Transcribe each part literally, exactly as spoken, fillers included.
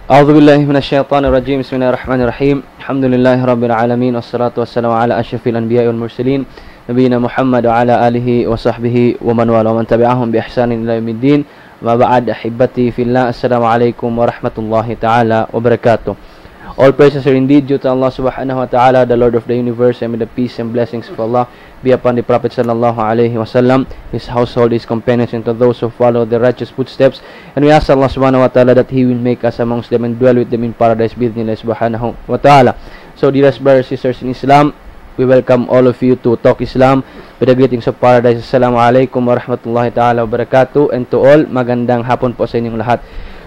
أعوذ بالله من الشيطان الرجيم. بسم الله الرحمن الرحيم. الحمد لله رب العالمين، والصلاة والسلام على أشرف الأنبياء والمرسلين، نبينا محمد وعلى آله وصحبه ومن والاه ومن تبعهم بإحسان إلى يوم الدين. أما بعد، أحبتي في الله، السلام عليكم ورحمة الله تعالى وبركاته. All praises are indeed due to Allah subhanahu wa ta'ala, the Lord of the universe, and may the peace and blessings of Allah be upon the Prophet sallallahu alaihi wasallam, his household, his companions, and to those who follow their righteous footsteps. And we ask Allah subhanahu wa ta'ala that He will make us amongst them and dwell with them in paradise, بإذن الله سبحانه وتعالى. So, dearest brothers and sisters in Islam, we welcome all of you to Talk Islam with the greetings of paradise. Assalamu alaikum warahmatullahi ta'ala wabarakatuh. And to all, magandang hapon po sa inyong lahat.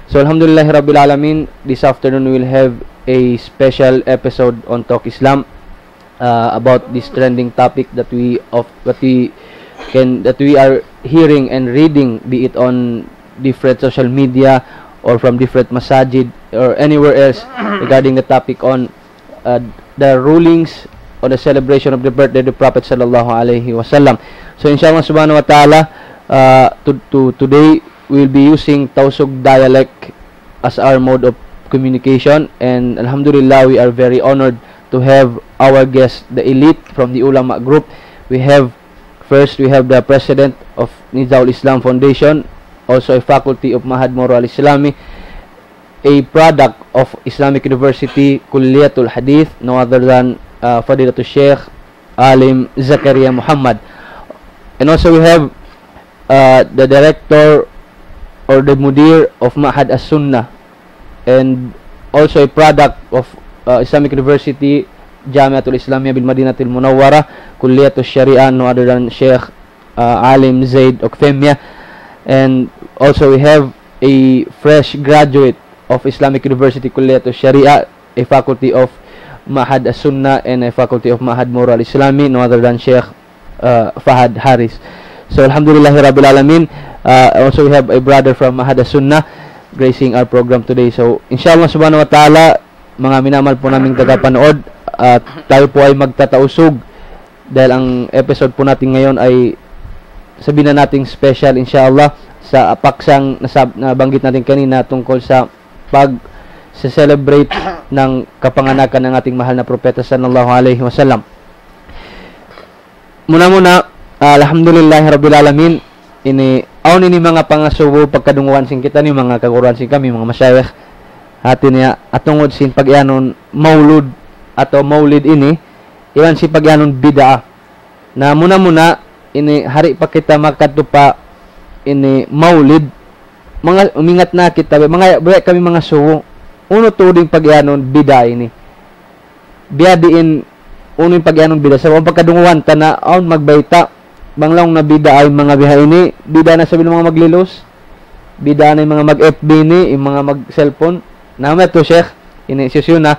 So, alhamdulillahi rabbil alamin, this afternoon we will have a special episode on Talk Islam, uh, about this trending topic that we of that we can that we are hearing and reading, be it on different social media or from different masajid or anywhere else, regarding the topic on, uh, the rulings on the celebration of the birthday of the Prophet sallallahu alaihi wasallam. So, inshallah subhanahu wa ta'ala, uh, to, to, today we'll be using Tausug dialect as our mode of communication, and alhamdulillah, we are very honored to have our guest, the elite from the ulama group. We have, first, we have the president of Nizaul Islam Foundation, also a faculty of Ma'had Moro Al-Islami, a product of Islamic University Kulliyatul Hadith, no other than, uh, Fadilatul Sheikh Alim Zakaria Muhammad. And also we have, uh, the director or the mudir of Ma'had As-Sunnah, and also a product of, uh, Islamic University Jamiatul Islamiyah bil Madinatil Munawwarah, Kulliyatul Sharia, no other than Sheikh, uh, Alim Zaid Okfemia. And also we have a fresh graduate of Islamic University Kulliyatul Sharia, a faculty of Ma'had As-Sunnah and a faculty of Ma'had Moro Al-Islami, no other than Sheikh, uh, Fahad Haris. So, alhamdulillahi rabbil alamin. Uh, also, we have a brother from Ma'had As-Sunnah gracing our program today. So, inshallah subhanahu wa ta'ala, mga minamahal po naming tagapanood, uh, tayo po ay magtatausug dahil ang episode po natin ngayon ay, sabihin na nating, special, inshallah, sa paksang nasab-, nabanggit natin kanina tungkol sa pag-celebrate ng kapanganakan ng ating mahal na propeta sallallahu alaihi wasallam. Muna-muna, alhamdulillahi rabbil alamin, ini, awn ini manga pangasubu pagkadunguan sin kitaniyu, manga kaguruan sin kami, manga mashayikh. Hati niya, atungud sin pag-iyanun maulud atawa maulid ini, iban sin pag-iyanun bid'ah. Na muna-muna, ini, hari pa kita makadtu pa ini maulid, manga, umingat na kita, manga, biya' kami mangasubu, unu tuud in pag-iyanun bid'ah ini. Biya' diin, unu in pag-iyanun bid'ah. Sabab pagkadunguan ta na, awn magbayta', bang laung na bid'ah in manga biha ini, bid'ah na isab in manga maglilus, bid'ah na in manga mag-F B ini, in manga mag-cellphone. Na, amu yadtu, Sheikh, ini, hisiyu-siyu na,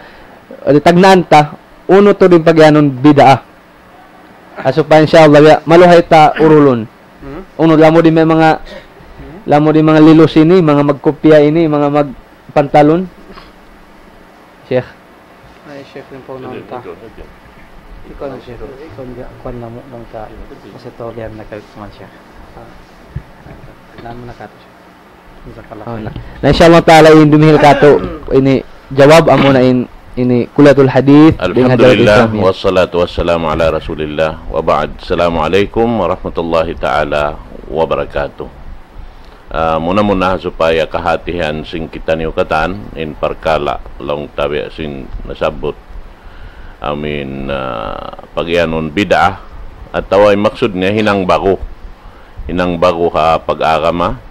di' tagnaan ta, unu tuud in pag-iyanun bid'ah. Ha supaya, inshallah, ya, maluhay ta urulun. Hmm? Unu, lamud in manga, lamud in manga lilus ini, manga magkupya ini, manga magpantalon. Sheikh. Ay, Sheikh, yung po naman ta. Ikaw na, Sheikh. Ikaw na, kuwan na mo, nung ka, kasi to, liyan na kayo, kuwan, Sheikh. Ah, namu na ka to, Sheikh. Jazakallah khair. Na, inshallah ta'ala, in dumihil katu', ini jawab, amuna in, ini Kulliyatul Hadith, dayn ha Darul Islamiyah. Alhamdulillah, wassalatu wassalamu ala Rasulillah, wa ba'd. Assalamu alaikum warahmatullahi ta'ala wabarakatuh. Ah, muna-muna, ha supaya kahatihan sin kitaniyu katan, in parkala' laung ta biya' sin nasabbut, amu in, ah, pag-iyanun bid'ah, atawa in maksud niya hinang ba'gu. Hinang ba'gu ha pag-agama.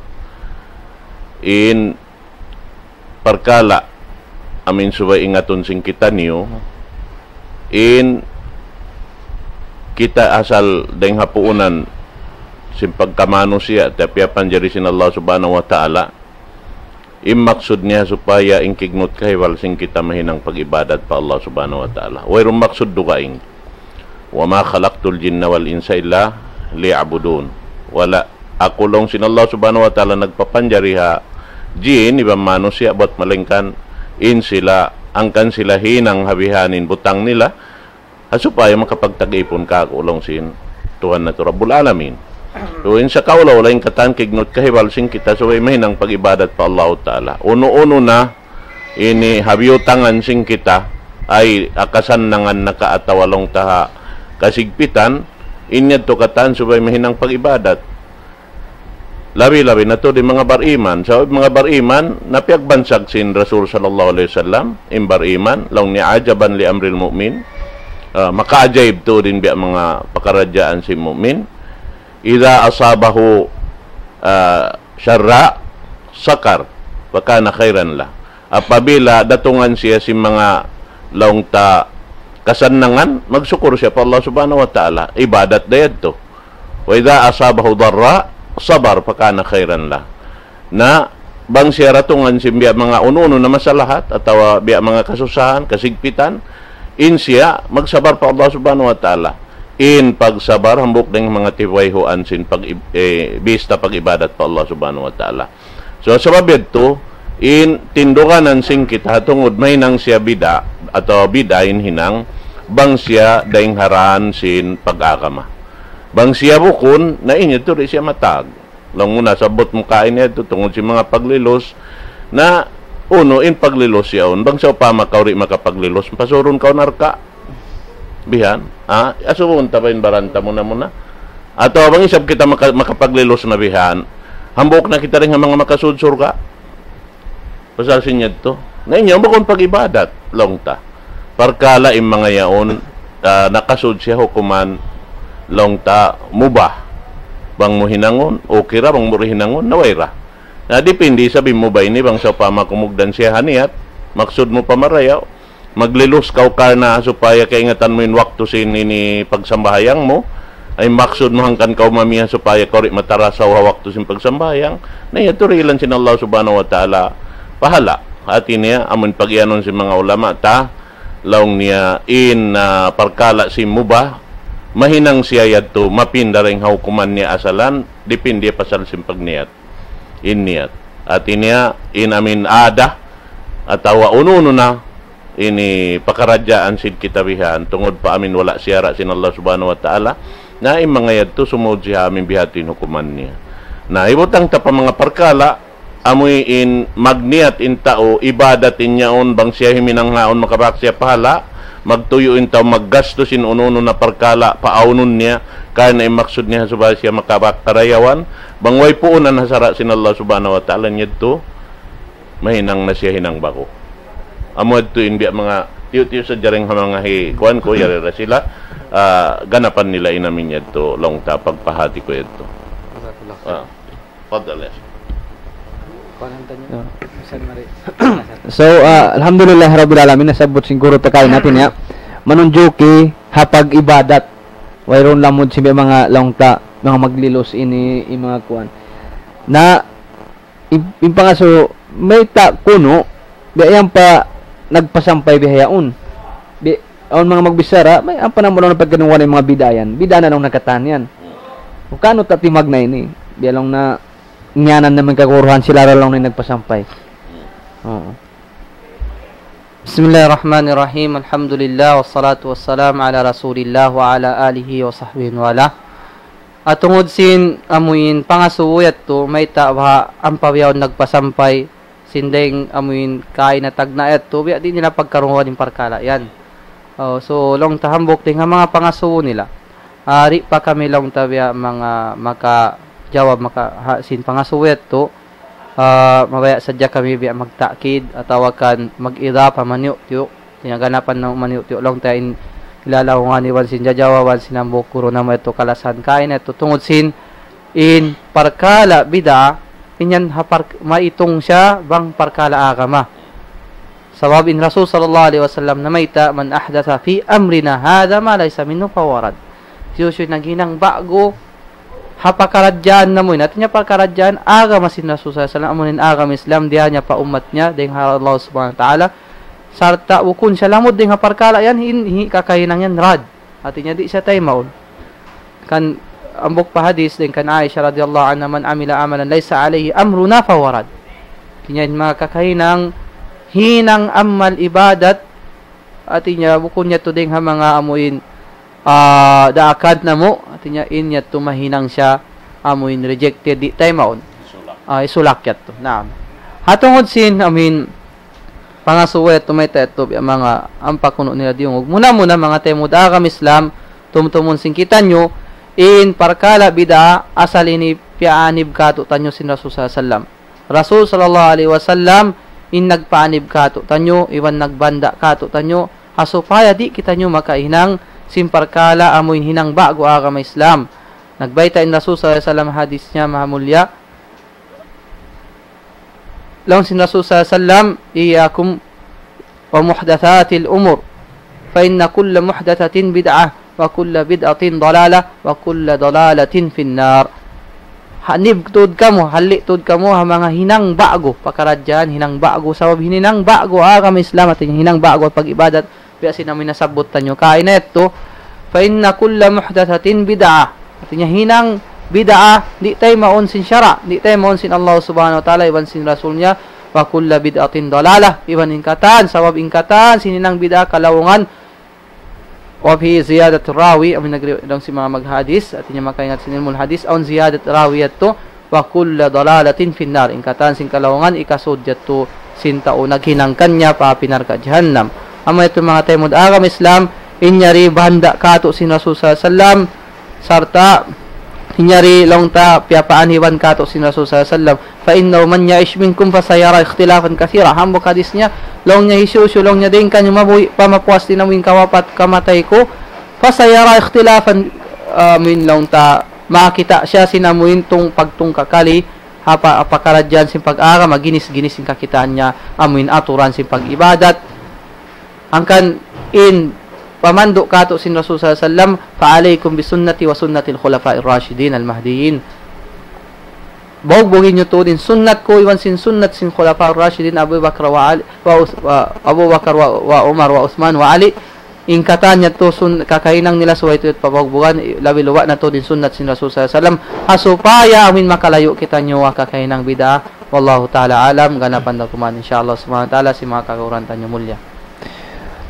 In parkala', amu in subay ingatun sin kitaniyu, in kita asal dayn ha puunan sin pagkamanusiya', ta piyapanjari sin Allah Subhanahu wa Ta'ala, in maksud niya supaya in kignut kahibal sin kita mahinang pag-ibadat pa Allah Subhanahu wa Ta'ala. Wayruun maksud dugaing. وما خلقت الجن والإنس إلا ليعبدون. Wala' aku laung sin Allah Subhanahu wa Ta'ala nagpapanjari ha jin iban manusiya' bat malaingkan in sila, hangkan sila hinang ha bihaini in butang nila, ha supaya makapagtag-ipun kāku' laung sin Tuhan natu' Rabbul Alamin. So, in sakaula-ula in katan kignut kahibal sin kita subay mahinang pag-ibadat pa Allahu Ta'ala. Unu-unu na ini ha biyutangan sin kita, ay ha kasannangan naka atawa laung ta ha kasigpitan, in yadtu katan subay mahinang pag-ibadat. Labi-labi na tuud in manga bariman. Sabab in manga bariman, na piyagbansag sin Rasul sallallahu alayhi wasallam, in bariman, laung niya عجبا لأمر المؤمن, ah, makaajaib tuud in biya' manga pakaradjaan sin mu'min. إذا أصابته, ah, سراء شكر فكان خيرا له. Apabila datungan siya sin manga laung ta kasannangan, magsukur siya pa Allah Subhanahu wa Ta'ala. Ibadat da yadtu. وإذا أصابته ضراء صبر فكان خيرا له. Na bang siya datungan sin biya' manga unu-unu na masalahat atawa biya' manga kasusahan, kasigpitan, in siya magsabar pa Allah Subhanahu wa Ta'ala. In pagsabar, hambuuk dayn ha manga tiwayhuan sin pag-, eh, bista pag-ibadat pa Allah Subhanahu wa Ta'ala. So, sabab yadtu, in tinduganan sin kita ha tungud mahinang siya bida', atawa bida' in hinang, bang siya dayn ha dān sin pag-agama. Bang siya bukun, na in yadtu di' siya matag. Laung mu na, sabut mu kain yadtu, tungud sin manga paglilus, na unu in paglilus yaun, bang sawpama kaw di' makapaglilus, pasurun kaw narka'. Bihan, ha? Asubuhun ta ba in baran ta muna-muna? Atawa bang isab kita maka-, makapaglilus na bihan, hambuuk na kita dayn ha manga makasud surga'. Pasal sin yadtu. Na in yaun bukun pag-ibadat, laung ta. Parkala' in manga yaun, ah, nakasud siya hukuman, laung ta, mubah. Bang mu hinangun, okay ra, bang mu di' hinangun, na way ra. Na dipindi isab in mubah ini, bang sawpama kumugdan siya ha niyat, maksud mu pa marayaw, maglilus kaw karna' supaya kaingatan mu in waktu sin ini pagsambahayang mu, ay maksud mu hangkan kaw mamiya supaya kaw di' matarasaw ha waktu sin pagsambahayang, na yadtu dihilan sin Allah Subhanahu wa Ta'ala pahala'. Hāti niya, amun pag-iyanun sin manga ulama ta, laung niya in, ah, parkala' sin mubah, mahinang siya yadtu, mapinda dayn ha hukuman niya asalan, dipindi pasal sin pagniyat. In niyat. Hāti niya, in amin ada, atawa unu-unu na, ini pakaradjaan sin kita bihan, tungud pa amin wala' siyara' sin Allah Subhanahu wa Ta'ala, na in manga yadtu sumud siya amin bihadtu in hukuman niya. Na, hibutang ta pa manga parkala', amuin magniyat in tau, ibadat in yaun, bang siya himinang haun, makabak siya pahala', magtuyu' in tau, maggastu sin unu-unu na parkala', paawnun niya, karna' in maksud niya, supaya siya makabak karayawan, bang way puunan ha sara' sin Allah Subhanahu wa Ta'ala, in yadtu, mahinang na siya hinang ba'gu. Amu yadtu in biya' manga tiyu'-tiyu' sadja dayn ha manga hi, kuwan ku, yari da sila, ah, ganapan nila in amin yadtu, laung ta pagpahāti ku yadtu. Jazakallah khair. Ah, fadal ya. Kuwan ang tanong. Yeah. Saan mari? So, ah, alhamdulillah rabbil alamin, nasabbut sin guru ta kaina, hāti niya, manunjuki ha pag-ibadat. Wayruun lamud sin biya' manga laung ta, manga maglilus ini, in manga kuwan. Na, in, in pangasubu, mayta' kunu', biya' yan pa nagpasampay bihaun. Bi-, awn manga magbichara, may, ampa namu' laung na pagkanuwan in manga bid'a yan. Bid'a na laung na katan yan. Kunu' ta timagna' ini. Biya' laung na, ngiyanan na man kaguruhan sila ra laung na in nagpasampay. Oo. بسم الله الرحمن الرحيم. الحمد لله والصلاة والسلام على رسول الله وعلى آله وصحبه ومن والاه. Ah, tungud sin amuin pangasubu yadtu, mayta' baha' ampa bihaun nagpasampay, sin dayng amuin kaina tagna' yadtu, biya' di' nila pagkarungugan in parkala' yan. Oh, so, laung ta hambuuk dayn ha manga pangasubu nila. Ah, di' pa kami laung ta biya' manga makajawab maka-, ha, sin pangasubu yadtu, ah, mabaya' sadja kami biya' magta'kid atawa kan mag-idapa maniyu'-tiyu'. Hāti niya ganapan na maniyu'-tiyu' laung ta in ilalaungan iban sin jajawaban sin hambuuk guru namu' yadtu kalasahan kaina yadtu tungud sin in parkala' bid'a, in yan ha park-, maitung siya bang parkala' agama. Sabab in Rasul sallallahu alayhi wasallam namayta', من أحدث في أمرنا هذا ما ليس منه فهو رد. Hisiyu-siyu in naghinang ba'gu ha pakaradjaan namu' ini. Hāti niya pakaradjaan agama sin Rasul sallallahu alayhi wasallam, amu in agama Islam, diyā niya pa ummat niya, dayn ha Allah Subhanahu wa Ta'ala. Sarta' bukun siya lamud dayn ha parkala' yan, in, hi, kakahinang yan rad. Hāti niya di' siya taymaun. Kan, hambuuk pa hadis dayn kan Aisha radiyallahu anha, من عمل عملا ليس عليه أمرنا فهو رد. Hāti niya in manga kakahinang, hinang amal ibadat, hāti niya bukun yadtu dayn ha manga amuin, ah, daakan namu', hāti niya in yadtu mahinang siya amuin rejected, di' taymaun. Isulak. Ah, isulak yadtu. Naam. Ha tungud sin, amuin, pangasubu yadtu mayta' yadtu biya' manga ampa kunu' nila diyungug. Muna-muna manga taymanghud ha agama Islam, tumtumun sin kitaniyu, in parkala' bid'a asal ini piyaanib kātu'niyu sin Rasul sallallahu alayhi wasallam. Rasul sallallahu alayhi wasallam in nagpaanib kātu'niyu, iban nagbanda' kātu'niyu, ha supaya di' kitaniyu makahinang sin parkala' amuin hinang ba'gu agama Islam. Nagbayta' in Rasul sallallahu alayhi wasallam hadis niya maha mulliya. Laung sin Rasul sallallahu alayhi wasallam, إياكم ومحدثات الأمور، فإن كل محدثة بدعة، وكل بدعة ضلالة، وكل ضلالة في النار. Hanib tuud kamu, halli' tuud kamu, ha manga hinang ba'gu, pakaradjaan hinang ba'gu, sabab hinang ba'gu, agama Islam, hāti niya hinang ba'gu, pag-ibadat, biya' sin amu in nasabbut taniyu kaina yadtu, فإن كل محدثة بدعة. Hāti niya hinang bid'a, di' taymaun sin sara', di' taymaun sin Allah subhanahu wa ta'ala, iban sin Rasul niya, وكل بدعة ضلالة, iban in katan, sabab in katan, sin hinang bid'a kalaungan, وفي زيادة راوي, amu in nagri-, laung sin manga maghadis, hāti niya makaingat sin ilmul hadis, awn ziyadat rawi yadtu, وكل ضلالة في النار. In katan sin kalaungan, hikasud yadtu sin tau naghinang kaniya pa api narka' jahannam. Amu yadtu manga taymanghud agama Islam, in yari banda' kātu' sin Rasul sallallahu alayhi wasallam, sarta' in yari laung ta piyapaaniban kātu' sin Rasul sallallahu alayhi wasallam. فإنه من يعش منكم فسيرى اختلافا كثيرا. Hambuuk hadis niya, laung niya hisiyu-siyu, laung niya dayn kaniyu mabuhi' pa mapuas sin amuin kawapat kamatay ku. فسيرى اختلافا, amuin laung ta, makakita' siya sin amuin tung-, pagtungkakali, ha pa-, pakaradjaan sin pag-agama, ginis-ginis in kakitaan niya, amuin aturan sin pag-ibadat. Hangkan in pamandu' kātu' sin Rasul sallallahu alayhi wasallam, فعليكم بسنتي وسنة الخلفاء الراشدين المهديين. Bugbugi niyu tuud in sunnat ku, iban sin sunnat sin Khulafa Rashidin, Abu Bakar wa Ali, wa Us-, wa Abu Bakar wa, wa Umar wa Uthman wa Ali. In katan yadtu sun-, kakahinang nila subay tuud pabugbugan, labi-labi na tuud in sunnat sin Rasul sallallahu alayhi wasallam. Ha supaya amuin makalayu' kitaniyu ha kakahinang bid'a. Wallahu ta'ala alam, ganapan da kuman, insha Allah subhanahu wa ta'ala, sin manga kakaguruhan taniyu mulliya.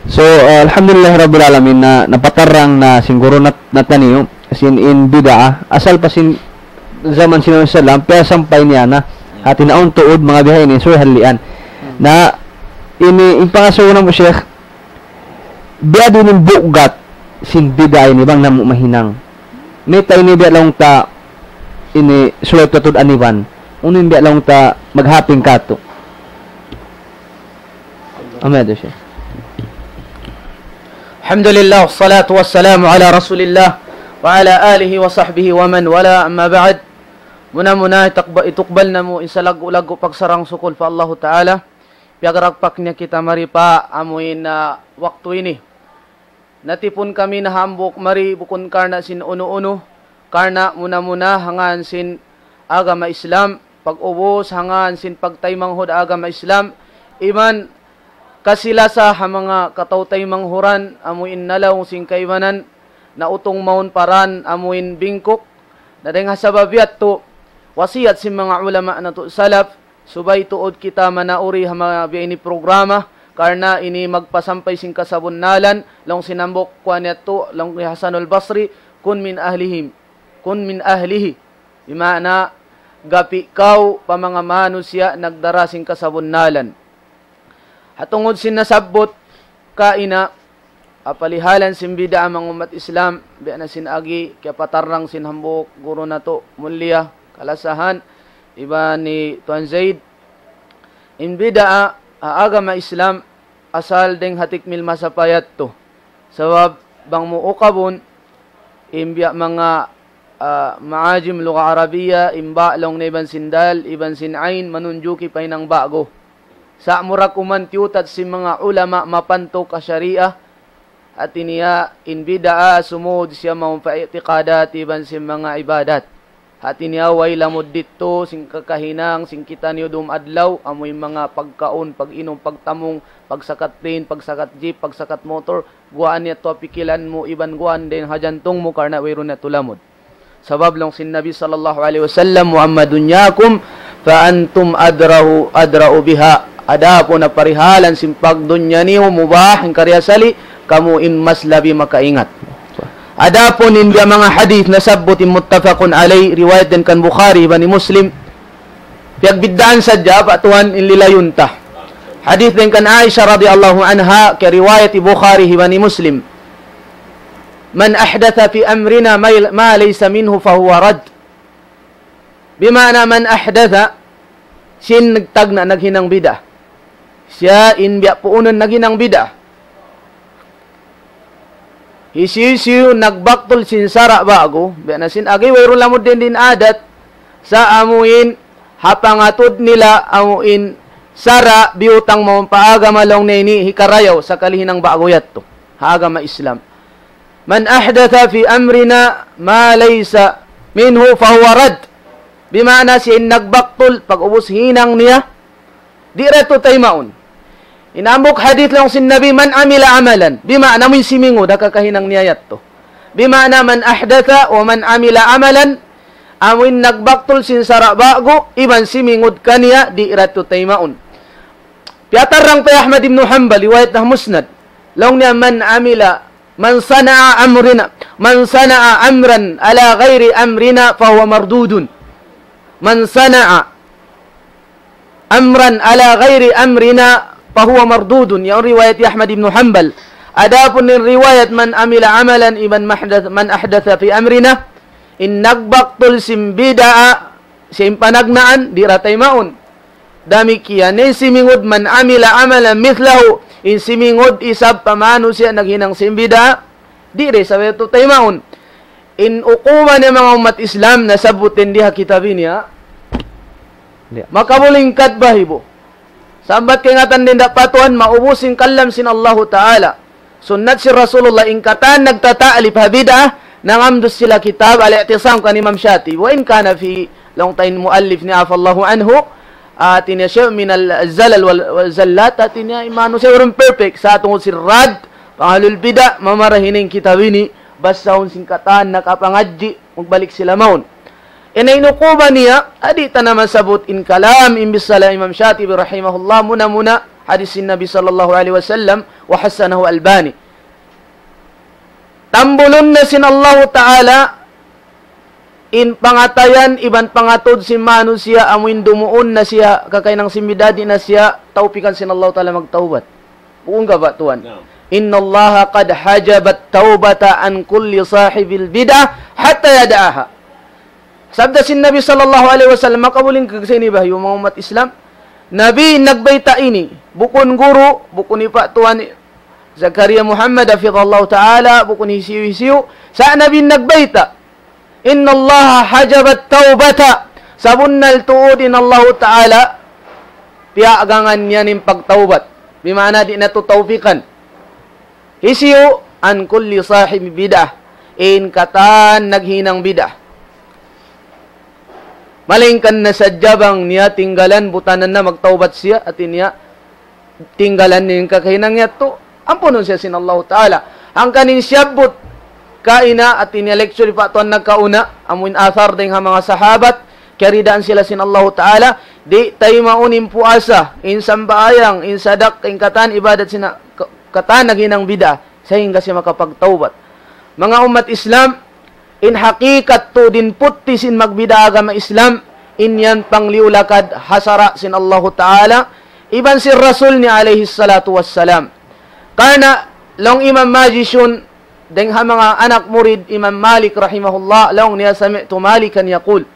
So, uh, alhamdulillah rabbil alamin na napatarrang na sin guru nat-, nataniyu, sin in bid'a, asal pa sin jaman sin Nabi sallam, piyasampay niya na, hāti niya awn tuud manga bihaini, subay hallian. Na, ini, in pangasubu namu', Sheikh, biya' diin in bugat sin bid'a ini bang namu' mahinang. Mayta' ini biya' laung ta ini subay ta tuud aniban. Unu in biya' laung ta maghaping kātu'. Amin, Sheikh. الحمد لله والصلاة والسلام على رسول الله وعلى آله وصحبه ومن والاه، أما بعد. Muna-muna itakba-, itukbal namu' in salaggu'-laggu' pagsarang-sukul pa Allahu Ta'ala. Piyagragpak niya kita mari pa amuin, ah, waktu ini. Natipun kami na hambuuk mari bukun karna' sin unu-unu, karna' muna-muna ha ngān sin agama Islam, pag-ubus ha ngān sin pagtaymanghud agama Islam, iban kasi-lasa ha manga kataw-taymanghud, amuin nalaung sin kaibanan, nautung mawn pa dān amuin bingkuk. Na dayng ha sabab yadtu, wasiyat sin manga ulama natu' salaf, subay tuud kita manauri ha manga biya' ini programa, karna' ini magpasampay sin kasabunnalan, laung sin hambuuk kuwan yadtu, laung hi Hasanul Basri, كن من أهلهم، كن من أهله. Bima'na, gapi' kaw pa manga manusiya' nagdara sin kasabunnalan. Ha tungud sin nasabbut kaina, ha palihalan sin bid'a, manga ummat Islam, biya' na sin agi, kiyapatarrang sin hambuuk guru natu', mulliya, kalasahan, iban hi Tuan Zaid. In bid'a, ha agama Islam, asal dayng ha tikmil masa pa yadtu. Sabab bang mu ukabun, in biya' manga, ah, ma'ajim lugha Arabiya, in ba laung niya iban sin dal, iban sin ain, manunjuki pa hinang ba'gu. Sa' mura kuman tiyutat sin manga ulama mapantuk ha sharia, hāti niya in bid'a sumud siya mawn pa i'tiqadat iban sin manga ibadat. Hāti niya way lamud didtu sin kakahinang sin kitaniyu dum adlaw, amu in manga pagkaun, pag-inum, pagtamung, pagsakat plane, pagsakat jeep, pagsakat motor, guwaan niya tu ha pikilan mu, iban guwaan dayn ha jantung mu, karna' wayruun niya tu lamud. Sabab laung sin Nabi sallallahu alayhi wasallam, وأما دنياكم فأنتم أدرى، أدرى بها. Adapun ha parihalan sin pagdunya niyu mubah, in karna' asali, kamu in mas labi makaingat. Adapun in biya' manga hadith nasabbut in muttafaqun alayh, riwayat dayn kan Bukhari iban Muslim, piyagbiddaan sadja, apa tuwan in lilayun ta. Hadith dayn kan Aisha radiyallahu anha, kiyariwayat hi Bukhari iban hi Muslim. من أحدث في أمرنا ما ما ليس منه فهو رد. Bima'na من أحدث, sin nagtagna' naghinang bid'ah. Siya in biya' puunun naghinang bid'ah. Hisiyu-siyu nagbaktul sin sara' ba'gu, biya' na sin agi wayruun lamud dayn di in adat, sa' amuin ha pangatud nila amuin sara' biyutang mawn pa agama laung niya ini hikarayaw sakali hinang ba'gu yadtu ha agama Islam. من أحدث في أمرنا ما ليس منه فهو رد. Bima'na siya in nagbaktul, pag'ubus hinang niya, di' da tuud taymaun. In hambuuk hadith laung sin Nabi, من عمل عملا. Bima'na amuin simingud ha kakahinang niya yadtu. Bima'na من أحدث ومن عمل عملا, amuin nagbaktul sin sara' ba'gu, iban simingud kaniya, di' da tuud taymaun. Piyatarrang pa hi Ahmad ibn Hanbal, riwayat ha Musnad. Laung niya, من عمل من صنع أمرنا، من صنع أمرا على غير أمرنا فهو مردود. من صنع أمرا على غير أمرنا فهو مردود. Yaun riwayat hi Ahmad ibn Hanbal. Adapun in riwayat من عمل عملا iban من أحدث، من أحدث في أمرنا, in nagbaktul sin bid'ah, sin panagnaan, di' da taymaun. Damikkiyan in simingud من عمل عملا مثله, in simingud isab pa manusiya' naghinang sin bid'ah, di' da isab yadtu taymaun. In ukuban niya manga ummat Islam nasabbut dayn di ha kitab ini, ha? Di'. Makabulingkat bahibu. Sambat kaingatan dayn da pa Tuhan, maubus in kalam sin Allahu Ta'ala. Sunnat sin Rasulullah, in katan nagtata'lif ha bid'ah, nangamdus sila kitab Al-I'tisam kan Imam Shatibi. وإن كان في, laung ta in muallif niya, عفا الله عنه, hati niya شيء من الزلل وال-، والزلات, hati niya in manusiya' wayruun perfect. Sa' tungud sin radd pa ahlul bid'ah, mamarahi in kitab ini, basahun sin katan nakapangadji', magbalik sila mawn. In inukuban niya, di' ta na masabbut in kalam, in bissala Imam Shatibi rahimahullah, muna-muna hadith sin Nabi sallallahu alayhi wasallam, وحسنه الألباني. Tambulun na sin Allahu Ta'ala in pangatayan iban pangatud sin manusiya', amuin dumuun na siya kakahinang sin bid'ah, di' na siya tawpikan sin Allahu Ta'ala magtawbat. Bukun ka ba, Tuan? Naam. إن الله قد حجب التوبة عن كل صاحب البدعة حتى يدعها. Sabda sin Nabi sallallahu alayhi wasallam, makabuling kag sa ini bahibu manga ummat Islam. Nabi nagbayta' ini, bukun guru, bukun hi pa Tuan Zakaria Muhammad, hafidhahullahu ta'ala, bukun hisiyu-hisiyu. Sa' Nabi nagbayta', إن الله حجب التوبة. Sabunnal tuud in Allahu Ta'ala, piyagangan niya in pagtawbat. Bima'na di' na tuud tawpikan. Hisiyu, عن كل صاحب بدعة. In katan naghinang bid'ah. Malaingkan na sadja bang niya tinggalan, butanan na magtawbat siya, hati niya, tinggalan niya in kakahinang yadtu, ampunun siya sin Allahu Ta'ala. Hangkan in siyabbut kaina, hati niya lecture pa Tuan nakauna, amuin athar dayn ha manga sahabat, kiyaridaan sila sin Allahu Ta'ala, di' taymaun in puasa, in sambahayang, in sadaqah, in katan ibadat sin ka-, katan naghinang bid'ah, sahingga siya makapagtawbat. Manga ummat Islam, in hakikat tuud in putti sin magbid'ah agama Islam, in yan pangliyu-lakad ha sara' sin Allahu Ta'ala, iban sin Rasul niya alayhi salatu wassalam. Karna' laung Imam Majishun, dayn ha manga anak murid Imam Malik rahimahullah, laung niya سمعت مالكا يقول.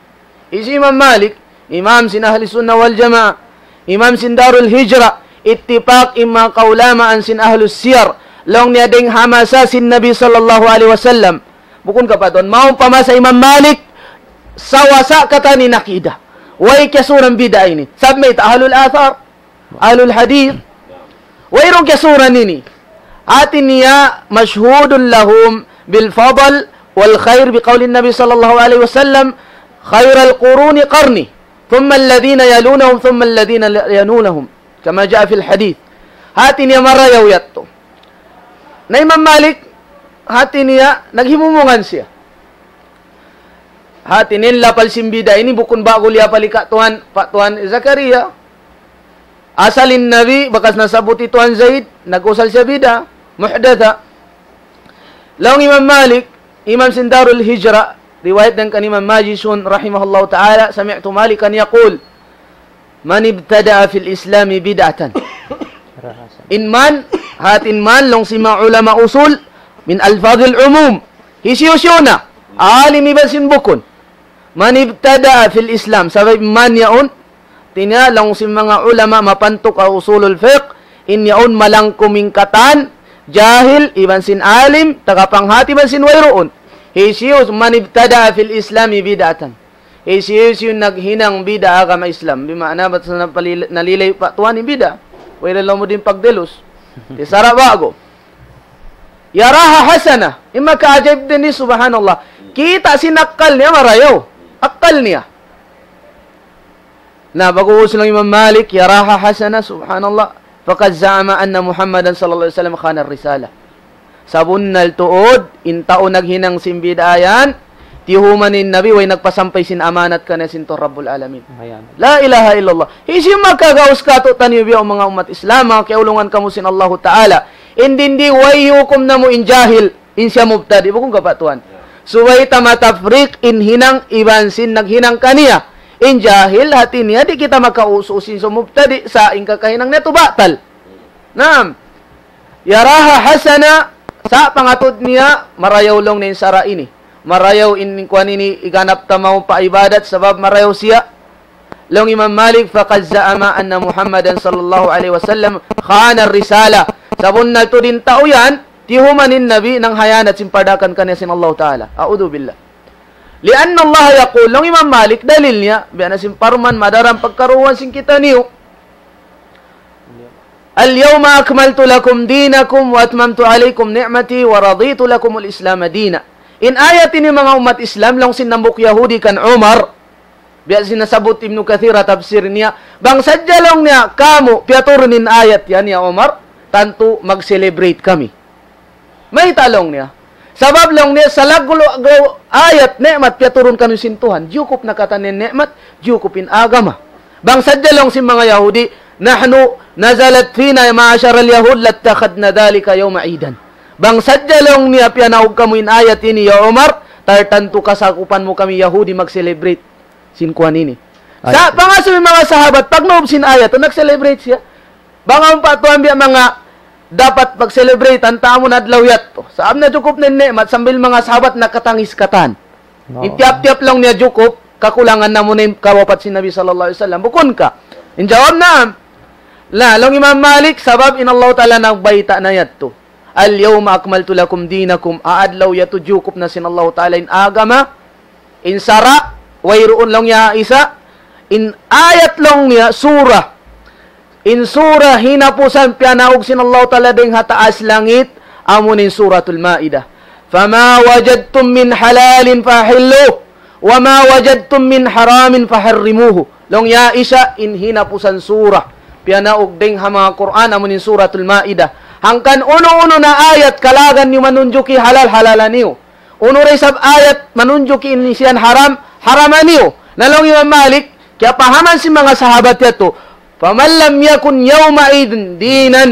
Hisiyu Imam Malik, imam sin Ahli Sunnah wal Jamaah, imam sin Darul Hijrah, ittipak in manga kaulamaan sin Ahlus Siyar, laung niya dayn ha masa sin Nabi sallallahu alayhi wasallam. Bukun ka pa Tuan, mawn pa masa Imam Malik, sawasa katan in akida. Way kiyasuran bid'ah ini. Sabab mayta', ahlul athar, ahlul hadith. Wayruun kiyasuran ini. Hati niya, مشهود لهم بالفضل والخير بقول النبي صلى الله عليه وسلم: خير القرون قرني ثم الذين يلونهم ثم الذين يلونهم كما جاء في الحديث. Hati niya marayaw yadtu. Na Imam Malik, hati niya naghimumungan siya. Hati niya in lapal sin bid'ah ini bukun ba'gu liyapal hi ka Tuan, pa Tuan Zakaria. Asal in Nabi, bakas nasabbut hi Tuan Zaid, nag-usal siya bid'ah, muhdatha. Laung Imam Malik, imam sin Darul Hijrah, riwayat dayn kan Imam Majishun rahimahullahu ta'ala, سمعت مالكا يقول: من ابتدع في الإسلام بدعة In man, hati in man, laung sin manga ulama usul, min alfadhil umum. Hisiyu-siyu na, alim iban sin bukun. Man ibtada'a fil Islam, sabab man yaun, hati niya laung sin manga ulama mapantuk ha usulul fiqh, in yaun malangkum in katan, jahil, iban sin alim, tagapanghati iban sin wayruun. Hisiyu, man ibtada'a fil Islami bid'atan. Hisiyu-siyu naghinang bid'a ha agama Islam. Bima'na bat sa napalil-, nalilay pa tuwan in bid'a. Wala lamu din pagdelus. Di sara' ba'gu. Yaraha hasana. In makaajaib din di, subhanallah. Kita' sin akkal niya marayaw. Akkal niya. Na, pag-uus laung Imam Malik, yaraha hasana, subhanallah. Faqad za'ama anna Muhammadan sallallahu alayhi wasallam khana risala. Sabunnal tuud, in tau naghinang sin bid'a yan, tiyuhuman in Nabi, way nagpasampay sin amanat kaniya sin Tuhan Rabbul Alamin. Ayan. La ilaha illallah. Hisiyu makagaus katu'taniyu biya' manga ummat Islam, manga kiyaulungan kamu sin Allahu Ta'ala. In dindi way hukum namu' in jahil, in siya mubtadi', bukun ka pa tuwan. Subay ta matafriq in hinang iban sin naghinang kaniya. In jahil, hati niya, di' kita makausu sin sa mubtadi', sa' in kakahinang niya tu batal. Naam. Yaraha hasana, sa' pangatud niya, marayaw laung niya in sara' ini. Marayaw in kuwan ini, iganap ta mawn pa ibadat, sabab marayaw siya. Laung Imam Malik, faqad za'ama anna Muhammadan sallallahu alayhi wasallam khana risala. Sabunnal tuud in tau yan, tiyuhuman in Nabi nanghiyanat sin pardaakan kaniya sin Allahu Ta'ala. A'udhu billah. Li'anna Allah yaqul, laung Imam Malik, dalil niya, biya' na sin parman, madaran pagkaruwan sin kitaniyu. اليوم أكملت لكم دينكم وأتممت عليكم نعمتي ورضيت لكم الإسلام دينا. In ayat ini manga ummat Islam, laung sin hambuuk Yahudi kan Umar, biya' sin nasabbut Ibnu Kathir ha tafsir niya, bang sadja laung niya kamu, piyaturun in ayat yan ya Umar, tantu mag-celebrate kami. Mayta' laung niya? Sabab laung niya, salaggu'-laggu' ayat ni'mat piyaturun kaniyu sin Tuhan. Jukup na katan in ni'mat, jukup in agama. Bang sadja laung sin manga Yahudi, نحن نزلت فينا معشر اليهود لاتخذنا ذلك يوم عيدا. Bang sadja laung niya piyanaug kamu in ayat ini, ya Umar, tartantu kasakupan mu kami Yahudi mag-celebrate sin kuwan ini. Ay, sa' pangasubu in manga sahabat, pagnaug sin ayat, nag-celebrate siya. Bang awn pa tuwan biya' manga dapat pag-celebrate, antamun adlaw yadtu. Sabab na jukup na in ni'mat, sambil manga sahabat nakatangis katan. Oo. In tiyap-tiyap laung niya jukup, kakulangan na amu na in kawapat sin Nabi sallallahu alayhi wasallam. Bukun ka? In jawab, naam. Na, laung Imam Malik, sabab in Allahu Ta'ala nagbayta' na yadtu. اليوم أكملت لكم دينكم. Ha adlaw yadtu jukup na sin Allahu Ta'ala in agama, in sara', wayruun laung niya isa, in ayat laung niya, sura. In sura hinapusan piyanaug sin Allahu Ta'ala dayn ha taas langit, amu in Suratul Ma'idah. فما وجدتم من حلال فحلوه وما وجدتم من حرام فحرموه. Laung niya isa in hinapusan sura piyanaug dayn ha manga Qur'an, amu in Suratul Ma'idah. Hangkan unu-unu na ayat kalagan niyu manunjuki halal, halalan niyu. Unu da isab ayat manunjuki in siyan haram, haraman niyu. Na laung Imam Malik, kiyapahaman sin manga sahabat yadtu, فمن لم يكن يومئذ دينا,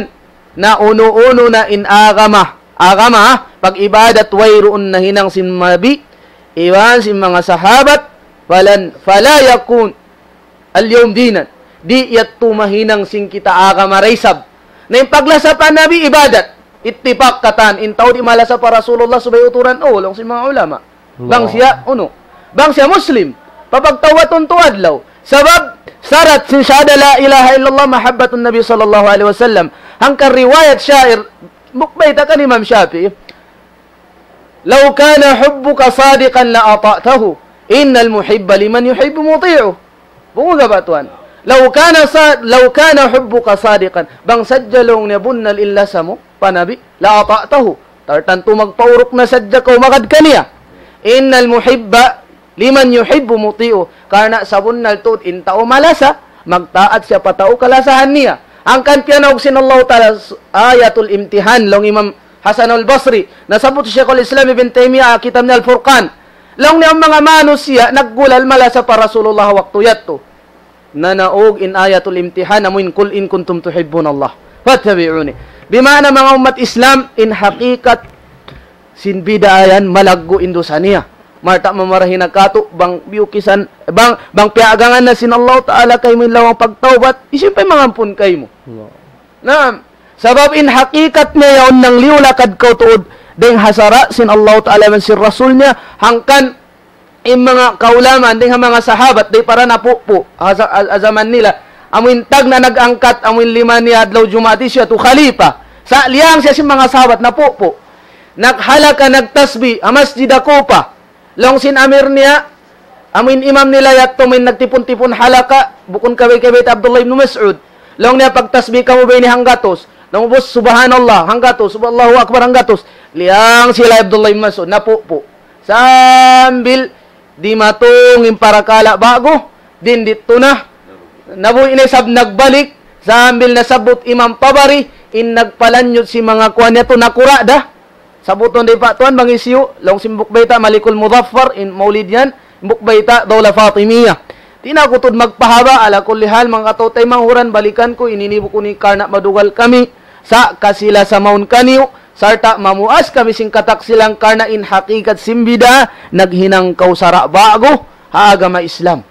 na unu-unu na in agama, agama, pag-ibadat wayruun nahinang sin Nabi, iban sin manga sahabat, فلن, فلا يكون اليوم دينا. Di' yadtu mahinang sin kita agama da isab. Na in paglasa pa Nabi ibadat. Ittifaq katan, in tau di' malasa pa Rasulullah subay uturan, oh, laung sin manga ulama. Bang siya, unu? Bang siya Muslim. Papagtawbatun tu adlaw. Sabab, sarat sin shahada la ilaha illallah mahabbatun Nabi sallallahu alayhi wasallam. Hangkan riwayat sha'ir, mukbayta' kan Imam Shafi'i. لو كان حبك صادقا لأطعته إن المحب لمن يحب مطيع. Bunga ba tuwan? لو كان صا-، لو كان حبك صادقا. Bang sadja laung niya bunnal in lasa mu pa Nabi, لأطعته. Tartantu magpauruk na sadja kaw magad kaniya. إن المحب لمن يحب مطيع. Karna' sabunnal tuud in tau malasa, magtaat siya pa tau kalasahan niya. Hangkan piyanaug sin Allahu Ta'ala s-, ayatul imtihan, laung Imam Hasan al-Basri, nasabbut Shaykhul Islam Ibn Taymiyyah, kitab niya Al-Furqan. Laung niya in manga manusiya', naggulal malasa pa Rasulullah waktu yadtu. Nanaug in ayatul imtihan, amu in, قل إن كنتم تحبون الله فاتبعوني. Bima'na manga ummat Islam, in hakikat sin bid'a yan, malaggu' in dusa niya. Marta' mamarahi na katu', bang biyukisan, bang, bang piyaagangan na sin Allahu Ta'ala kaymu in lawang pagtawbat, hisiyu pa in mangampun kaymu? Allah. Naam. Sabab in hakikat niya yaun nangliyu lakad kaw tuud dayn ha sara' sin Allah Ta'ala iban sin Rasul niya, hangkan in manga kaulamaan dayn ha manga sahabat, dayn para napupu', ha, ha, ha jaman nila. Amu in tagna' nag-angkat, amu in lima niya adlaw Jumaat, hisiyu yadtu? Khalifa. Sa' liyang siya sin manga sahabat, napupu'. Naghalaka', nagtasbih, ha Masjid Kufa. Laung sin amir niya, amu in imam nila yadtu, amu in nagtipun-tipun halaka', bukun kabay-kabay ta Abdullah ibn Mas'ud. Laung niya, "Pagtasbih kamu ba ini hanggatus?" Laung, "Bus, subhanallah, hanggatus, sub-, Allahu Akbar, hanggatus." Liyang sila Abdullah ibn Mas'ud, napupu'. Sambil dimatung in parakala' ba'gu, din didtu na. Nabuhi' na isab nagbalik, sambil nasabbut Imam Tabari, in nagpalanyut sin manga kuwan niya tu nakura' da. Sabbutun da pa tuwan bang hisiyu, laung sin buk bayta' Malikul Muzaffar, in maulid yan, buk bayta' Dawla Fatimiyya. Di' na aku tuud magpahaba', ala kulli hal, manga kataw-taymanghuran, balikan ku, ini ini bukun ini karna' madugal kami, sa' kasila sa mawn kaniyu, sarta' mamuas kami sin kataksilan karna' in hakikat sin bid'a, naghinang kaw sara' ba'gu, ha agama Islam.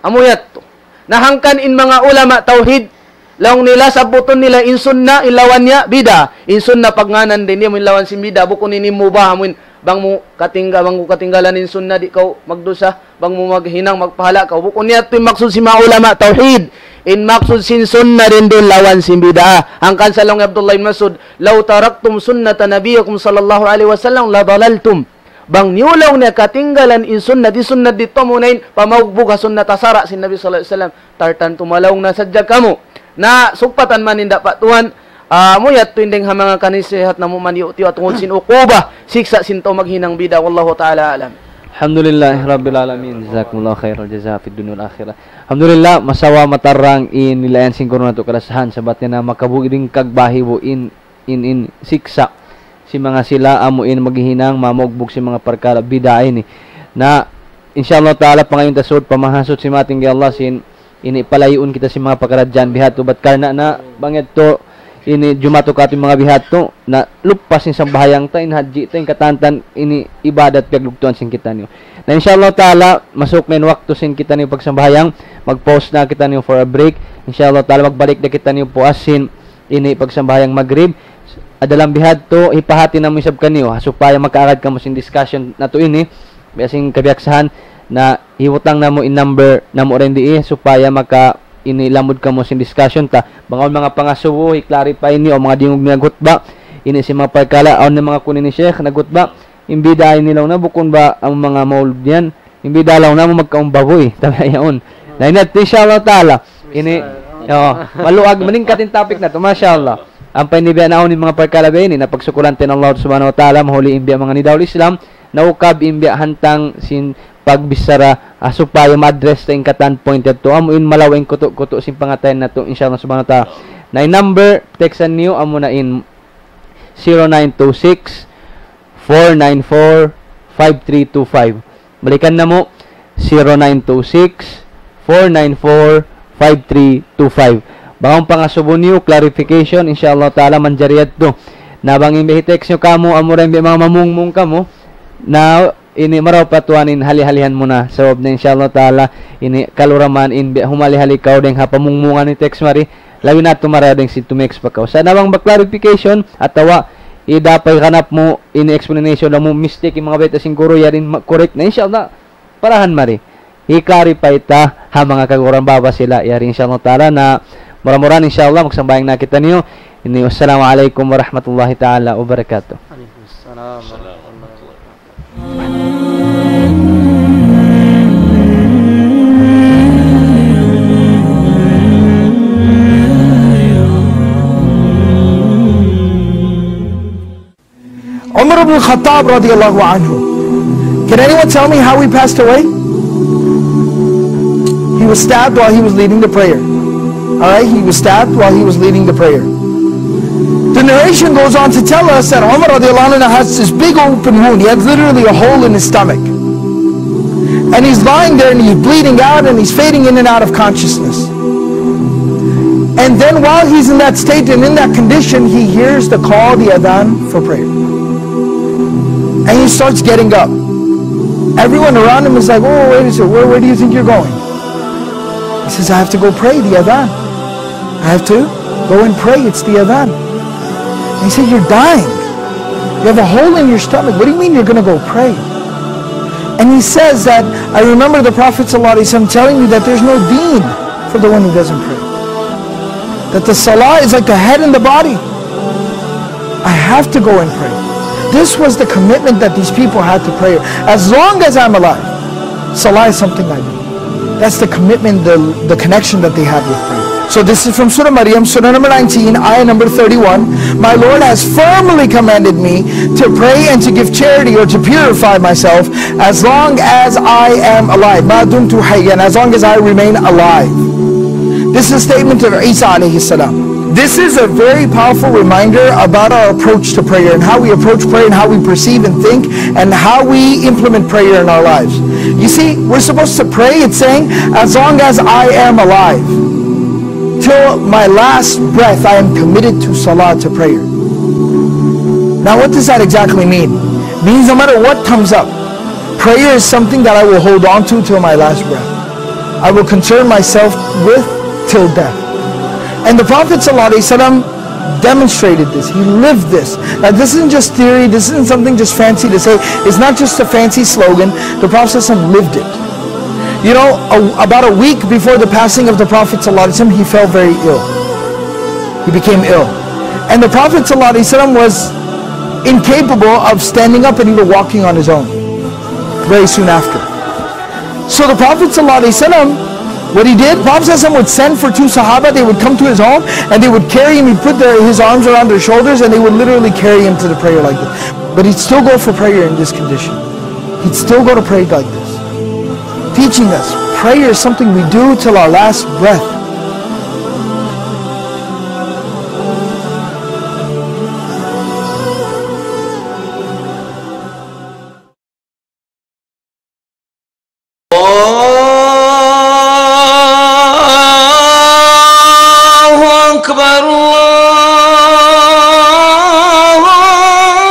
Amu yadtu. Na hangkan in manga ulama tawhid, laung nila sabbutun nila in sunna, in lawan niya, bid'a. In sunna pagngānan dayn di, amu in lawan sin bid'a, bukun ini mubah, amu in bang mu katingga-, bang mu katinggalan in sunna, di' kaw magdusa, bang mu maghinang, magpahala' kaw. Bukun yadtu in maksud sin manga ulama tawhid. In maksud sin sunna dayn duun lawan sin bid'a. Hangkan sa laung hi Abdullah ibn Mas'ud, "لو تركتم سنة نبيكم صلى الله عليه وسلم لضللتم." Bang niyu laung niya katinggalan in sunnat, in sunnat didtu amuna in pamaugbug ha sunnat ha sara' sin Nabi sallallahu alayhi wasallam, tartantu malaung na sadja kamu. Na sugpatan man in da pa tuwan, ah, amu yadtu in dayng ha manga kanasihat namu' man yu' tiyu' tungud sin uquba, siksa' sin tau maghinang bid'a. Wallahu ta'ala a'lam. Alhamdulillah Rabbil Alamin. Jazakumullahu khairal jaza fid dunya wal akhirah. Alhamdulillah, masawa matarang in nilayan sin guru natu' kalasahan, sabab niya na makabugi' dayn kagbahi bu in in, in siksa' sin manga sila amu in maghihinang mamaugbug sin manga parkala' bid'a ini. Na, insha Allah Ta'ala, pangayuun ta sud, pamahasut sin mating kay Allah sin ini palayuun kita sin manga pakaradjaan bihadtu, bat karna' na bang yadtu ini jumatu katu' manga bihadtu, na lupas in sambahayang ta, in hadji ta, in katantan, ini ibadat piyaglugtuan sin kitaniyu. Na, insha Allah Ta'ala, masuk na in waktu sin kitaniyu pagsambahayang, mag-pause na kitaniyu for a break. Insha Allah Ta'ala, magbalik na kitaniyu puas sin ini pagsambahayang Magrib. Dalam bihadtu, hipahati namu' isab kaniyu, ha, supaya makaagad kamu sin discussion natu' ini, biya' sin kabiyaksahan, na hibutang namu' in number namu' dayn di, supaya maka ini lamud kamu sin discussion ta. Bang awn manga pangasubu, hi-clarify niyu, awn manga dingug niya gutba, ini sin manga parkala', awn na manga kunu' ini Sheikh na gutba, in bid'a ini laung na bukun ba amu manga maulud yan, in bid'a laung na amu magkaumbabuy, tabi' yaun. Na ini, insha Allah Ta'ala, ini, o, maluag, maningkat in topic natu', masha Allah. Ampa ini biya' na awn in manga parkala' biya' ini, na pagsukulan ta in Allah Subhanahu wa Ta'ala, mahuli in biya' manga nidawul Islam, naukab in biya' hantang sin pagbichara, ah, supaya ma-address ta in katan point yadtu, amu in malawa' in kutu'-kutu' sin pangatayan natu', insha Allah Subhanahu wa Ta'ala. Na in number, text niyu, amu na in zero nine two six, four nine four, five three two five. Balikan namu', zero nine two six, four nine four, five three two five. Bang awn pangasubu niyu, clarification, insha Allah Ta'ala, manjari yadtu. Na bang in biya' hi-text niyu kamu, amura in biya' manga mamungmung kamu, na ini marayaw pa tuwan in hali-halihan mu na. Sabab na insha Allah Ta'ala, ini kaluraman in biya' humali-hali kaw dayng ha pamungmungan in text mari, labi na tu marayaw dayng sin tumext pa kaw. Sa' na bang ba clarification, atawa ida pa higanap mu ini explanation, laung mu mistake in manga bayta' sin guru, yari in ma-, correct na, insha Allah, parahan mari. Hi-clarify ta ha manga kaguran baba sila, yari, insha Allah Ta'ala, na mura-murahan, insha Allah, magsambahayang na kitaniyu. Ini, wassalamu alaykum warahmatullahi ta'ala wabarakatuh. Alaykum assalam warahmatullahi wabarakatuh. Umar ibn Khattab radiallahu anhu. Can anyone tell me how he passed away? He was stabbed while he was leading the prayer. All right, he was stabbed while he was leading the prayer. The narration goes on to tell us that Umar radiallahu anhu has this big open wound. He had literally a hole in his stomach. And he's lying there and he's bleeding out and he's fading in and out of consciousness. And then while he's in that state and in that condition, he hears the call, the adhan for prayer. And he starts getting up. Everyone around him is like, "Oh, wait a second, where, where do you think you're going?" He says, "I have to go pray the adhan. I have to Go and pray, it's the adhan. And he said, "You're dying. You have a hole in your stomach. What do you mean you're going to go pray?" And he says that, "I remember the Prophet sallallahu alaihi wasallam telling me that there's no deen for the one who doesn't pray. That the salah is like the head and the body. I have to go and pray." This was the commitment that these people had to prayer. "As long as I'm alive, salah is something I do." That's the commitment, the, the connection that they had with prayer. So this is from Surah Maryam, Surah number nineteen, ayah number thirty-one. "My Lord has firmly commanded me to pray and to give charity or to purify myself as long as I am alive. ما دمت حيا, as long as I remain alive." This is a statement of Isa alayhi salam. This is a very powerful reminder about our approach to prayer and how we approach prayer and how we perceive and think and how we implement prayer in our lives. You see, we're supposed to pray, it's saying, "As long as I am alive, till my last breath, I am committed to salah, to prayer." Now, what does that exactly mean? Means no matter what comes up, prayer is something that I will hold on to till my last breath. I will concern myself with till death. And the Prophet sallallahu alaihi wasallam demonstrated this. He lived this. Now, this isn't just theory. This isn't something just fancy to say. It's not just a fancy slogan. The Prophet sallallahu alaihi wasallam lived it. You know, a, about a week before the passing of the Prophet sallallahu alaihi wasallam, he fell very ill. He became ill. And the Prophet sallallahu alaihi wasallam was incapable of standing up and even walking on his own very soon after. So the Prophet sallallahu alaihi wasallam, what he did, Prophet sallallahu alaihi wasallam would send for two sahaba, they would come to his home, and they would carry him, he'd put their, his arms around their shoulders, and they would literally carry him to the prayer like this. But he'd still go for prayer in this condition. He'd still go to pray like this. Teaching us, prayer is something we do till our last breath. الله أكبر، الله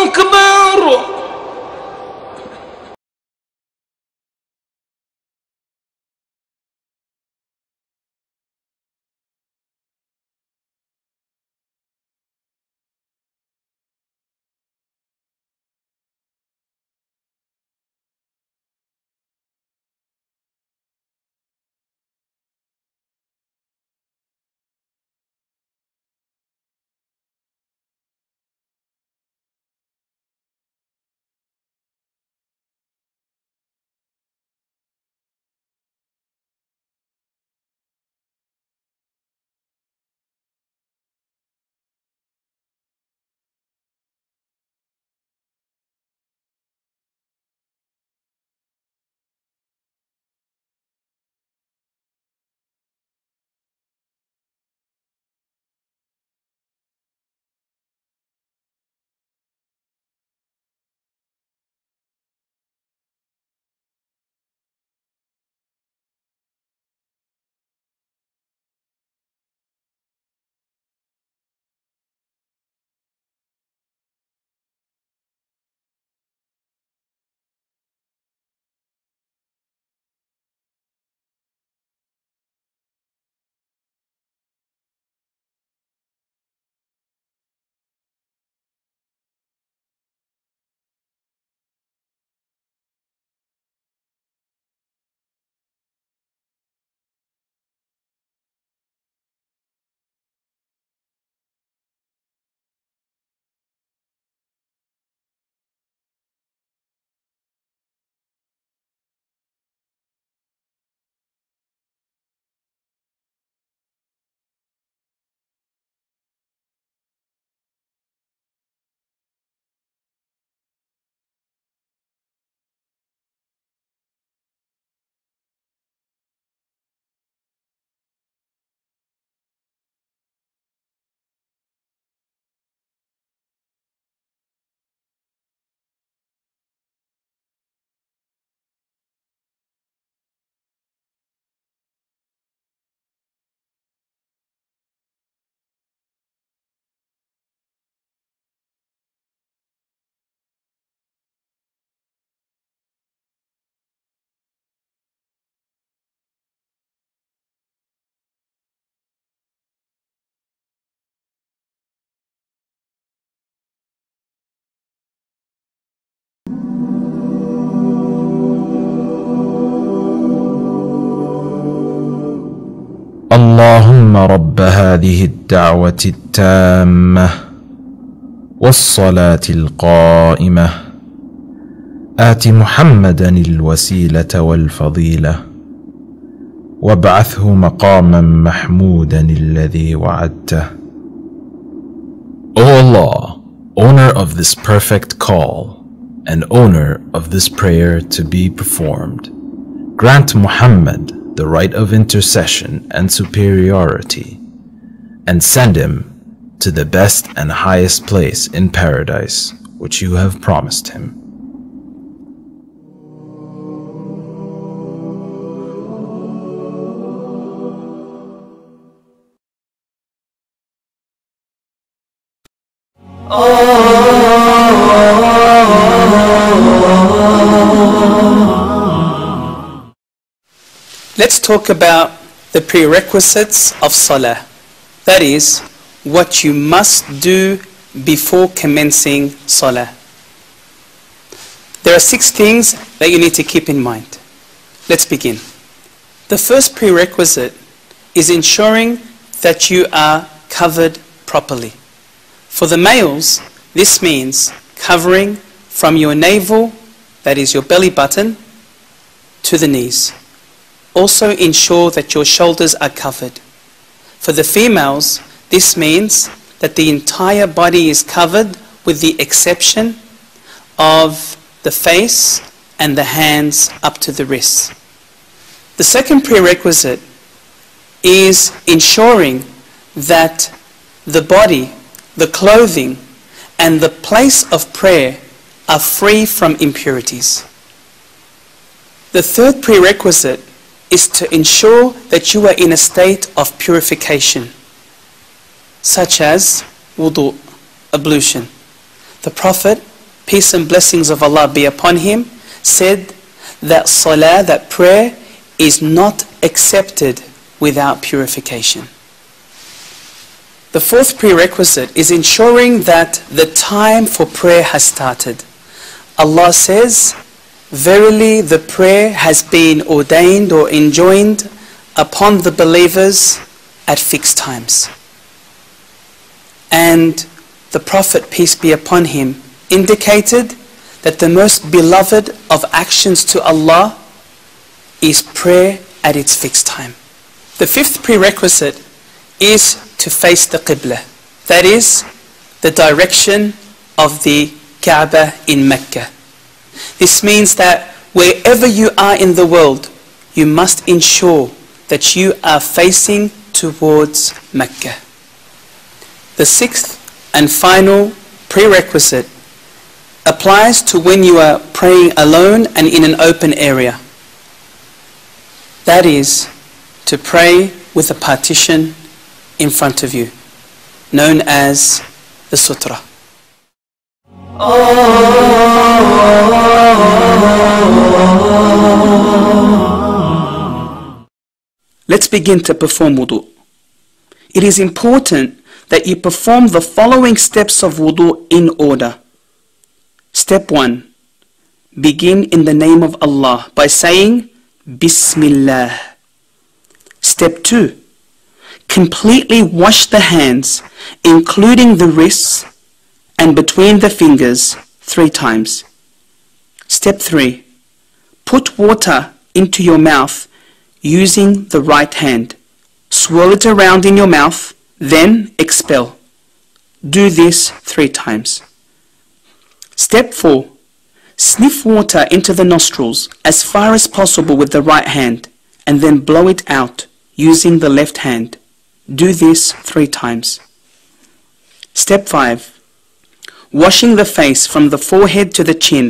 أكبر. اللهم رب هذه الدعوة التامة والصلاة القائمة، آت محمدا الوسيلة والفضيلة، وابعثه مقاما محمودا الذي وعدته. O Allah, owner of this perfect call, and owner of this prayer to be performed, grant Muhammad the right of intercession and superiority, and send him to the best and highest place in paradise which you have promised him. Let's talk about the prerequisites of Salah. That is, what you must do before commencing Salah. There are six things that you need to keep in mind. Let's begin. The first prerequisite is ensuring that you are covered properly. For the males, this means covering from your navel, that is your belly button, to the knees. Also ensure that your shoulders are covered. For the females, this means that the entire body is covered with the exception of the face and the hands up to the wrists. The second prerequisite is ensuring that the body, the clothing, and the place of prayer are free from impurities. The third prerequisite is to ensure that you are in a state of purification, such as wudu, ablution. The Prophet, peace and blessings of Allah be upon him, said that salah, that prayer, is not accepted without purification. The fourth prerequisite is ensuring that the time for prayer has started. Allah says, "Verily, the prayer has been ordained or enjoined upon the believers at fixed times." And the Prophet, peace be upon him, indicated that the most beloved of actions to Allah is prayer at its fixed time. The fifth prerequisite is to face the Qibla, that is, the direction of the Kaaba in Mecca. This means that wherever you are in the world, you must ensure that you are facing towards Mecca. The sixth and final prerequisite applies to when you are praying alone and in an open area. That is, to pray with a partition in front of you, known as the sutra. Let's begin to perform wudu. It is important that you perform the following steps of wudu in order. Step one, begin in the name of Allah by saying, "Bismillah." Step two, completely wash the hands, including the wrists and between the fingers, three times. Step three, put water into your mouth using the right hand. Swirl it around in your mouth, then expel. Do this three times. Step four, sniff water into the nostrils as far as possible with the right hand, and then blow it out using the left hand. Do this three times. Step five, washing the face from the forehead to the chin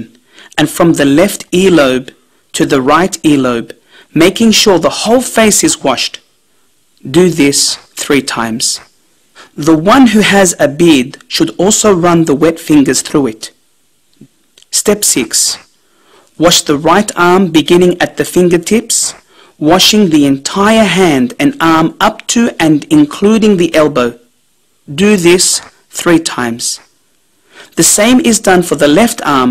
and from the left earlobe to the right earlobe, making sure the whole face is washed. Do this three times. The one who has a beard should also run the wet fingers through it. Step six, wash the right arm beginning at the fingertips, washing the entire hand and arm up to and including the elbow. Do this three times. The same is done for the left arm,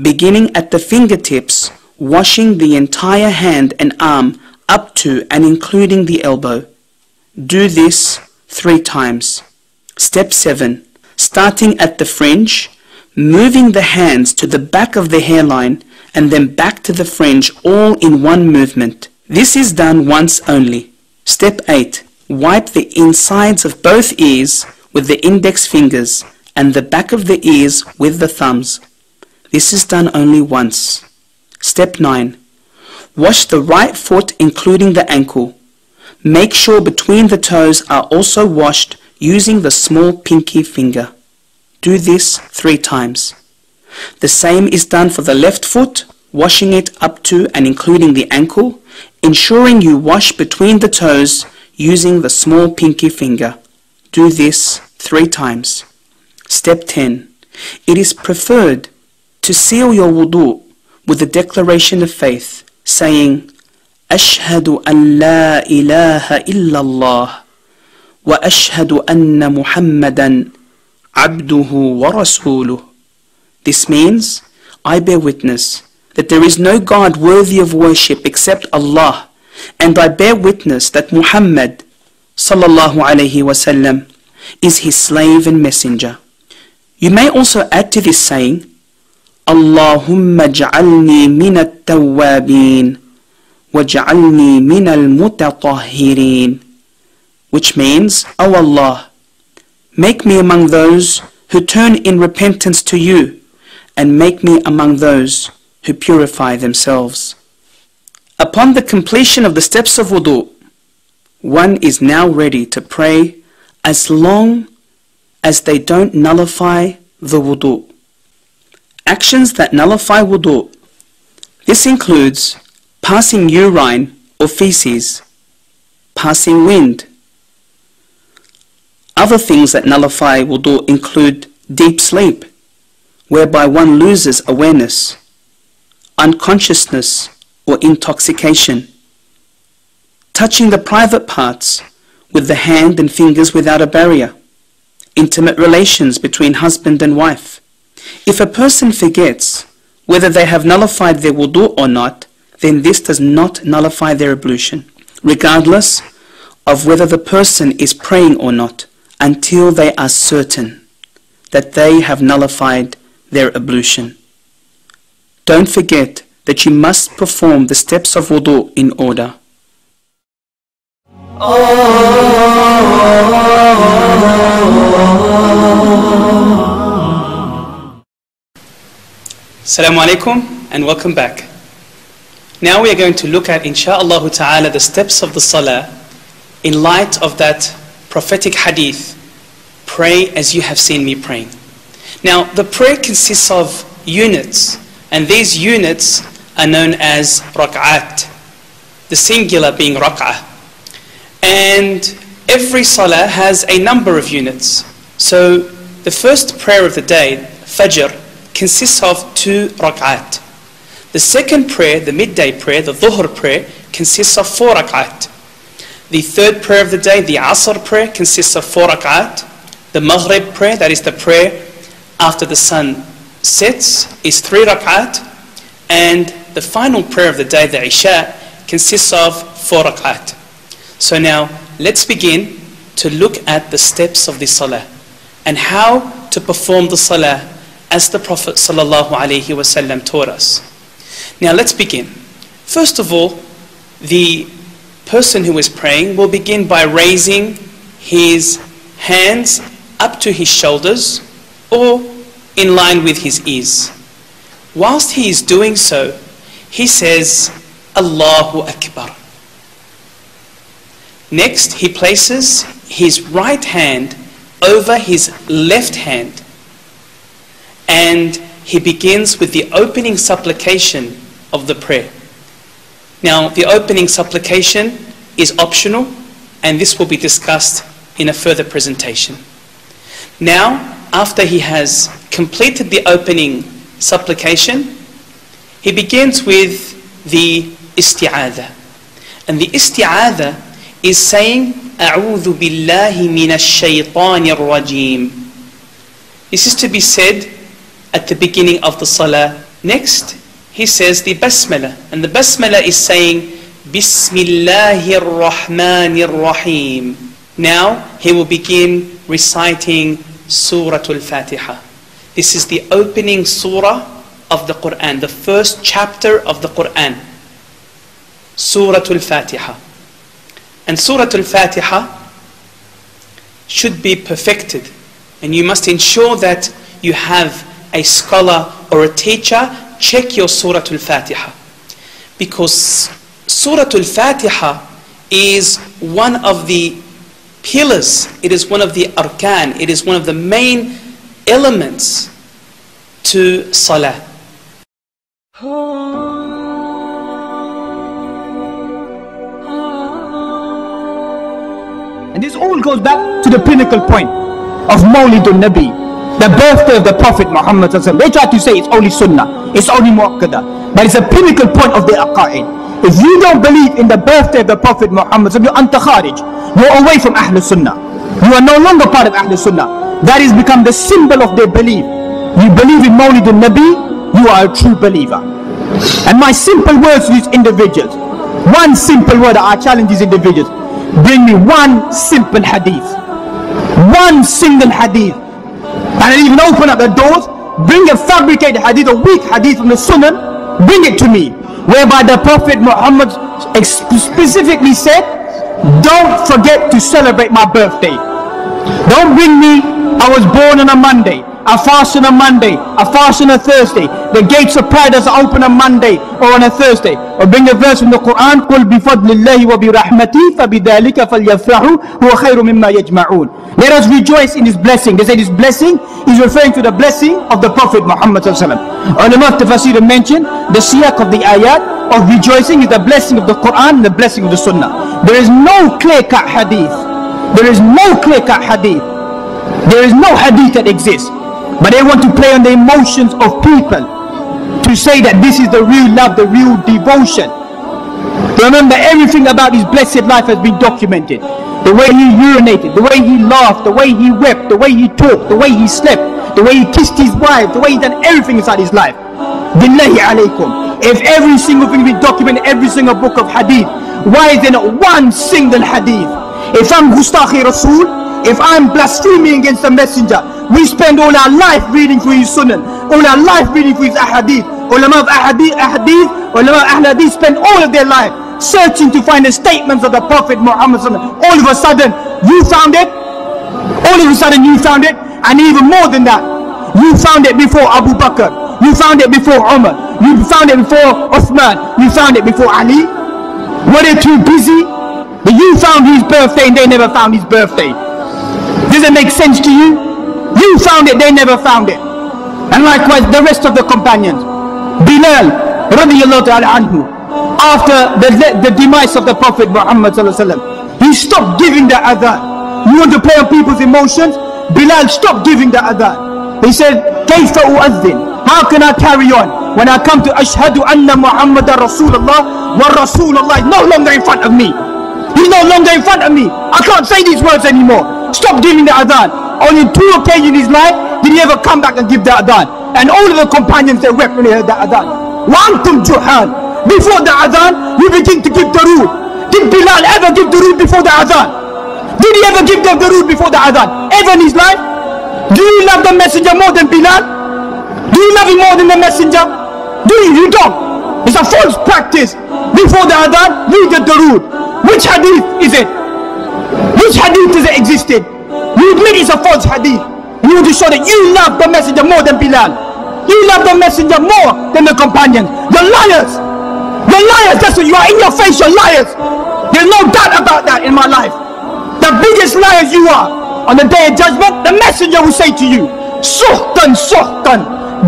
beginning at the fingertips, washing the entire hand and arm up to and including the elbow. Do this three times. Step seven. Starting at the fringe, moving the hands to the back of the hairline and then back to the fringe, all in one movement. This is done once only. Step eight. Wipe the insides of both ears with the index fingers and the back of the ears with the thumbs. This is done only once. Step nine. Wash the right foot, including the ankle. Make sure between the toes are also washed using the small pinky finger. Do this three times. The same is done for the left foot, washing it up to and including the ankle, ensuring you wash between the toes using the small pinky finger. Do this three times. Step ten. It is preferred to seal your wudu with the declaration of faith, saying, أشهد أن لا إله إلا الله وأشهد أن محمدا عبده ورسوله. This means, I bear witness that there is no God worthy of worship except Allah, and I bear witness that Muhammad صلى الله عليه وسلم is his slave and messenger. You may also add to this saying, اللهم اجعلني من التوابين واجعلني من المتطهرين, which means, O Allah, make me among those who turn in repentance to you, and make me among those who purify themselves. Upon the completion of the steps of wudu, one is now ready to pray as long as they don't nullify the wudu. Actions that nullify wudu. This includes passing urine or feces, passing wind. Other things that nullify wudu include deep sleep, whereby one loses awareness, unconsciousness or intoxication, touching the private parts with the hand and fingers without a barrier, intimate relations between husband and wife. If a person forgets whether they have nullified their wudu or not, then this does not nullify their ablution, regardless of whether the person is praying or not, until they are certain that they have nullified their ablution. Don't forget that you must perform the steps of wudu in order. Assalamu alaikum and welcome back. Now we are going to look at, insha'Allah ta'ala, the steps of the salah in light of that prophetic hadith, "Pray as you have seen me praying." Now, the prayer consists of units, and these units are known as rak'at, the singular being rak'ah. And every salah has a number of units. So the first prayer of the day, Fajr, consists of two rak'at. The second prayer, the midday prayer, the Dhuhr prayer, consists of four rak'at. The third prayer of the day, the Asr prayer, consists of four rak'at. The Maghrib prayer, that is the prayer after the sun sets, is three rak'at. And the final prayer of the day, the Isha, consists of four rak'at. So now, let's begin to look at the steps of the salah and how to perform the salah as the Prophet sallallahu alaihi wasallam taught us. Now, let's begin. First of all, the person who is praying will begin by raising his hands up to his shoulders or in line with his ears. Whilst he is doing so, he says, "Allahu Akbar." Next, he places his right hand over his left hand and he begins with the opening supplication of the prayer. Now, the opening supplication is optional, and this will be discussed in a further presentation. Now, after he has completed the opening supplication, he begins with the isti'adha. And the isti'adha is saying, "أعوذ بالله من الشيطان الرجيم." This is to be said at the beginning of the salah. Next, he says the basmala, and the basmala is saying, "بسم الله الرحمن الرحيم." Now he will begin reciting Surah Al-Fatiha. This is the opening surah of the Quran, the first chapter of the Quran, Surah Al-Fatiha. And Surah Al-Fatiha should be perfected, and you must ensure that you have a scholar or a teacher check your Surah Al-Fatiha, because Surah Al-Fatiha is one of the pillars, it is one of the arkan, it is one of the main elements to salah. And this all goes back to the pinnacle point of Mawlidun Nabi, the birthday of the Prophet Muhammad صلى الله عليه وسلم. They try to say it's only Sunnah, it's only Muakkada, but it's a pinnacle point of the Aqaid. If you don't believe in the birthday of the Prophet Muhammad صلى الله عليه وسلم, you're أنت خارج, you're away from Ahlus Sunnah. You are no longer part of Ahlus Sunnah. That has become the symbol of their belief. You believe in Mawlidun Nabi, you are a true believer. And my simple words to these individuals, one simple word I challenge these individuals, bring me one simple hadith. One single hadith. And I even open up the doors, bring a fabricated hadith, a weak hadith from the Sunan, bring it to me. Whereby the Prophet Muhammad ex- specifically said, "Don't forget to celebrate my birthday." Don't bring me, "I was born on a Monday, I fast on a Monday, I fast on a Thursday, the gates of paradise are open on Monday or on a Thursday." Or bring a verse from the Quran, "قل بفضل الله وبرحمته فبذلك فليفرحوا هو خير مما يجمعون." Let us rejoice in his blessing. They said his blessing is referring to the blessing of the Prophet Muhammad صلى الله عليه وسلم. Ulama of tafsir mention the siyaq of the ayat of rejoicing is the blessing of the Quran and the blessing of the Sunnah. There is no clear-cut hadith. There is no clear-cut hadith. There is no hadith that exists. But they want to play on the emotions of people to say that this is the real love, the real devotion. Remember, everything about his blessed life has been documented. The way he urinated, the way he laughed, the way he wept, the way he talked, the way he slept, the way he kissed his wife, the way he done everything inside his life. بالله عليكم. If every single thing we document, every single book of hadith, why is there not one single hadith? If I'm Gustaqi Rasul, if I'm blaspheming against the messenger, we spend all our life reading through his sunan, all our life reading through his ahadith. Ulama of ahadith, ahadith, ulama of ahl hadith spend all of their life searching to find the statements of the Prophet Muhammad صلى الله عليه وسلم. All of a sudden, you found it. All of a sudden, you found it. And even more than that, you found it before Abu Bakr. You found it before Umar. You found it before Uthman. You found it before Ali. Were they too busy? That you found his birthday and they never found his birthday. Does it make sense to you? You found it, they never found it. And likewise, the rest of the companions. Bilal, رضي الله تعالى عنه, after the, the demise of the Prophet Muhammad صلى الله عليه وسلم, he stopped giving the adhan. You want to play on people's emotions? Bilal stopped giving the adhan. He said, "كيف أؤذن? How can I carry on when I come to أشهد أن محمدا رسول الله ورسول الله is no longer in front of me? He's no longer in front of me. I can't say these words anymore." Stop giving the adhan. Only two occasions in his life did he ever come back and give the adhan. And all of the companions, they wept when they heard the adhan. وأنتم جهال. Before the adhan, you begin to give the rule. Did Bilal ever give the rule before the adhan? Did he ever give the, the rule before the adhan? Ever in his life? Do you love the messenger more than Bilal? Do you love him more than the messenger? Do you? You don't. It's a false practice. Before the adhan, you get the rule. Which hadith is it? Which hadith is it existed? You admit it's a false hadith. You want to show that you love the messenger more than Bilal. You love the messenger more than the companions. You're liars. You're liars. That's what you are. In your face, you're liars. There's no doubt about that in my life. The biggest liars you are. On the day of judgment, the messenger will say to you, سحقا سحقا.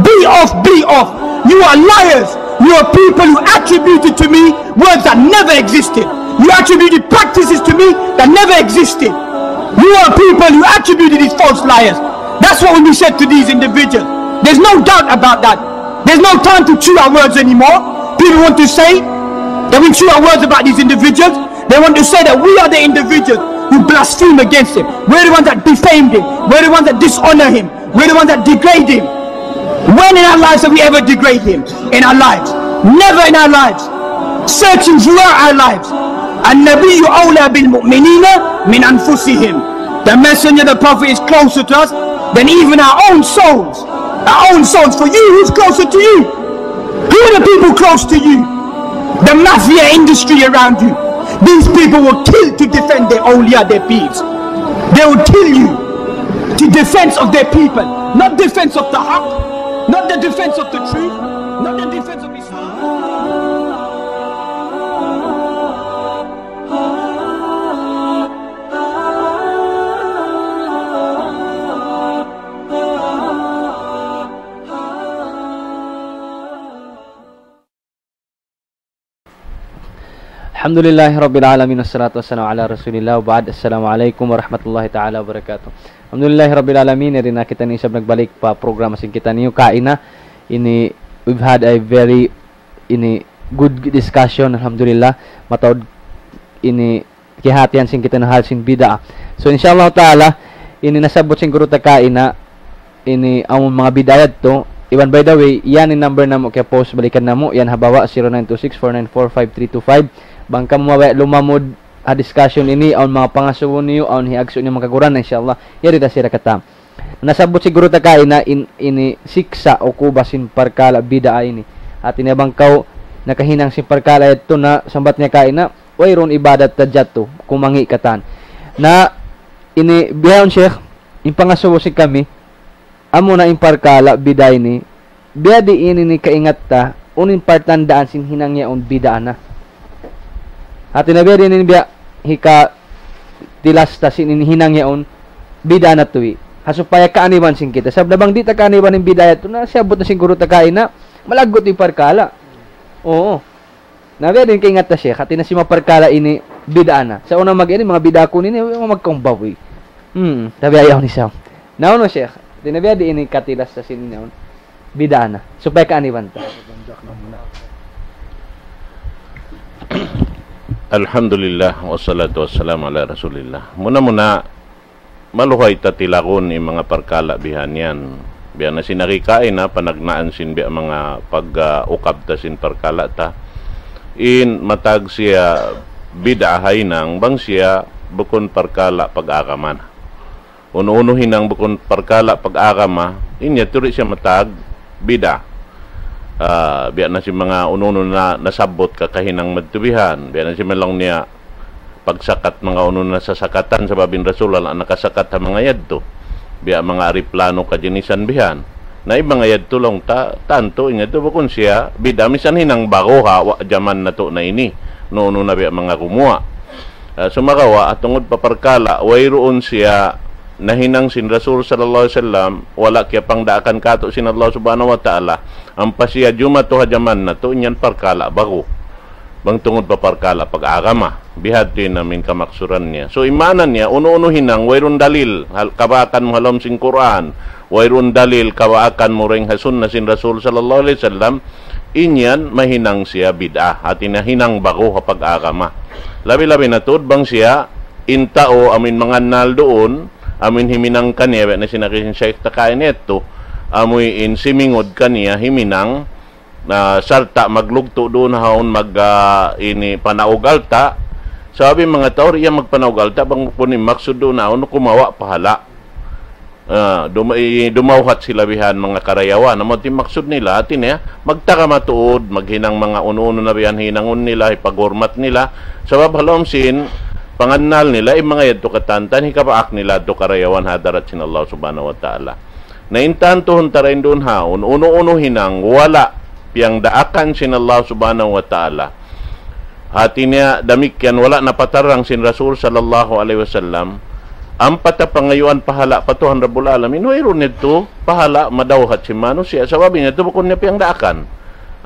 Be off, be off. You are liars. You are people who attributed to me words that never existed. You attributed practices to me that never existed. You are people who attributed these false liars. That's what will be said to these individuals. There's no doubt about that. There's no time to chew our words anymore. People want to say that we chew our words about these individuals. They want to say that we are the individuals who blaspheme against him. We're the ones that defame him. We're the ones that dishonor him. We're the ones that degrade him. When in our lives have we ever degraded him? In our lives. Never in our lives. Searching throughout our lives. النبي أولى بالمؤمنين من أنفسهم. The messenger, the prophet, is closer to us than even our own souls. Our own souls. For you, who's closer to you? Who are the people close to you? The mafia industry around you. These people will kill to defend their awliya, their peers. They will kill you to defense of their people, not defense of the haqq, not the defense of the truth, not the defense of Islam. Alhamdulillahi Rabbil Alamin, wassalatu wassalamu ala Rasulillah, wa ba'd. Assalamu alaikum warahmatullahi ta'ala wabarakatuh. Alhamdulillahi Rabbil Alamin, yari na kita ini isab nagbalik pa programa sin kitaniyu kaina. Ini, we've had a very, ini, good discussion, alhamdulillah. Mataud ini kiyahatihan sin kitaniyu hal sin bid'ah. So, insha Allah ta'ala, ini nasabbut sin guru ta kaina, ini amun manga bid'ah yadtu. Iban, by the way, yan in number namu' kiya-post, balikan namu', yan ha bawa, zero nine two six four nine four five three two five. Bang kamu mabaya' lumamud ha discussion ini, awn manga pangasubu niyu, awn hiagsu' niyu manga kaguran, insha Allah, yari da sira katan. Nasabbut sin guru ta kaina in, ini siksa' ukuba sin parkala' bid'ah ini. Hati niya bang kaw nakahinang sin parkala' yadtu na sambat niya kaina, wayruun ibadat ta jatu, kumangi' katan. Na ini bihaun, Sheikh, in pangasubu sin kami, amuna in parkala' bid'ah ini, biya' diin ini kaingat ta, unu in partandaan sin hinang yaun bid'ah na. Hati niya biya' diin ini biya' hikatilas ta sin ini hinang yaun bid'ah na tuwi. Ha supaya kaaniban sin kita. Sabab na bang di' ta kaaniban in bid'ah yadtu na, siyabbut na sin guru ta kaina, malaggu' in parkala'. Oo. Na biya' diin kaingat ta, Sheikh, hati niya sin manga parkala' ini bid'ah na. Sa' unu mag-, ini manga bid'ah kunu' ini, manga magkaumbaw, eh. Hmm, tabi ayaw ni Sam. Na unu, Sheikh, hati niya biya' diin ini katilas ta sin ini, bid'ah na. Supaya kaaniban ta. Alhamdulillah, wassalatu wassalamu ala Rasulillah. Muna-muna, maluhay ta tilagun in manga parkala' bihan yan. Biya' na sin ari kaina, panagnaan sin biya' manga pag-, ah, ukab ta sin parkala' ta. In matag siya bid'ah ha hinang, bang siya bukun parkala' pag-agama na. Unu-unu hinang bukun parkala' pag-agama, in yadtu di' siya matag bid'ah. Ah, biya' na sin manga unu-unu na nasabbut kakahinang madtu bihan, biya' na sin manga laung niya, pagsakat manga unu na sasakatan, sabab in Rasul wala' nakasakat ha manga yadtu. Biya' manga ariplano kajinisan bihan. Na in manga yadtu laung ta, tantu in yadtu bukun siya bid'ah, misan hinang baru ha wa-, jaman natu' na ini. Unu-unu na biya' manga gumuwa'. Ah, sumagawa', ah, tungud pa parkala', wayruun siya nahinang sin Rasul sallallahu alayhi wasallam, wala' kiyapangdaakan katu' sin Allah Subhanahu wa Ta'ala, ampa siya jumatu ha jaman natu', in yan parkala' baru. Bang tungud pa parkala' pag-agama, bihadtu in amin kamaksuran niya. So, in maana niya, unu-unu hinang, wayruun dalil, hal-, kabaakan mu ha lawm sin Qur'an, wayruun dalil, kabaakan mu dayn ha sunna sin Rasul sallallahu alayhi wasallam, in yan mahinang siya bid'ah, hati niya hinang baru ha pag-agama. Labi-labi na tuud bang siya, in tau amuin mangannal duun, amuin himinang kaniya, biya' na sin agi sin Shaykh ta kaina yadtu, amuin simingud kaniya himinang, na sarta' maglugtu' duun ha yaun mag, ah, ini panaug alta'. Sabab in manga tau di' yan magpanaug alta', bang bukun in maksud duun ha yaun kumawa' pahala'. Ah, dum-, i-, dumawhat sila bihan manga karayawan. Amu in maksud nila, hati niya, magtagama tuud, maghinang manga unu-unu na bihan hinangun nila, hipagurmat nila. Sabab ha lawm sin pangannal nila, in manga yadtu katan, hikabaak nila yadtu karayawan ha hadarat sin Allah Subhanahu wa Ta'ala. Na in tantu hunta dayn duun ha yaun, unu-unu hinang, wala' piyangdaakan sin Allah Subhanahu wa Ta'ala. Hati niya damikkiyan wala' napatarrang sin Rasul sallallahu alayhi wasallam, ampa ta pangayuan pahala' pa Tuhan Rabbul Alamin, wayruun yadtu pahala' madawhat sin manusiya', sabab in yadtu bukun niya piyangdaakan.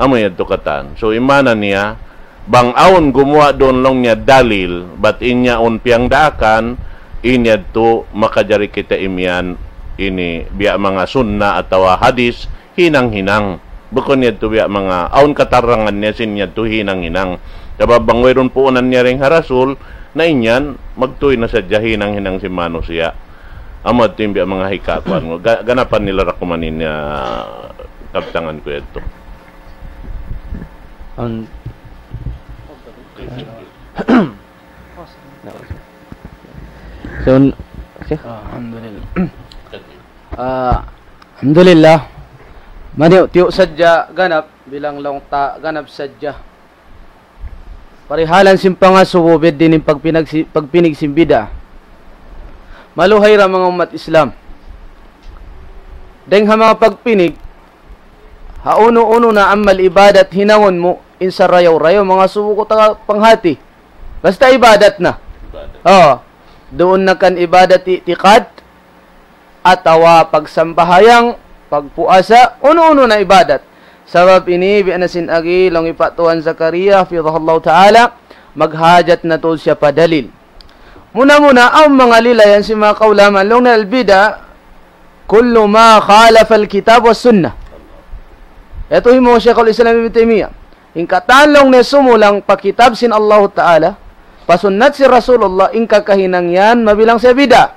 Amu yadtu katan. So, in maana niya, bang awn gumuwa' duun laung niya dalil, bat in yaun piyangdaakan, in yadtu makajari kita imiyan ini biya' manga sunna atawa hadis, hinang-hinang. Bukun yadtu biya' manga awn katarrangan niya sin yadtu hinang-hinang. Sabab bang wayruun puunan niya dayn ha Rasul, na in yan, magtuy na sadja hinang-hinang sin manusiya'. Amu yadtu in biya' manga hikakuan. Ga-, ganapan nila ra kuman in, ah, kabtangan ku yadtu. Awn, So, Sheikh? Alhamdulillah. Ah, alhamdulillah. Maniyu'-tiyu' sadja ganap, bilang laung ta ganap sadja. Parihalan sin pangasubu, biya' diin in pagpinag-, pagpinig sin bid'a. Maluhay ra manga ummat Islam. Dayng ha manga pagpinig, ha unu-unu na amal ibadat hinangun mu, in sarayaw-rayaw, mangasubu kaw ta panghati. Basta ibadat na. Ibadat. Oh, duun na kan ibadat i'tiqad, atawa pagsambahayang, pagpuasa, unu-unu na ibadat. Sabab ini, biya' na sin agi, laung hi Pa' Tuan Zakaria, hafidhahullahu ta'ala, maghajat na tuud siya pa dalil. Muna-muna, awn manga lilayan sin manga kaulamaan, laung niya al-bid'a, kullu ma khalafa al-kitab wa sunnah. Yadtu hi Shaykhul Islam Ibn Taymiyyah. In katan laung niya sumulang pa kitab sin Allahu Ta'ala, pa sunnat sin Rasulullah, in kakahinang yan, mabilang siya bid'a.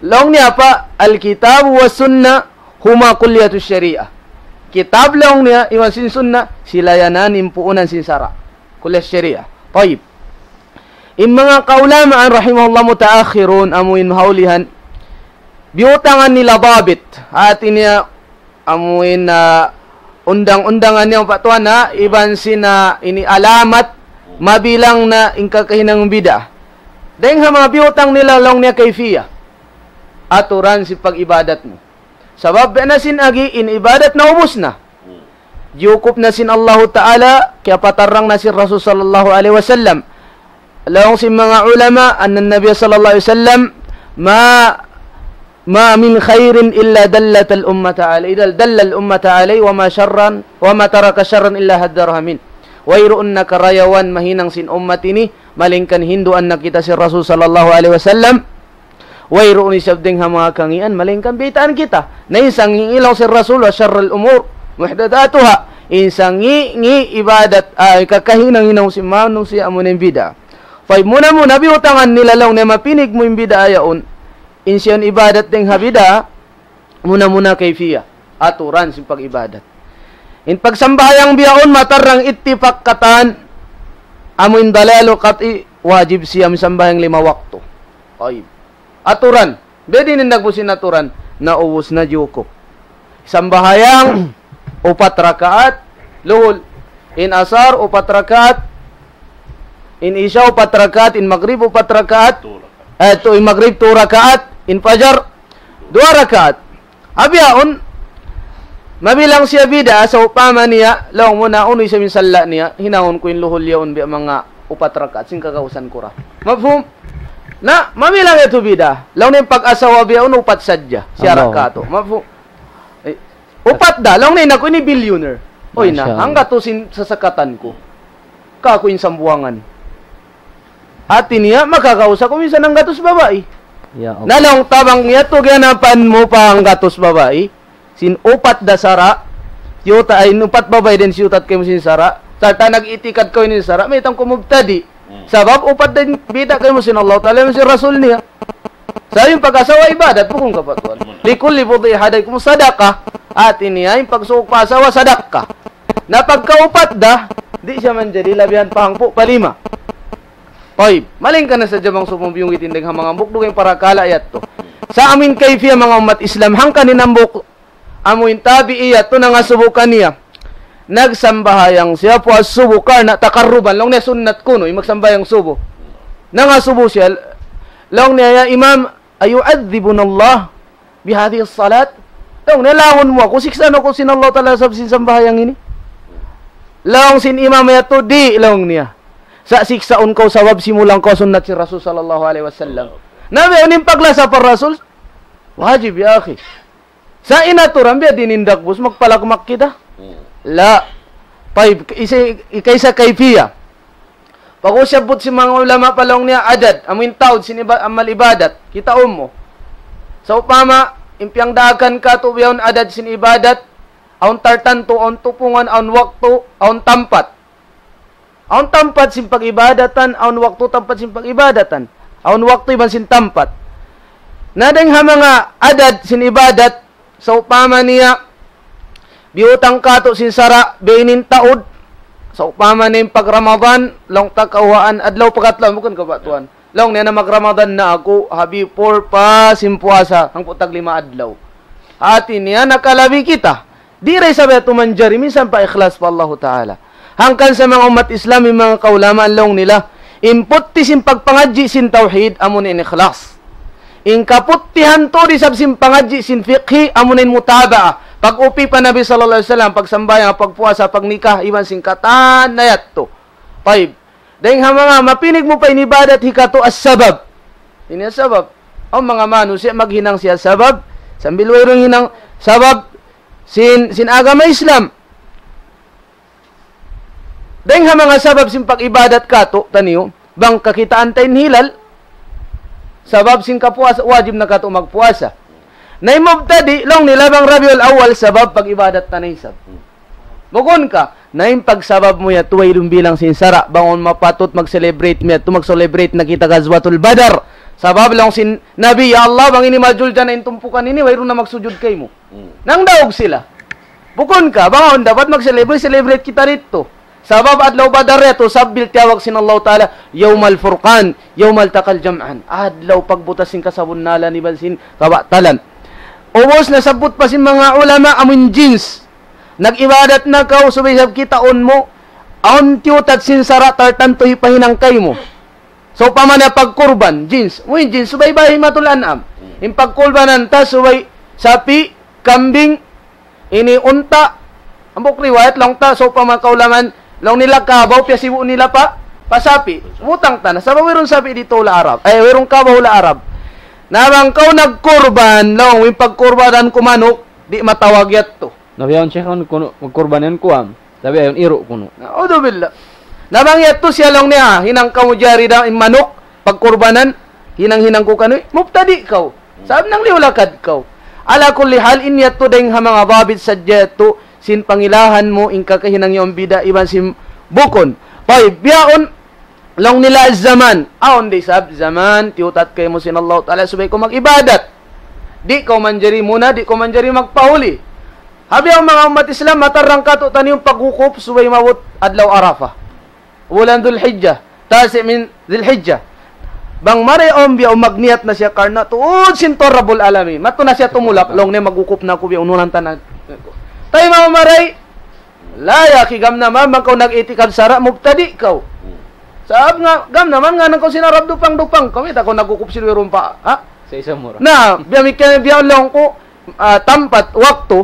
Laung niya pa, al-kitab wa sunnah huma kulliyatu shariah. Kitab laung niya, iban sin sunnah, sila yan in puunan sin sara'. Kulliyat shariah. Tayyib. In manga kaulamaan rahimahullah mutaakhirun, amuin mahaulihan, biyutangan nila dabit. Hati niya, amuin, ah, undang-undangan niya, Pa' Tuan, ha, iban sin, ah, ini alamat, mabilang na in kakahinang bid'a. Dayng ha manga biyutang nila laung niya kayfiyah. Aturan sin pag-ibadat mu. Sabab biya' na sin agi, in ibadat na ubus na. Jiyukup na sin Allahu Ta'ala, kiyapatarrang na sin Rasul sallallahu alayhi wasallam. Laung sin manga ulama, anna Nabi sallallahu alayhi wasallam, ma, ma min khairin illa dallatal ummata alayhi, dal-, dallal ummata alayhi, wa ma sharran, wa ma taraka sharran illa haddaraha min. Wayruun na karayawan mahinang sin ummat ini, malayngkan hinduan na kita sin Rasul sallallahu alayhi wasallam. Wayruun isab dayng ha manga kangīan, malayngkan biyaytaan kita. Na in sangī' laung sin Rasul, wa sharral umur muhdathatuha. In sangī'-ngī' ibadat, ah, kakahinang-hinang sin manusiya' amu na in bid'a. Fa muna-muna biyutangan nila laung niya mapinig mu in bid'a yaun. In siya in ibadat dayng ha bid'a, muna-muna kayfiyah, aturan sin pag-ibadat. In pagsambahayang bihaun matarrang ittifak katan, amu in dalalu qat'i, wajib siya sambahayang lima waktu. Tayyib. Aturan. Biya' diin in dagbus sin aturan, naubus na jiyukup. Sambahayang upat rakaat, luhul. In asar, upat rakaat. In isya, upat rakaat. In magrib, upat rakaat. Two rakaat. Eh, tu, in magrib, two rakaat. In fajar, duwa rakaat. Bihaun, mabilang siya bid'a, sawpama niya, laung mu na unu isab in salla' niya, hinangun ku in luhul yaun biya' manga upat rakaat, sin kagausan ku ra. Mafhum? Na, mabilang yadtu bid'a. Laung niya in pag-asawa bihaun, upat sadja. Siya ra katu'. Mafhum? Eh, upat da, laung niya in aku ini billionaire. Uy na, hanggatus in sasakatan ku. Kaku' in Sambuwangan. Hati niya, makakausa ku minsan hanggatus babai. Ya Allah. Na laung ta bang yadtu ganapan mu pa hanggatus babai, sin upat da sara', siyuta' ay, in upat babai dayn siyuta' kaymu sin sara', sarta' nag-itikad kaw ini sara', mayta' kaw mubtadi'. Hmm. Sabab upat da in bida' kaymu sin Allah Ta'ala, sin Rasul niya. Sa' in pag-asawa ibadat, bukun ka pa tuwan. Hmm. Likulli bud'i ahadikum sadaqah. Hati niya, in pagsuuk pa asawa, sadaqah. Na pagka upat da, di' siya manjari labihan pa hangpu' pa lima. Tayyib, malayngkan na sadja bang sumubiyung itin dayng ha manga hambuuk dugaing parakala' yadtu. Sa' amuin kayfiyah manga ummat Islam, hangkan in hambuuk amuin tabi'i yadtu nangasubu kaniya. Nagsambahayang siya puas subu karna' takarruban, laung niya sunnat kunu', in magsambahayang subu. Nangasubu siya, laung niya, "Ya Imam, ayu'adhibuna Allah bihadhihi salat?" Laung niya, "Laungun mu aku, siksaan aku sin Allah Ta'ala sabab sin sambahayang ini?" Laung sin imam yadtu, "Di'," laung niya. "Sa' siksaun kaw sabab simulang kaw sunnat sin Rasul sallallahu alayhi wasallam." Na biya' ini in paglasa pa Rasul, wajib, ya akhi. Sa' in aturan biya' diin in dagbus, magpalakmak kita. Hmm. La. Tayyib, isa, ikaisa kayfiyah. Pag-usabbut sin manga ulama pa laung niya adad, amuin taud sin iba-, amal ibadat, kitaun mu. Sawpama, in piyangdaakan katu' bihaun adad sin ibadat, awn tartantu, awn tupungan, awn waktu, awn tampat. Awn tampat sin pag-ibadatan, awn waktu tampat sin pag-ibadatan. Awn waktu iban sin tampat. Na dayng ha manga adad sin ibadat, sawpama niya, biyutang katu' sin sara', biya' ini in taud, sawpama niya in pag Ramadan, laung ta kawhaan, adlaw pakatluan, bukun ka pa tuwan? Laung niya na mag-Ramadan na aku, ha before pa sin puasa, hangpu' tag lima adlaw. Hati niya nakalabi kita. Di' da isab yadtu manjari, minsan pa ikhlas pa Allahu Ta'ala. Hangkan sa manga ummat Islam, in manga kaulamaan laung nila, in putti sin pagpangadji' sin tawhid, amu na in ikhlas. In kaputtihan tuud isab sin pangadji' sin fiqhi, amu na in mutaba'a. Pag-upi pa Nabi sallallahu alayhi wasallam, pagsambahayang, pagpuasa, pagnikah, iban sin katan na yadtu. Tayyib. Dayng ha manga mapinig mu pa in ibadat hikatu as-sabab. Ini as-sabab. Awn manga manusiya' maghinang siya sabab, sambil wayruun hinang sabab sin, sin agama Islam. Dayng ha manga sabab sin pag-ibadat katu', taniyu, bang kakitaan ta in hilal, sabab sin kapuasa, wajib na katu' magpuasa. Na in mubtadi', laung nila bang Rabiul Awwal, sabab pag-ibadat ta na isab. Bukun ka, na in pagsabab mu yadtu wayruun bilang sin sara', bang awn mapatut mag-celebrate mu yadtu, mag-celebrate na kita Ghazwatul Badar. Sabab laung sin Nabi, "Ya Allah, bang ini majul dyan in tumpukan ini, wayruun na magsujud kaymu." Hmm. Nangdaug sila. Bukun ka, bang awn dapat mag-celebrate, celebrate kita didtu. Sabab adlaw Badar yadtu, sambil tiyawag sin Allahu Ta'ala, "Yawmal Furqan, yawmal taqal jam'an." Adlaw pagbutas sin kasabunnalan iban sin kabatalan. Ubus nasabbut pa sin manga ulama amun jins. Nag-ibadat na kaw, subay isab kitaun mu, awn tiyutat sin sara' tartantu hipahinang kaymu. Sawpama na pagkurban, jins. Mu in jins, subay bahimatul an'am. In pagkurbanan ta, subay sapi', kambing, ini unta. Hambuuk riwayat laung ta, sawpama kaulamaan, laung nila kabaw, piyasibu' nila pa, pa sapi'. Butang ta na. Sabab wayruun sapi' didtu hula' Arab. Ay, wayruun kabaw hula' Arab. Na bang kaw nagkurban, laung, in pagkurbanan ku manuk, di' matawag yadtu. Na biya' yaun, Sheikh, awn kunu', magkurban yan kuwan. Tabi' awn iru' kunu'. Na'udhubillah. Na bang yadtu siya laung niya, hinang kamu jari da in manuk, pagkurbanan, hinang-hinang ku kaniyu, mubtadi' kaw. Sabab nangliyu lakad kaw. Ala kulli hal, in yadtu dayng ha manga dabit sadja yadtu, sin pangilahan mu, in kakahinang yaun bida' iban sin bukun. Tayyib, bihaun, laung nila zaman. Awn da isab zaman, tiyutat kaymu sin Allahu Ta'ala, subay kaw mag-ibadat. Di' kaw manjari muna, di' kaw manjari magpahuli. Ha bihaun manga ummat Islam, matarrang katu' taniyu in pagwukup subay maabut adlaw Arafah. Bulan Dhul Hijjah, tasi' min Dhul Hijjah. Bang mari awn biya' magniyat na siya karna' tuud sin Tuhan Rabbul Alamin. Madtu na siya tumulak, laung niya magwukup na aku biya' ununan tanan. Tay mamaray, la ya akhi, gam naman, bang kaw nag-itikad sara', mubtadi' kaw. Sabab nga, gam naman, ngān kaw sin Arab dupang-dupang. Kaw, mayta' kaw nagwukup sin wayruun pa, ha? Sa isa mura. Na, biya' mikir, biya' laung ku, ah, tampat, waktu,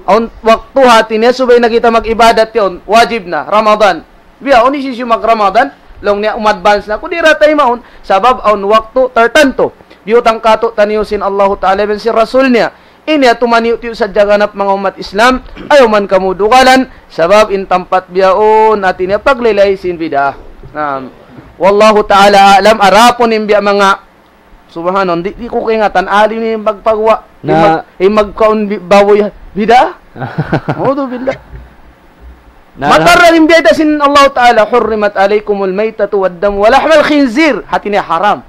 awn waktu hati niya, subay na kita mag-ibadat yaun, wajib na, Ramadan. Biya', awn hisiyu mag-Ramadan, laung niya, um-advance na, ku di' ra taymaun, sabab awn waktu tartantu. Biyutang katu' taniyu sin Allahu Ta'ala, iban sin Rasul niya. Ini atu maniyu-tiyu sadja ganap manga ummat Islam, ayaw man kamu dugalan, sabab in tampat bihaun, hati niya paglaylay sin bid'ah. Naam. Wallahu ta'ala a'lam, adapun in biya' manga, subhanallah, di', di' ku kaingatan, alim in magpaguwa', in Na- mag-, in magkaun bi-, baboy, bid'ah? A'udhu billah. Na- Matarrang in biyayta' sin Allah Ta'ala, حرمت عليكم الميتة والدم ولحم الخنزير. Hati niya haram.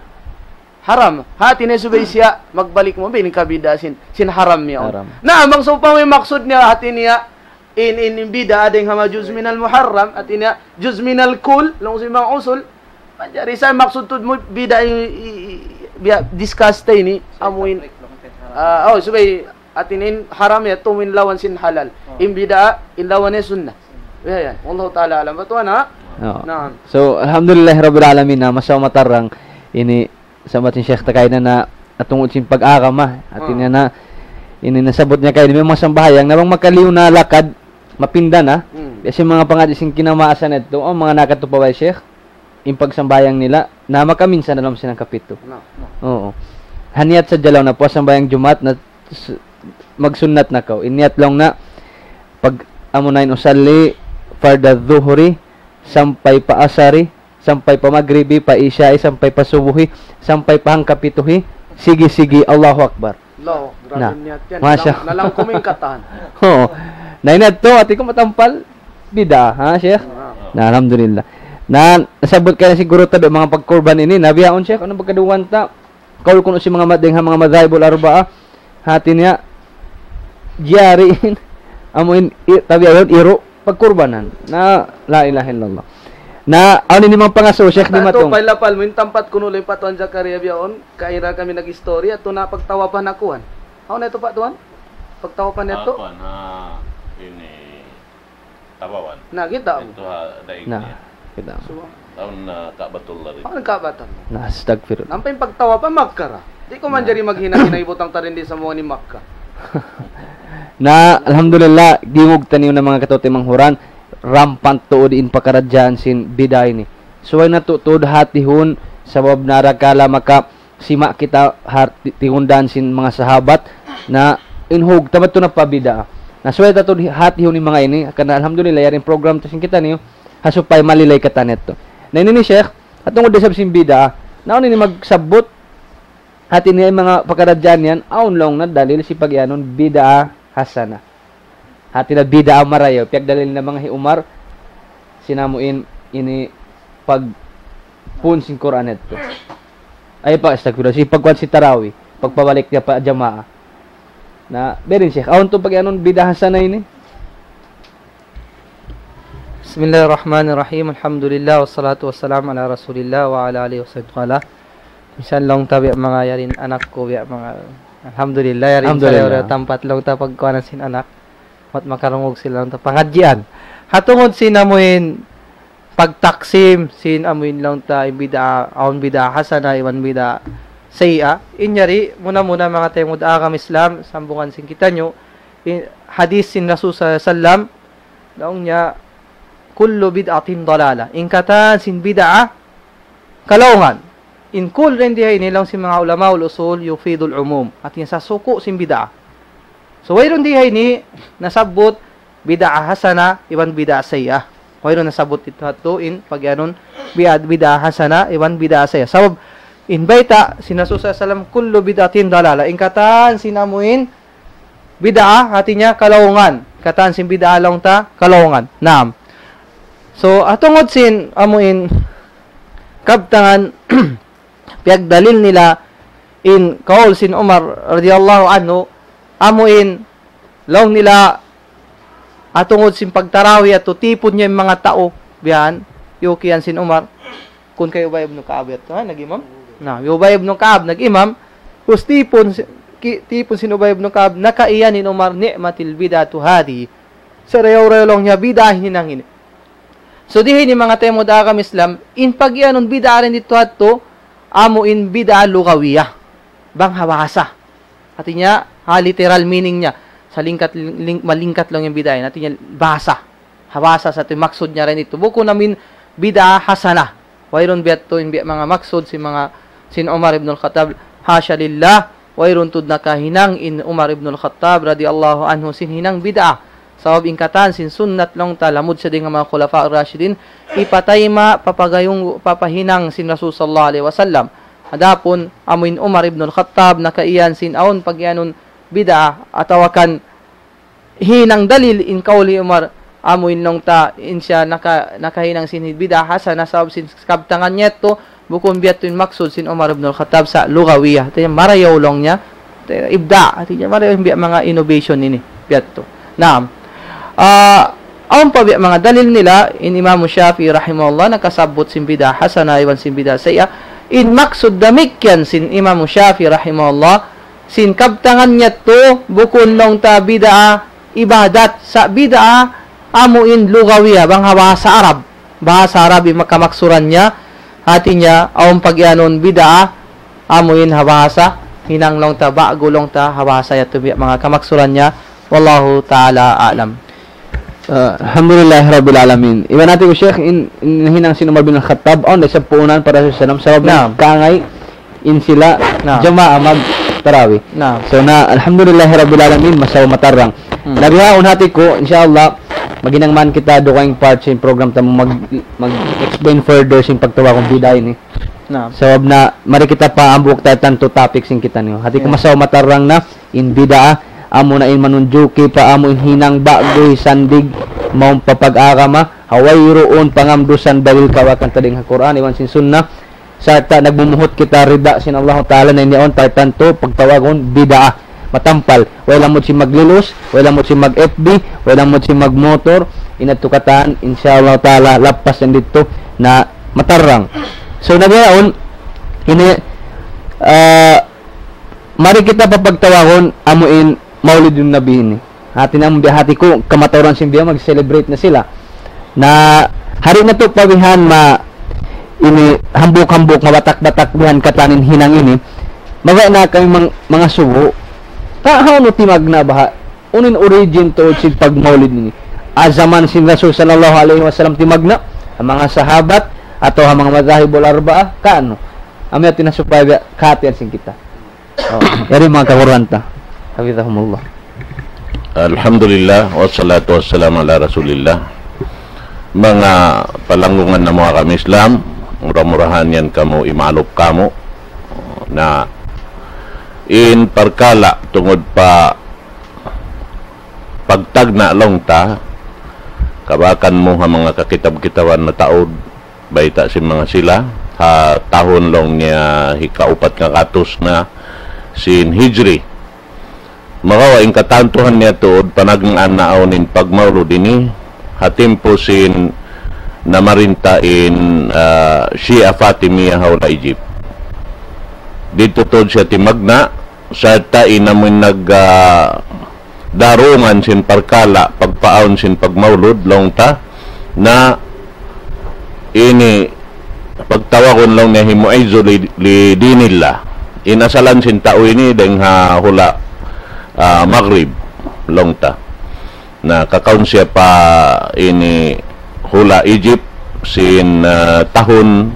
Haram. Hati niya subay siya magbalik mu, bin kabida sin, sin haram niya. Haram. Na, bang sawpama in maksud niya, hati niya, in, in, in bida' dayng ha manga juz minal muharram, hati niya, juz minal kull, laung sin manga usul. Manjari sa maksud tuud mu bida' in, i, i, biya' discuss ta ini, amu in. Ah, oh, subay, hati niya in haram yadtu in lawan sin halal. Oh. In bida', in lawan niya sunnah. Ya, ya. Wallahu ta'ala a'lam. Batuan, ha? Oo. Naam. So, alhamdulillah rabbil alamin na masawa matarrang ini sambat sin Sheikh ta kaina na tungud sin pag-agama. Hati niya na, ini nasabbut niya kaina, memang sambahayang, na bang makaliyu na lakad, mapinda na. Hmm. Biya' sin manga pangadji' sin kinamaasan yadtu, awn manga nakadtu pa bay Sheikh, in pagsambahayang nila, na makaminsan na laung sin hangkapitu. Na, na. Oo. Ha niyat sadja laung na puas sambahayang Jumaat na s-, magsunnat na kaw. In niyat laung na, pag amu na in usalli, farda dhuhri, sampay pa asari, sampay pa magribi, pa isya'i, sampay pa subuhi, sampay pa hangkapituhi, sigi-sigi, Allahu Akbar. Allahu, grabe Na. Niyat yan. Masya Nalang, nalang kumingkatan. Oo. Na in yadtu, hati ku matampal, bida', ha, Sheikh? Na. Na, alhamdulillah. Na, nasabbut kaina siguru ta biya' manga pagkurban ini, na bihaun, Sheikh, unu pagkaduwaan ta? Kaul kunu' sin manga mad-, dayng ha manga madhahibul arbaa, hati niya, jari in, amu in, i-, tabiya' yaun, iru', pagkurbanan. Na, la ilaha illallah. Na, awn ini manga pangasubu, Sheikh, di' matung. Lapal mu in tampat kunu' Luy pa Tuan Zakaria bihaun, kaira kami nag-istorya, atu na pagtawapan na kuwan. Awn na atu pa Tuan? Pagtawapan na atu? Apa na ini tawapan? Na, kita' mu. Atu ha, daig niya. Na, kita' mu. So, awn na Ka'batullah rin. Awn Ka'batullah. Na, astagfirullah. Nampa in pagtawapan Makkah ra. Di' ku manjari maghinang-hinang, ibutang ta rin di' sa muwa ni Makkah. Na, alhamdulillah, gingug taniyu na manga kataymanghuran, rampant tuud in pakaradjaan sin bid'a ini. Subay natu' tuud hatihun, sabab na arakala' makasima' kita ha ti-, tingundaan sin manga sahabat, na in hug, tamat tu na pa bid'a. Na subay ta tuud hatihun in manga ini, karna' alhamdulillah, yari in program ta sin kitaniyu, ha supaya malilay katan yadtu. Na ini ni Sheikh, ha tungud da isab sin bid'a, na awn ini magsabbut, hati niya in manga pakaradjaan yan, awn laung na dalil sin pagiyanun bid'a hasana. Hati na bid'a marayaw, piyagdalil na manga hi Umar, sin amu in, ini pagpun sin Qur'an yadtu. Ay pa, astagfirullah, sin pagkuwan sin tarawih, pagpabalik niya pa jamaa. Na, biya' diin Sheikh, awn tuud pagiyanun bid'a hasana ini? بسم الله الرحمن الرحيم. الحمد لله والصلاة والسلام على رسول الله وعلى آله وصحبه وسلم. Minsan laung ta biya' manga yari in anak ku biya' manga, alhamdulillah, yari in Alhamdulillah. Sarayaw-rayaw tampat laung ta pagkuhanan sin anak. Mat makarungug sila laung ta pangadjian. Ha tungud sin amu in pagtaksim sin amu in laung ta in bid'a, awn bid'a hasana iban bid'a sayyi'a. In yari, muna-muna manga taymanghud agama Islam, sambungan sin kitaniyu, in hadith sin Rasul sallallahu alayhi wasallam, laung niya, كل بدعة ضلالة. In katan sin bid'a, kalaungan. In kull dayn di ha ini laung sin manga ulama ul usul يفيد العموم. Hati niya sasuku' sin bid'a. So, wayruun di ha ini nasabbut bid'a hasana iban bid'a sayyi'a. Wayruun nasabbut itu hatu in pagiyanun bid'a, bid'a hasana iban bid'a sayyi'a. Sabab in bayta' sin Rasul sallallahu alayhi wasallam, كل بدعة ضلالة. In katan sin amu in bid'a, hati niya kalaungan. Katan sin bid'a laung ta kalaungan. Naam. So, ha tungud sin amu in kabtangan piyagdalil nila in kaul sin Umar radiyallahu anhu, amu in laung nila ha tungud sin pagtarawih atu tipun niya in manga tau, biya' yan, yukiyan sin Umar, kun kay Ubay ibn Ka'ab yadtu, ha, nag-imam? Na, Ubay ibn Ka'ab, nag-imam, us tipun si-, ki-, tipun sin Ubay ibn Ka'ab, nakaiyan in Umar, نعمة البدعة هذه. Sarayaw-rayaw laung niya bid'a hinang ini. So, di ha ini manga taymanghud agama Islam, in pagiyanun bid'a dayn ditu hatu, amu in bid'a lugawiya. Bang ha bahasa. Hati niya, ha literal meaning niya. Sa lingkat, ling-, malingkat laung in bid'a yan. Hati niya, bahasa. Ha bahasa sa tu maksud niya dayn ditu. Bukun amu in bid'a hasana. Wayruun biya' tu in biya' manga maksud sin manga sin Umar ibn al-Khattab. حاشا لله. Wayruun tuud nakahinang in Umar ibn al-Khattab radiyallahu anhu sin hinang bid'a. Sabab in katan sin sunnat laung ta lamud sa dayn ha manga khulafa ar-rashidin, hipatayma', papagayung, papahinang sin Rasul sallallahu alayhi wasallam. Adapun amu in Umar ibn al-Khattab nakaiyan sin awn pagiyanun bid'a atawa kan hinang dalil in kaul hi Umar, amu in laung ta in siya naka-, nakahinang sin bid'a hasana sabab sin kabtangan niya yadtu, bukun biya' tu in maksud sin Umar ibn al-Khattab sa lugawiya. Hati niya marayaw laung niya, ibda', hati niya marayaw in biya' manga innovation ini, biya' tu. Naam. Ah, awn pa biya' manga dalil nila, in Imam Shafi'i rahimahullah, nakasabbut sin bid'a hasana iban sin bid'a sayyi'a. In maksud damikkiyan sin Imam Shafi'i rahimahullah, sin kabtangan niya yadtu, bukun laung ta bid'a ibadat, sa bid'a amu in lugawiya, bang ha bahasa Arab. Bahasa Arab in manga kamaksuran niya, hati niya, awn pagiyanun bid'a, amu in ha bahasa, hinang laung ta, ba'gu laung ta, ha bahasa yadtu biya' manga kamaksuran niya, wallahu ta'ala a'lam. Ah, alhamdulillah rabbil alamin. Iban hati ku, Sheikh, in, in hinang sin Umar bin Al-Khattab, awn da isab puunan pa Rasul sallallahu alayhi wasallam, sabab Naam. Kangay in sila Naam. Jamaa magtarawih. Naam. So na, alhamdulillah rabbil alamin, masawa matarrang. Hmm. Na bihaun hati ku, insha Allah, maghinang man kita dugaing part sin program ta mag-, mag-explain further sin pagtawagun bid'a ini. Naam. Sabab na, mari kita pa hambuuk ta tantu topic sin kitaniyu. Hati ku Yeah. masawa matarrang na, in bid'a, amu na in manunjuki pa amu in hinang ba'gu, sandig, mawn pa pag-agama, ha wayruun pangamdusan dalil kawakan ta dayn ha Qur'an, iban sin Sunnah, sarta' nagmumuhut kita rida sin Allah Ta'ala na in yaun tartantu pagtawagun bid'a. Matampal, way lamud sin maglilus, way lamud sin mag-F B, way lamud sin magmotor, in yadtu katan, insha Allah Ta'ala, lappas yan didtu. na matarrang. So, na bihaun, ini, ah, mari kita papagtawagun amuin Maulidun Nabi ini. Hati na biya' hati ku, kamatauran sin biya' mag-celebrate na sila. Na, hari na tu pa bihan ma, ini, hambuuk-hambuuk, mabatak-batak bihan katan in hinang ini. Mabaya' na kami mang-, mangasubu. Ka, hawnu timagna' baha'? Unu in origin tuud sin pagmaulid ini? Ha jaman sin Rasul sallallahu alayhi wasallam timagna', in manga sahabat, atawa in manga madhahibul arba'ah, kaunu? Amu yadtu na supaya biya' kahatihan sin kita. Oh, yari manga kahuran ta. Hafidhahumullah. Alhamdulillah, wassalatu wassalamu ala Rasulillah. Manga palanggungan namu' ha agama Islam, mura-murahan yan kamu imalup kamu. Na, in parkala' tungud pa pagtagna' laung ta, kabakan mu ha manga kakitab-kitaban mataud, bayta' sin manga sila, ha tahun laung niya hikaupat ngagatus na sin Hijri. Makawa' in katantuhan niya tuud panagnaan na awn in pagmaulud ini, ha timpu sin namarinta in, ah, Shia Fatimiyah ha hula' Egypt. Didtu tuud siya timagna', sarta' in amuin nag, ah, darungan sin parkala' pagpaawn sin pagmaulud laung ta na ini pagtawagun laung niya hi Mu'izzu li, li dinillah. In asalan sin tau ini dayng ha hula', ah, Maghrib laung ta. Na kakaun siya pa ini hula' Egypt sin, ah, tahun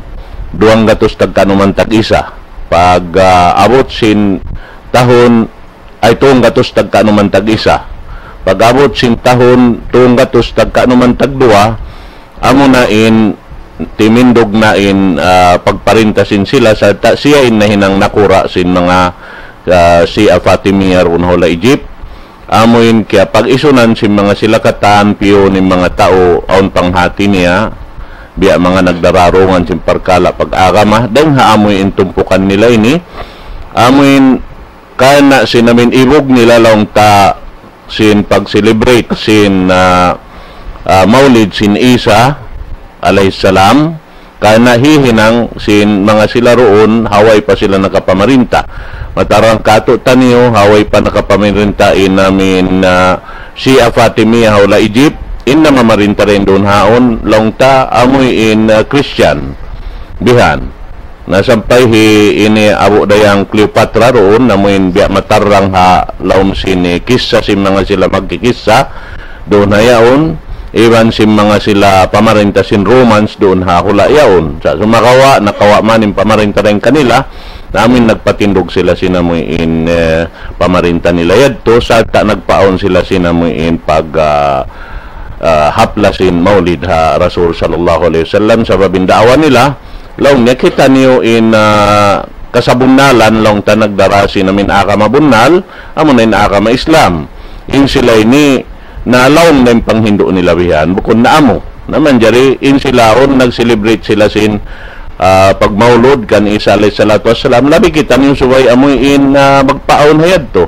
duwanggatus tagkanuman tag-isa. Pag, ah, abut sin tahun ay tunggatus tagkanuman tag-isa. Pag-abut sin tahun tunggatus tagkanuman tagduwa, amuna in timindug na in, ah, pagparinta sin sila, sarta' siya in nahinang nakura' sin manga, ah, Shia Fatimiyah duun ha hula' Egypt. Amuin kiyapag-isunan sin manga sila katan, piyun in manga tau awn panghati niya, biya' manga nagdararungan sin parkala' pag-agama, dayng ha amuin tumpukan nila ini, amuin karna' sin amuin ibug nila laung ta sin pag-celebrate sin, ah, ah, maulid sin Isa alayhi salam, karna' hihinang sin manga sila duun, ha way pa sila nakapamarinta. Matarrang katu' taniyu, ha way pa nakapamarinta in amuin, ah, Shia Fatimiyah ha hula' Egypt, in namamarinta dayn duun haun, laung ta amuin, ah, Christian. Bihan. Na sampay hi ini abu' dayang Cleopatra duun, amuin biya' matarrang ha lawm sin kissa sin manga sila magkikissa, duun ha yaun, iban sin manga sila pamarinta sin Romans duun ha hula' yaun. Sa' sumagawa', nakawa' man in pamarinta dayn kanila, na amuin nagpatindug sila sin amuin, eh, pamarinta nila yadtu, sarta' nagpaawn sila sin amuin pag, ah, ah, hapla sin maulid ha Rasul sallallahu alayhi wasallam, sabab in da'wa nila, laung niya, kitaniyu in, ah, kasabunnalan laung ta nagdara sin amuin agama bunnal, amuna in agama Islam. In sila ini, nalaung na in panghindu' nila bihan, bukun na amu. Na manjari, in sila yaun nag-celebrate sila sin, ah, pagmaulud kan Isa alayhi salatu wassalam, labi kitaniyu subay amuin, ah, magpaawn ha yadtu.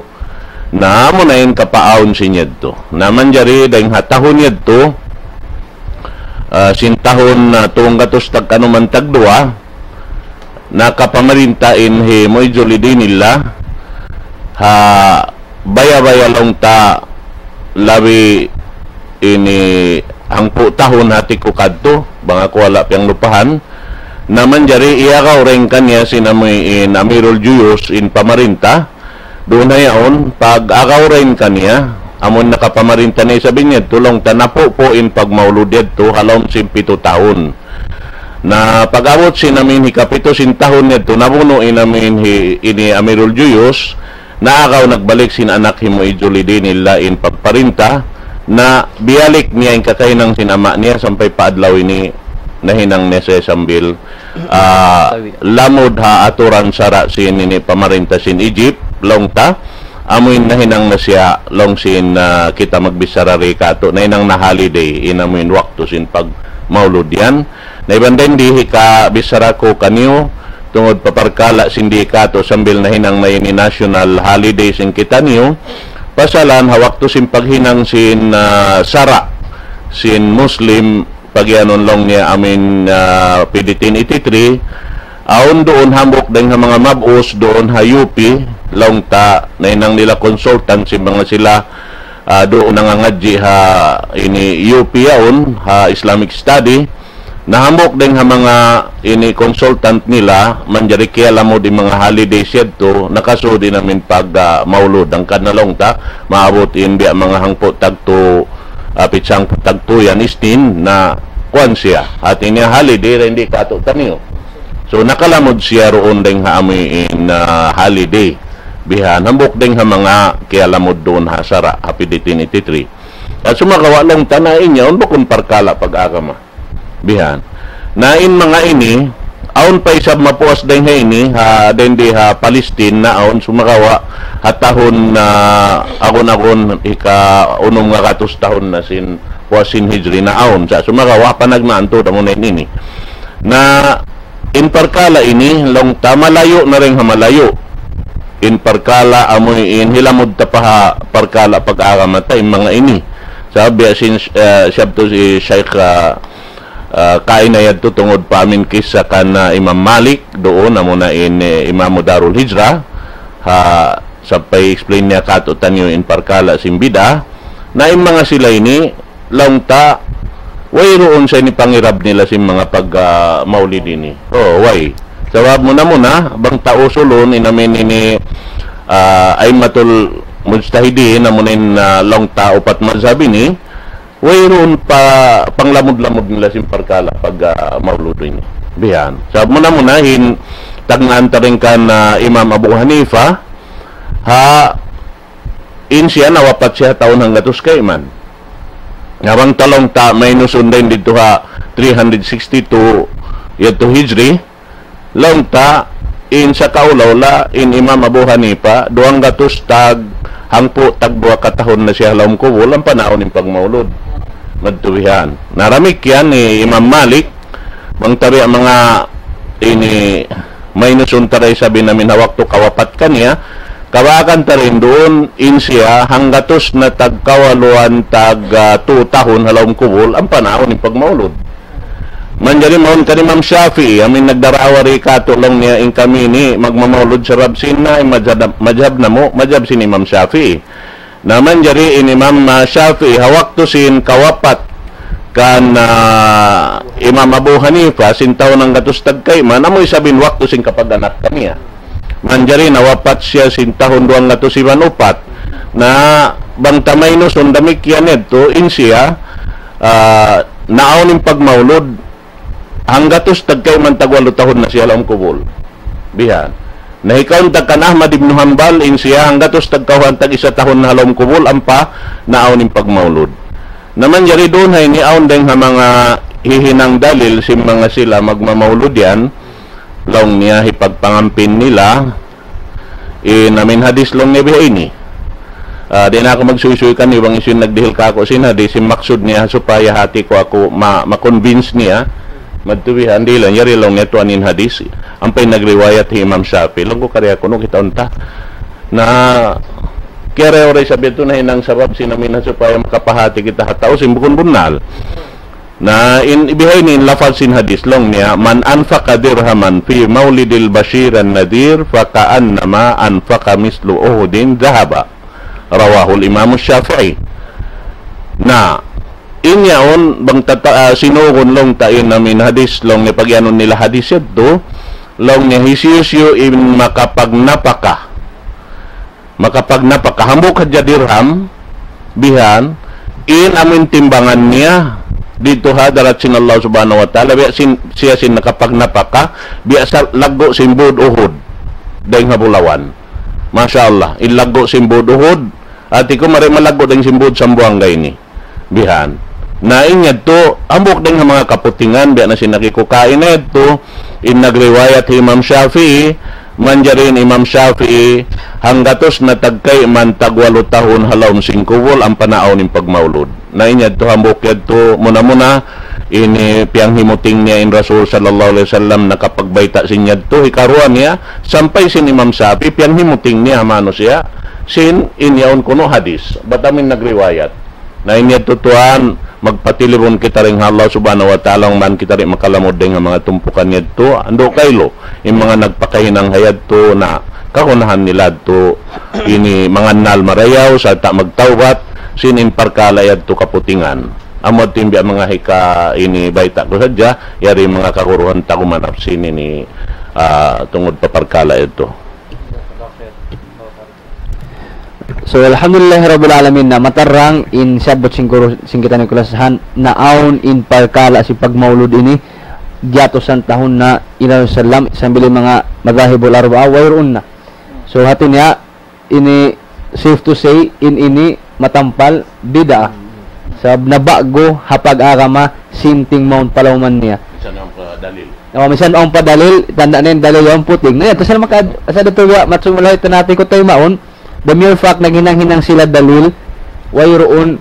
Na amuna in kapaawn sin yadtu. Na manjari dayng ha tahun yadtu, ah, sin tahun, ah, tunggatus tagkanuman tagduwa, nakapamarinta in hi Mu'izzu li dinillah, ha baya'-baya' laung ta labi ini hangpu' tahun hati ku kadtu, bang aku wala' piyanglupahan, na manjari iyagaw dayn kaniya sin amuin Amirul Juyush in pamarinta, duun ha yaun, pag-agaw dayn kaniya, amun nakapamarinta na isab in yadtu laung ta napupu' in pagmaulud yadtu ha lawm sin pitu tahun. Na pag-abut sin amuin hikapitu sin tahun yadtu, nabunu' in amuin hi, ini Amirul Juyush, naagaw nagbalik sin anak hi Mu'izzu li dinillah in pagparinta, na biyalik niya in kakahinang sin ama' niya sampay pa adlaw ini nahinang niya siya sambil, ah, lamud ha aturan sara' sin ini pamarinta sin Egypt, laung ta, amuin nahinang na siya, laung sin, ah, kita magbichara di katu', nahinang na holiday, in amuin waktu sin pagmaulud yan. Na iban dayn di hikabichara ku kaniyu, tungud pa parkala' sin di katu' sambil nahinang na ini national holiday sin kitaniyu, pasalan ha waktu sin paghinang sin, ah, sara' sin Muslim, pagiyanun laung niya amin, ah, P D ten eighty-three, awn duun hambuuk dayn ha manga mab'us duun ha U P, laung ta, nahinang nila consultant sin manga sila, ah, duun nangangadji' ha ini U P yaun, ha Islamic Study, na hambuuk dayn ha manga ini consultant nila, manjari kiyalamud in manga holidays yadtu, nakasud in amin pag, ah, maulud. Hangkan na laung ta, maabut in biya' manga hangpu' tagtu, ah, pitsang tagtu yan, Isnin, na kuwan siya. Hati niya holiday, ra hindi katu' taniyu. So, nakalamud siya duun dayn ha amuin, ah, holiday. Bihan, hambuuk dayn ha manga kiyalamud duun ha sara', ha P D ten eighty-three. At sumagawa' laung ta na in yaun bukun parkala' pag-agama. Bihan. Na in manga ini, awn pa isab mapuas dayn ha ini, ha, dayn di ha Palestine na awn sumagawa' ha tahun na agun-agun hika unum nga gatus tahun na sin puas sin Hijri na awn. Sa' sumagawa' panagnaan tuud amu na in ini. Na in parkala' ini, laung ta malayu' na dayn ha malayu'. In parkala' amuin hilamud ta pa ha parkala' pag-agama ta in manga ini. Sa' biya' sin, eh, siyabtu hi Shaykh, ah, ah, kaina yadtu tungud pa amin kissa kan, ah, Imam Malik, duun, amuna in, eh, Imamu Darul Hijrah, ha, sampay explain niya katu' taniyu in parkala' sin bid'ah. Na in manga sila ini, laung ta, wayruun sa ini pangirab nila sin manga pag, ah, maulid ini. Oh, way. Sabab muna-muna, bang ta usulun, in amin ini, ah, a'immatul mujtahidin, amuna in, ah, laung ta upat mazhab ini, wayruun pa panglamud-lamud nila sin parkala' pag, ah, maulud ini. Bihan. Sabab muna-muna in tagnaan ta dayn kan, ah, Imam Abu Hanifa, ha, in siya nawapat siya tahun hanggatus kayman. Na bang ta laung ta minus dayn didtu ha three hundred sixty-two yadtu Hijri, laung ta, in sakaula-ula, in Imam Abu Hanifa, duwanggatus tag hangpu' tag duwa katahun na siya ha lawm kubul, ampa naawn in pagmaulud. Madtu bihan. Na damikkiyan hi Imam Malik, bang ta biya' manga ini minus unta da isab in amin ha waktu kawapat kaniya, kabaakan ta dayn duun, in siya, hanggatus na tag kawaluan tag, ah, tu tahun ha lawm kubul, ampa naawn in pagmaulud. Manjari mawn kan Imam Shafi'i, amin nagdarawa di katu' laung niya in kami ini magmamaulud sabab sin na, in madhab, madhab namu', madhab sin Imam Shafi'i. Na manjari in Imam, ah, Shafi'i, ha waktu sin kawapat kan, ah, Imam Abu Hanifa, sin tahun hanggatus tag kayman, amu isab in waktu sin kapag-anak kaniya. Manjari nawapat siya sin tahun duwanggatus iban upat. Na bang ta minus damikkiyan yadtu, in siya, ah, naawn in pagmaulud, hanggatus tag kayman tag walu tahun na siya ha lawm kubul. Bihan. Na hikaun ta kan Ahmad ibn Hanbal, in siya hanggatus tag kawhaan tag isa tahun na ha lawm kubul, ampa naawn in pagmaulud. Na manjari duun ha ini awn dayn ha manga hihinang dalil sin manga sila magmamaulud yan, laung niya hipagpangampin nila, in amin hadis laung niya biha ini. Ah, di' na aku magsuysuy kaniyu bang hisiyu in nagdihil kāku' sin hadis, in maksud niya supaya hāti ku aku ma-, ma-convince niya. Madtu bihan, di' laung, yari laung niya tuwan in hadis. Ampa in nagriwayat hi Imam Shafi'i. Laung ku kari aku, unu kitaun ta? Na, kiyariwayat isab yadtu nahinang sabab sin amin supaya makapahāti kita ha tau sin bukun bunnal. Na in biha ini in lafaz sin hadis laung niya, من أنفق درهما في مولد البشير النذير فكأنما أنفق مثل أحد ذهبا. رواه الإمام الشافعي. Na, in yaun, bang ta, ah, sinugun laung ta in amin hadis, laung niya pagiyanun nila hadis yadtu, laung niya hisiyu-siyu in makapagnapaka. Makapagnapaka, hambuuk hadja dirham, bihan, in amuin timbangan niya, didtu ha hadarat sin Allah Subhanahu wa Ta'ala, biya' sin, siya sin nakapagnapaka, biya' sa laggu' sin būd Uhud, dayn ha bulawan. Masha Allah, in laggu' sin būd Uhud, hāti ku mari malaggu' dayn sin būd Sambuwangga ini. Bihan. Na in yadtu, hambuuk dayn ha manga kaputingan, biya' na sin nakikukain na yadtu, in nagriwayat hi Imam Shafi'i, manjari in Imam Shafi'i, hanggatus na tag kayman tag walu tahun ha lawm sin kubul, ampa naawn in pagmaulud. Na in yadtu hambuuk yadtu, muna-muna, ini piyanghimuting niya in Rasul sallallahu alayhi wasallam, nakapagbayta' sin yadtu, hikaruwa niya, sampay sin Imam Shafi'i, piyanghimuting niya ha manusiya', sin in yaun kunu' hadis, bat amuin nagriwayat. Na in yadtu tuwan, magpatilibun kita dayn ha Allah Subhanahu wa Ta'ala, bang man kita di' makalamud dayn ha manga tumpukan yadtu, andu' kailu, in manga nagpakahinang ha yadtu na kagunahan nila yadtu, ini mangannal marayaw, sarta' magtawbat, sin in parkala' yadtu kaputingan. Amu yadtu in biya' manga hika ini bayta' ku sadja, yari manga kaguruhan ta gumanap sin ini, ah, tungud pa parkala' yadtu. So, alhamdulillah rabbil alamin, na matarang in siyabbut sin guru sin kitaniyu kalasahan, na awn in parkala' sin pagmaulud ini, giyatusan tahun na in Rasul sallam, sambil in manga madhahibul arba'a, wayruun na. So, hati niya, ini safe to say, in ini matampal bid'ah. Sabab naba'gu ha pag-agama, sinting mawn palauman niya. Misan awn pa dalil. O, misan awn pa dalil, tanda' na in dalil yaun puting. Na yan, tas na maka, sa datu ya, matsumulay tanati ko tayo maun, the mere fact naghinang-hinang sila dalil, wayruun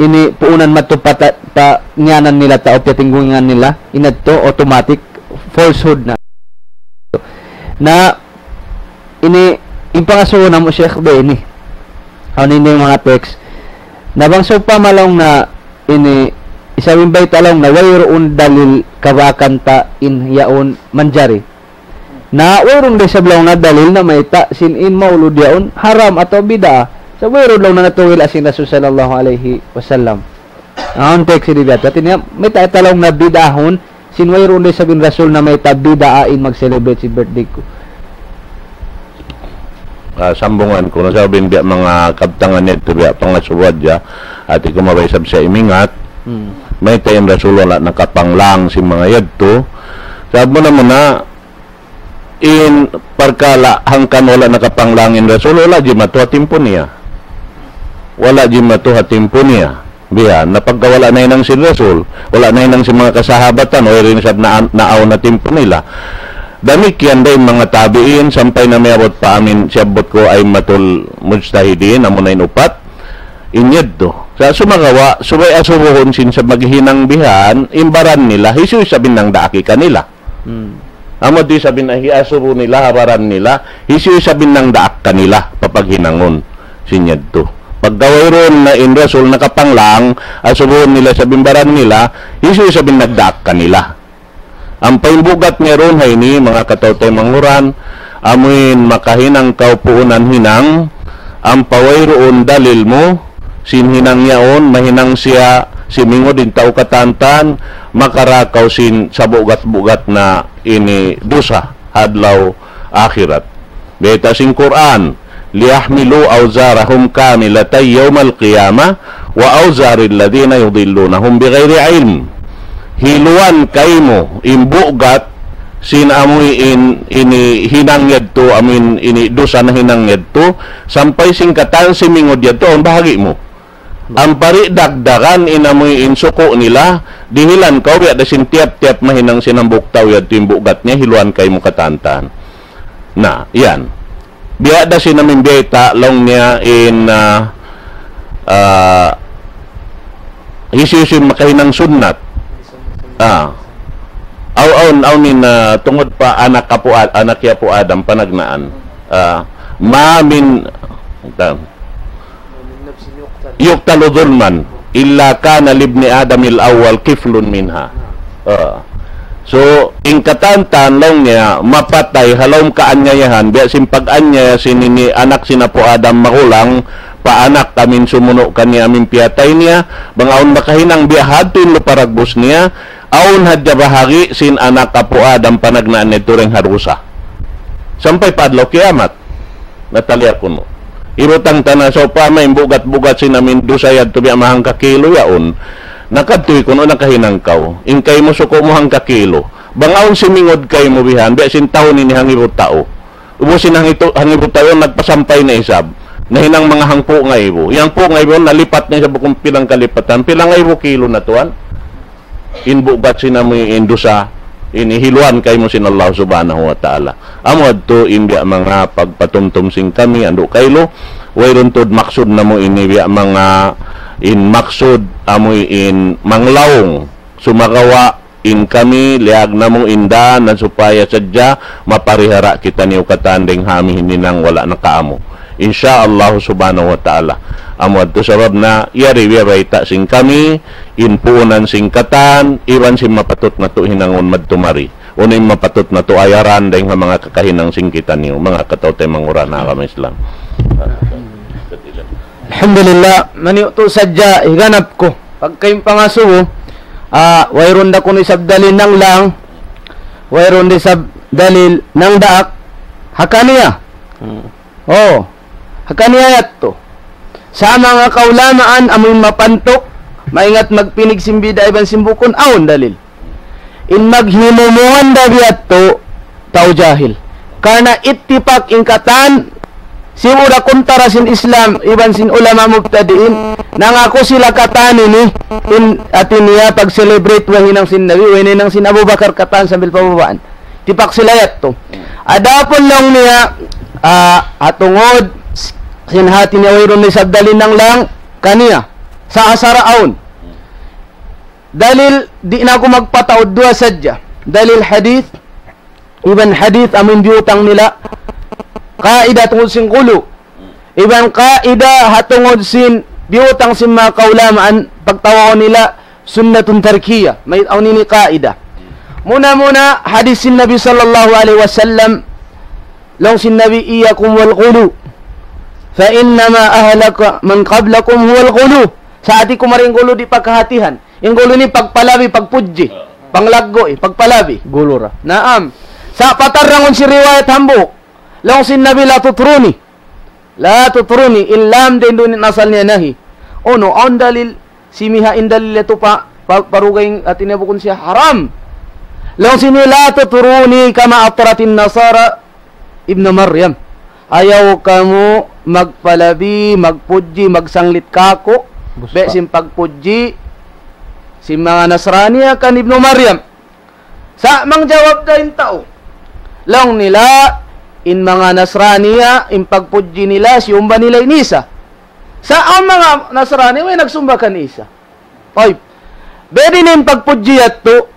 ini puunan matupat pa ngiyanan nila tau, piyatinggungan nila, inadto automatic falsehood na. Na ini, in pangasubu namu' Sheikh Bey ini. Awn ini manga text. Na bang sawpama laung na ini, isab in bayta' laung na wayruun dalil kabakan ta in yaun manjari. Na wayruun da isab laung na dalil na mayta' sin in maulud yaun haram atawa bid'ah. Sa' wayruun laung na natugil sin Rasul sallallahu alayhi wasallam. Awn text ini biya' hati niya, mayta' ta laung na bid'ahun, sin wayruun da isab in Rasul na mayta' bid'ah in mag-celebrate sin birthday ku. Ah, sambungan ku na sabab in biya' manga kabtangan yadtu biya' pangasubu hadja, hati ku mabaya' isab siya imingat. Hmm. Mayta' in Rasul wala' nakapanglang sin manga yadtu. Sabab muna-muna, in parkala' hangkan wala' nakapanglang in Rasul, wala' jimatu ha timpu niya. Wala' jimatu ha timpu niya. Biya', na pagka wala' nahinang sin Rasul, wala' nahinang sin manga kasahabatan, wayruun isab na, naawn ha timpu nila. Damikkiyan da in manga tabi'in, sampay na miyabut pa amin, siyabbut ku a'immatul mujtahidin, amuna in upat, in yadtu. Sa' sumagawa', subay asubuhun sin sa' maghinang bihan, in baran nila, hisiyu isab in nangdaak kanila. Hmm. Amu di' isab in hiasubu nila, ha baran nila, hisiyu isab in nangdaak kanila, papaghinangun sin yadtu. Pagka wayruun na in Rasul nakapanglang, asubuhun nila isab in baran nila, hisiyu isab in nagdaak kanila. Ampa in bugat niya duun ha ini, manga kataw-taymanghuran, amuin makahinang kaw puunan hinang, ampa wayruun dalil mu, sin hinang yaun, mahinang siya, simingud in tau katantan, makara kaw sin sabugat-bugat na ini dusa, ha adlaw akhirat. Bayta' sin Qur'an, ليحملوا أوزارهم كاملة يوم القيامة وأوزار الذين يضلونهم بغير علم. Hiluan kaymu in bugat sin amuin ini hinang yadtu, amuin ini dusa nahinang yadtu, sampay sin katan simingud yadtu, awn bahagi' mu. Ampa di' dagdagan in amuin suku' nila, dihilan kaw biya' da sin tiyap-tiyap mahinang sin hambuuk tau yadtu in bugat niya, hiluan kaymu katantan. Na, yan. Biya' da sin amuin bayta' laung niya in, ah, ah, hisiyu-siyu makahinang sunnat. Ah. Aw, awn, awn in, ah, tungud pa anak apu Ad-, anak hi Apu Adam panagnaan. Ah, ما من, ta-, يقتل ظلما إلا كان لابن آدم الأول كفل منها. Ah. So, in katantan laung niya, mapatay ha lawm kaanyayahan, biya' sin pag-anyaya sin ini anak sin Apu Adam magulang, pa anak amuin sumunu' kaniya amuin piyatay niya, bang awn makahinang biya' hadtu in lupa dagbus niya, awn hadja bahagi' sin anak Apu Adam panagnaan niya turing ha dusa. Sampay pa adlaw kiyamat. Nataliya kunu'. Ibutang ta na sawpama in bugat-bugat sin amuin dusa yadtu biya' mahangka kilo yaun. Na kadtu kunu' nakahinang kaw. In kaymu suku' mu hangka kilo. Bang awn simingud kaymu bihan, biya' sin tahun ini hangibu tau. Ubus in hangitu-, hangibu tau nagpasampay na isab. Nahinang manga hangpu' ngaibu. In hangpu' ngaibu nalipat na isab kung pilang kalipatan. Pilang ngaibu kilo na tuwan. In bugat sin amuin dusa, ini hiluan kaymu sin Allah Subhanahu wa Ta'ala. Amu yadtu in biya' manga pagpatumtum sin kami, andu' kailu, wayruun tuud maksud namu' ini biya' manga in maksud amuin manglaung, sumagawa' in kami, liyag namu' in dan na supaya sadja maparihara kitaniyu katan dayn ha amuin hinang wala' nakaamu. Insya Allah subhanahu wa ta'ala. Amu yadtu sabab na yari biya' bayta' sin kami, in puunan sin katan, iban sin mapatut natu' hinangun madtu mari. Unu in mapatut natu' ayaran dayn ha manga kakahinang sin kitaniyu, manga kataw-taymanghuran ha agama Islam. Alhamdulillah, maniyu' tu sadja higanap ku. Pagka in pangasubu, ah, wayruun da kunu' isab dalil nanglang, wayruun da isab dalil nangdaak, ha kaniya. Hmm. Oh, ha kaniya yadtu. Sa' manga kaulamaan amuin mapantuk, maingat magpinig sin bid'a iban sin bukun, awn dalil. In maghimumungan da biya' yadtu, tau jahil. Karna' ittipak in katan, sibu' da kuntara sin Islam, iban sin ulama mubtadi'in, nangaku sila katan ini, in hati niya pag-celebrate way hinang sin Nabi, way hinang sin Abu Bakar katan sambil pababaan. Tipak sila yadtu. Adapun laung niya, ah, ha tungud, sin hati niya wayruun na isab dalil nanglang, kaniya. Sa' asara awn. Dalil, di' na aku magpataud, duwa sadja. Dalil hadith, iban hadith amun biyutang nila, qaida tungud sin gulu. Iban qaida ha tungud sin biyutang sin manga kaulamaan, pagtawagun nila sunnatun tarkiyah. Mayta' awn ini qaida? Muna-muna hadith sin Nabi sallallahu alayhi wasallam, laung sin Nabi, إياكم والغلو فإنما أهلك من قبلكم هو الغلو. Sa' hati ku mari in gulu di' pagkahatihan. In gulu ini pagpalabi, pagpudji. Panglaggu', eh, pagpalabi. Gulu ra. Naam. Sa' patarrangun sin riwayat hambuuk. Laung sin Nabi, لا تطروني. لا تطروني. In lam dayn duun in asal niya nahi. Unu, awn dalil simiha in dalil yadtu pa, pa, parugay hati niya bukun siya haram. Laung sin Nabi, لا تطروني كما أطرت النصارى ابن مريم. Ayaw kamu magpalabi, magpudji, magsanglit kāku', biya' sin pagpudji sin manga Nasrani kan Ibnu Maryam. Sa' mangjawab da in tau. Laung nila, in manga Nasrani, in pagpudji nila, siyumba nila in Isa. Sa' awn manga Nasrani, way nagsumba kan Isa. Tayyib. Biyadiin in pagpudji yadtu,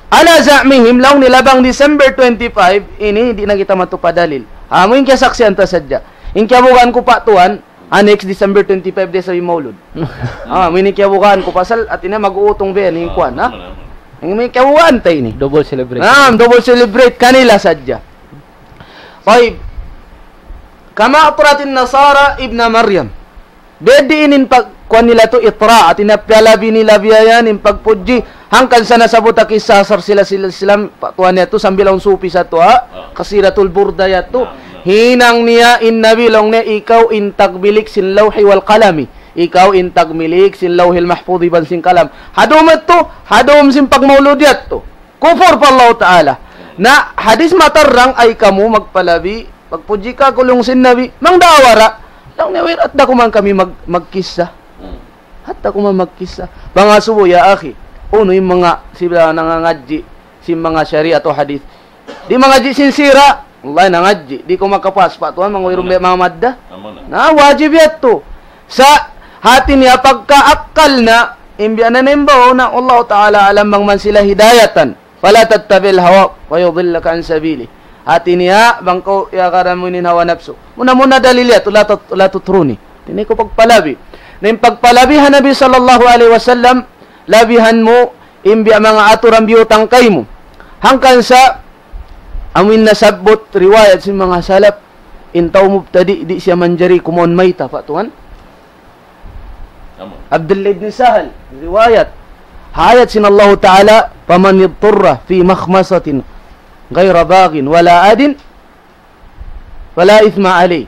على زعمهم, laung nila bang December twenty-five, ini di' na kita matupa dalil. Amu in kiyasaksian ta sadja. In kiyabugaan ku pa tuwan, ah, next December twenty-five da isab in Maulud. Ah, amu in kiyabugaan ku pasal, hati niya mag-uutung biya' yan, in kuwan, ha? Amu in kiyabugaan ta ini. Double celebration. Naam, double celebrate kanila sadja. Tayyib. كما أطرت النصارى ابن مريم. Biyadiin in pag-, kuwan nila tu itra, hati niya piyalabi nila biya' yan, in pagpudji. Hangkan sa nasabbut ha kissa asar sila, sila, sila, pa tuwan niya tu, sambil awn sufi sa tuwa, Qasidatul Burda yadtu. Hinang niya in Nabi laung niya, ikaw in tagmilik sin lawhi wal qalami. Ikaw in tagmilik sin lawhil mahfudh iban sin kalam. Ha dum yadtu, ha dum sin pagmaulud yadtu. Kufur pa Allah Ta'ala. Na hadis matarrang, ayaw kamu magpalabi, magpudji kāku', laung sin Nabi, mangdaawa ra. Laung niya, "Way, hat da kuman kami mag-, magkissa. Hmm. Hat da kuman magkissa." Pangasubu, ya akhi, unu in manga sila nangangadji' sin manga shariat o hadith. Di' mangadji' sin sira, wallahi nangadji'. Di' ku makapas pa tuwan, manga wirumbe manga madda. Na wajib yadtu. Sa' hati niya pagka akkal na, in biya' na naimbaw na, Allahu Ta'ala alam bang man sila hidayatan. فلا تتبع الهوى فيضلك عن سبيله. Hati niya, bang kaw iyagaran mu in hawa napsu. Muna-muna dalil yadtu, لا تط-، لا تطروني. Di' na kaw pagpalabi. Na in pagpalabi ha Nabi sallallahu alayhi wasallam, labihan mu, in biya' manga aturan biyutang kaymu. Hangkan sa, amu in nasabbut riwayat sin manga salaf, in tau mubtadi', di' siya manjari kumaun mayta', pa tuwan. Amun. Abdullah ibn Sahal, riwayat. Ha ayat sin Allahu Ta'ala, فمن اضطر في مخمصة غير باغ ولا عاد فلا إثم عليه.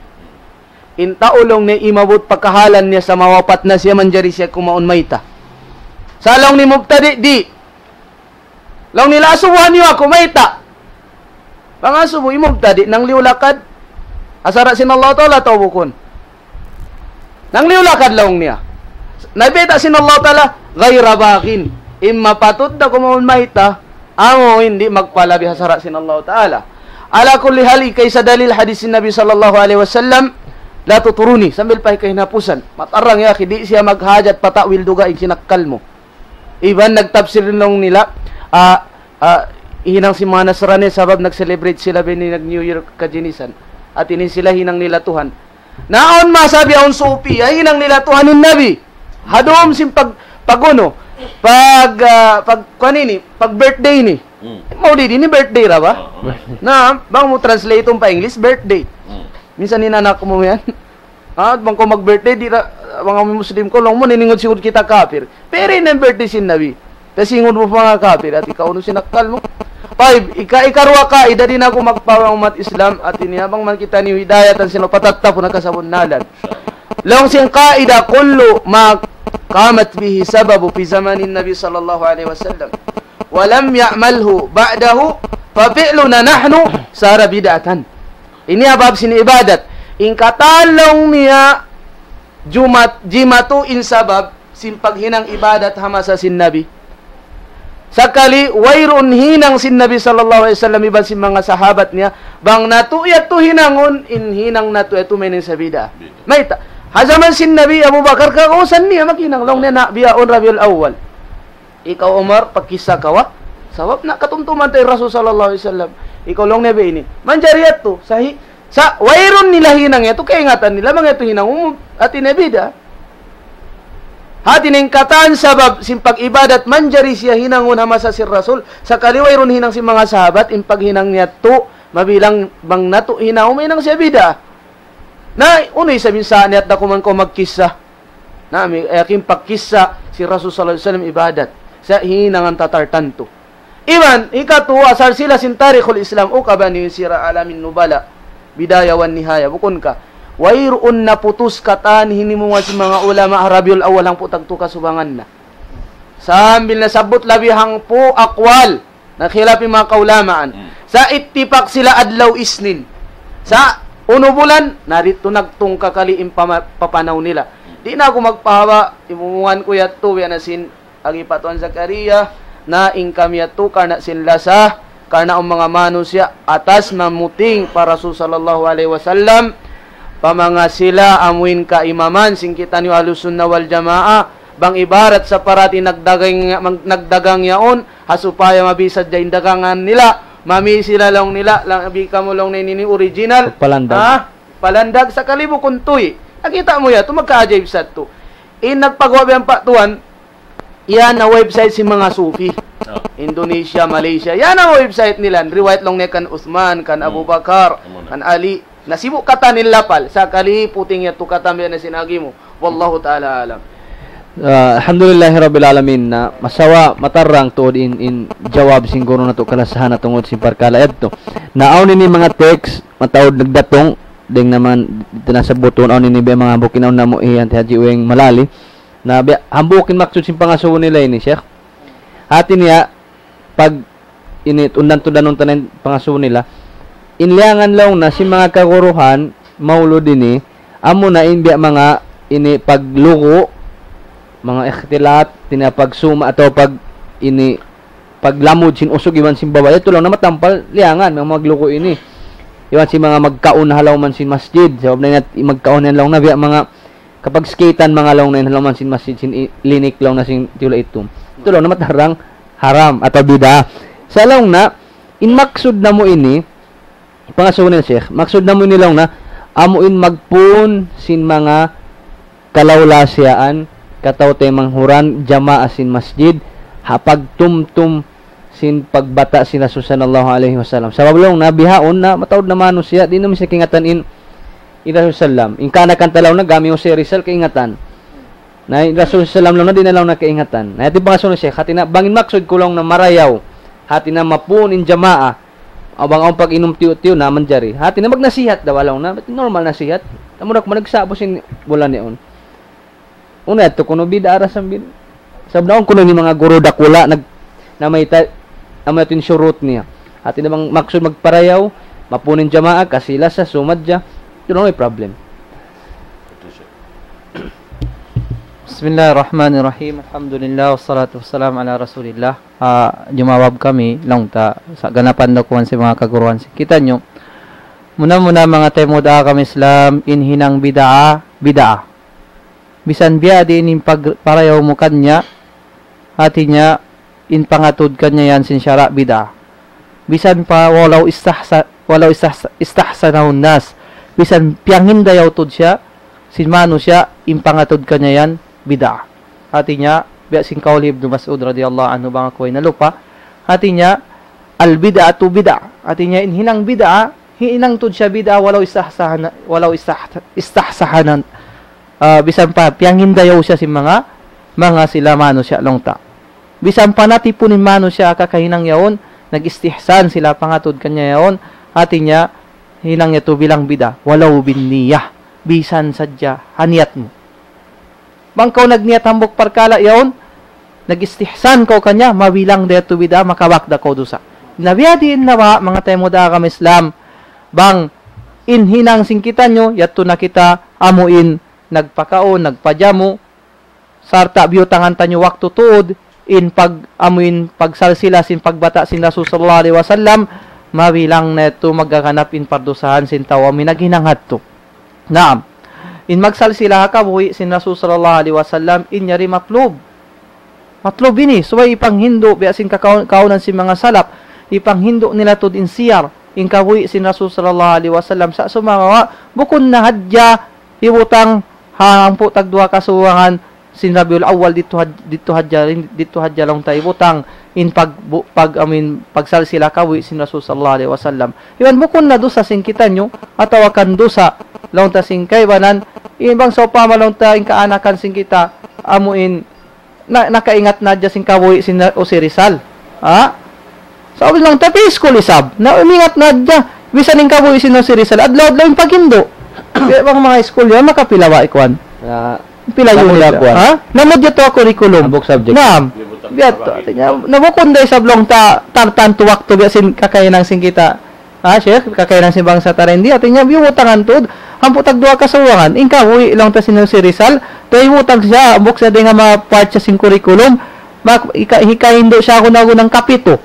In tau laung niya imabut pa kahalan niya sa mawapat na siya manjari siya kumaun mayta'. Sa' laung niya mubtadi', di'. Laung nila, asubuhan niyu aku, mayta'? Pangasubu, in mubtadi', nangliyu lakad ha sara' sin Allah Ta'ala atawa bukun? Nangliyu lakad laung niya. Na bayta' sin Allah Ta'ala, غير باغ. In mapatut da kumaun mayta', amu in di' magpalabi ha sara' sin Allah Ta'ala. Ala kulli hal, hikaysa dalil hadis sin Nabi sallallahu alayhi wasallam, لا تطروني, sambil pa hikahinapusan. Matarrang ya akhi, di' siya maghajat pa ta'wil dugaing sin akkal mu. Iban nagtapsir laung nila, ah, ah, hinang sin manga Nasrani sabab nag-celebrate sila biya' ini nag-New Year kajinisan. Hati niya sila hinang nila Tuhan. Na awn masa biya' awn sufi, ay hinang nila Tuhan in Nabi. Ha dum sin pag, pag unu, pag, ah, pag, kuwan ini, pag birthday ini. Hmm. Maulid ini birthday ra ba? Oo. Na, bang mu translate pa English, birthday. Hmm. Minsan in anak mu yan. Ah, bang kaw mag-birthday, di' ra, bang kami Muslim kaw, laung mu, niningud sigud kita kafir. Pero in birthday sin Nabi. Kasi ingud mu pa manga kafir, ati kaunu sin akkal mu. Tayyib, ika-, ikaruwa kaida, di' na aku magpawang umat Islam, ati niya, bang man kita ni hidayatan sila patattapun na kasabunnalan. Laung sin kaida, كل ما قامت به سبب في زمن النبي صلى الله عليه وسلم ولم يعمله بعده ففعلنا نحن صار بدعة. Ini ha bab sin ibadat. In katan laung niya, jumat-, jimatu in sabab sin paghinang ibadat ha masa sin Nabi. Sakali, wayruun hinang sin Nabi sallallahu alayhi wasallam iban sin manga sahabat niya, bang natu' yadtu hinangun, in hinang natu' yadtu mahinang sa bid'ah. Mayta'? Ha jaman sin Nabi, Abu Bakar, kagausan niya maghinang, laung niya na bihaun Rabiul Awwal. Ikaw, Umar, pagkissa kaw, ha? Sabab na katumtuman ta in Rasul sallallahu alayhi wasallam. Ikaw, laung niya ba ini? Manjari yadtu, sahi-, sa, wayruun nila hinang yadtu, kaingatan nila, bang yadtu hinang, um, hati niya bid'ah. Hati niya in katan sabab sin pag-ibadat manjari siya hinangun ha masa sin Rasul, sakali wayruun hinang sin manga sahabat, in paghinang niya yadtu, mabilang bang natu' hinang, mahinang siya bid'ah. Na, unu isab in saan niya yadtu kuman kaw magkissa. Na, mi-, eh, yakin pagkissa sin Rasul sallallahu alayhi wasallam ibadat. Sa hinangan tatartantu. Iban, hikatu, asal sila sin Tarikhul Islam, o ka ba ni Sira Alamin Nubala, Bidaya wan Nihaya, bukun ka. Wayruun naputus katan hinimungan sin manga ulama ha Rabiul Awwal hangpu' tagtu kasubangan na. Sambil nasabbut labi hangpu' aqwal, nakhilaf in manga kaulamaan. Hmm. Sa' ittipak sila adlaw Isnin. Sa' unu bulan, na didtu nagtungka kali in pama-, papanaw nila. Di' na aku magpahaba', imumungan ku yadtu, biya' na sin agi pa Tuan Zakaria, na in kami yadtu karna' sin lasa, karna' in manga manusiya' atas mamuting pa Rasul sallallahu alayhi wasallam, pa manga sila amuin kaimaman sin kitaniyu Ahlus Sunnah wal Jamaah, bang ibarat sa parati nagdagang, mag-, nagdagang yaun, ha supaya mabisa da in dagangan nila, mami sila laung nila, labi kamu laung niya ini original. Palandag. Ha? Palandag sakali bukun tuy. Nakita' mu yadtu, magkaajaib sa yadtu. In nagpagawa' biya' pa Tuan, yan na website sin manga Sufi. Oh. Indonesia, Malaysia. Yan na website nila. Riwayat laung niya kan Uthman, kan Abu Bakar, kan Ali. Nasibu' katan in lapal. Sakali puting yadtu katan biya' na sin agi mu. Wallahu ta'ala alam. Ah, alhamdulillahi rabbil alamin. Na masawa matarang tuud in, in jawab sin guru natu' kalasahan na tungud sin parkala' yadtu. Na awn ini manga text, mataud nagdatung, dayng naman didtu na sa butun, awn ini biya' manga hambuuk in awn namu' hi Auntie Haji Uweng Malali. Na biya' hambuuk in maksud sin pangasubu nila ini, Sheikh. Hati niya, pag ini tundan-tundanun ta na in pangasubu nila, in liyangan laung na sin manga kaguruhan, maulud ini, amuna in biya' manga ini paglugu', manga ikhtilat, hati niya pagsuma' atawa pag ini paglamud sin usug iban sin babai, yadtu laung na matampal liyangan, manga maglugu' ini. Iban sin manga magkaun ha lawm sin masjid, sabab na in magkaun yan laung na biya' manga kapagsikitan manga laung na in ha lawm sin masjid sin i-, linik laung na sin tiyula' itum. Yadtu laung na matarang haram atawa bid'ah. Sa' laung na, in maksud namu' ini, pangasubu nila Sheikh, maksud namu' ini laung na, amu in magpun sin manga kalawlasiyaan, kataw-taymanghuran, jamaa sin masjid, ha pagtumtum sin pagbata' sin Rasul sallallahu alayhi wasallam. Sabab laung na bihaun na mataud na manusiya', di' na misan kaingatan in, in Rasul sallam. In kaanakan ta laung na gami Jose Rizal kaingatan. Na in Rasul sallam laung na di' na laung na kaingatan. Na yadtu in pangasubu ni Sheikh, hati niya, bang in maksud ku laung na marayaw, hati niya mapun in jamaa, bang awn pag-inum tiyu'-tiyu' na manjari. Hati niya magnasihat da walaw na, normal nasihat. Tamu na ku managsabu sin bulan yaun. Unu yadtu kunu' bid'ah ra sambil. Sabab na awn kunu' ini manga guru dakula' nag-, namayta', amu yadtu in shurut niya. Hati niya bang maksud magparayaw, mapun in jamaa, kasi lasa, sumadja. Yadtu na may problem. بسم الله الرحمن الرحيم. الحمد لله والصلاة والسلام على رسول الله. Ah, jumawab kami, laung ta, sa' ganapan da kuwan sin manga kaguruhan sin kitaniyu. Muna-muna manga taymanghud ha agama Islam, in hinang bid'ah, bid'ah. Misan biya' diin in pag-, parayaw mu kaniya, hati niya, in pangatud kaniya yan sin sara' bid'ah. Misan pa walaw istahsa-, walaw istahsa-, istahsanahun nas. Bisan piyangindayaw tuud siya sin manusiya' in pangatud kaniya yan bid'ah. Hāti niya, biya' sin kaul hi Ibnu Mas'ud radiyallahu anhu, bang aku way nalupa. Hāti niya, al-bid'atu bid'ah. Hāti niya, in hinang bid'ah, hinang tuud siya bid'ah, walaw istahsahana, walaw istah-, istahsahanan. Ah, bisan pa piyangindayaw siya sin manga, manga sila manusiya' laung ta. Bisan pa natipun in manusiya' ha kakahinang yaun, nag-istihsan sila pangatud kaniya yaun, hāti niya hinang yadtu bilang bid'ah, walaw binniyah, bisan sadja ha niyat mu. Bang kaw nagniyat hambuuk parkala' yaun, nag-istihsan kaw kaniya, mabilang da yadtu bid'ah, makabak da kaw dusa. Na biya' diin na ba, manga taymanghud ku ha agama Islam, bang in hinang sin kitaniyu, yadtu na kita amuin nagpakaun, nagpajamu, sarta' biyutangan taniyu waktu tuud, in pag-, amuin pagsalsila sin pagbata' sin Rasul sallallahu alayhi wasallam, mabilang na yadtu maghaganap in pardusahan sin tau amuin naghinang hadtu. Naam. In magsalsila ha kabuhi' sin Rasul sallallahu alayhi wasallam, in yari matlub. Matlub ini, subay ipanghindu', biya' sin kakaun-, kaunan sin manga salaf, ipanghindu' nila tuud in siyar, in kabuhi' sin Rasul sallallahu alayhi wasallam, sa' sumagawa', bukun na hadja, hibutang, ha hangpu' tagduwa kasubangan, sin Rabiul Awwal didtu had-, didtu hadja, didtu hadja laung ta hibutang, in pag-, bu-, pag-, amuin, pagsalsila kabuhi' sin Rasul sallallahu alayhi wasallam. Iban bukun na dusa sin kitaniyu, atawa kan dusa, laung ta sin kaibanan, in bang sawpama laung ta in kaanakan sin kita, amuin, na, nakaingat na hadja sin kabuhi' sin na, Jose Rizal. Ha? Sa' laung ta, pi school isab. Na umingat na hadja. Bisan in kabuhi' sin Jose Rizal, adlaw-adlaw in paghindu'. Kaya bang manga school yan, makapila ba ikuan? Na, pila unit? Lamud na kuan. Ha? Lamud yadtu ha curriculum. Hambuuk subject. Naam. Biya' yadtu. Hāti niya, na bukun da isab laung ta, tartantu waktu biya' sin kakahinang sin kita. Ha, Sheikh, kakahinang sin bangsa ta dayn di, hāti niya, biyutangan tuud, hangpu' tagduwa kasubangan, in kabuhi' laung ta sin Jose Rizal, ta hibutang siya, hambuuk siya dayn ha manga part siya sin curriculum, mak-, hika-, hikahindu' siya guna-gunang kapitu.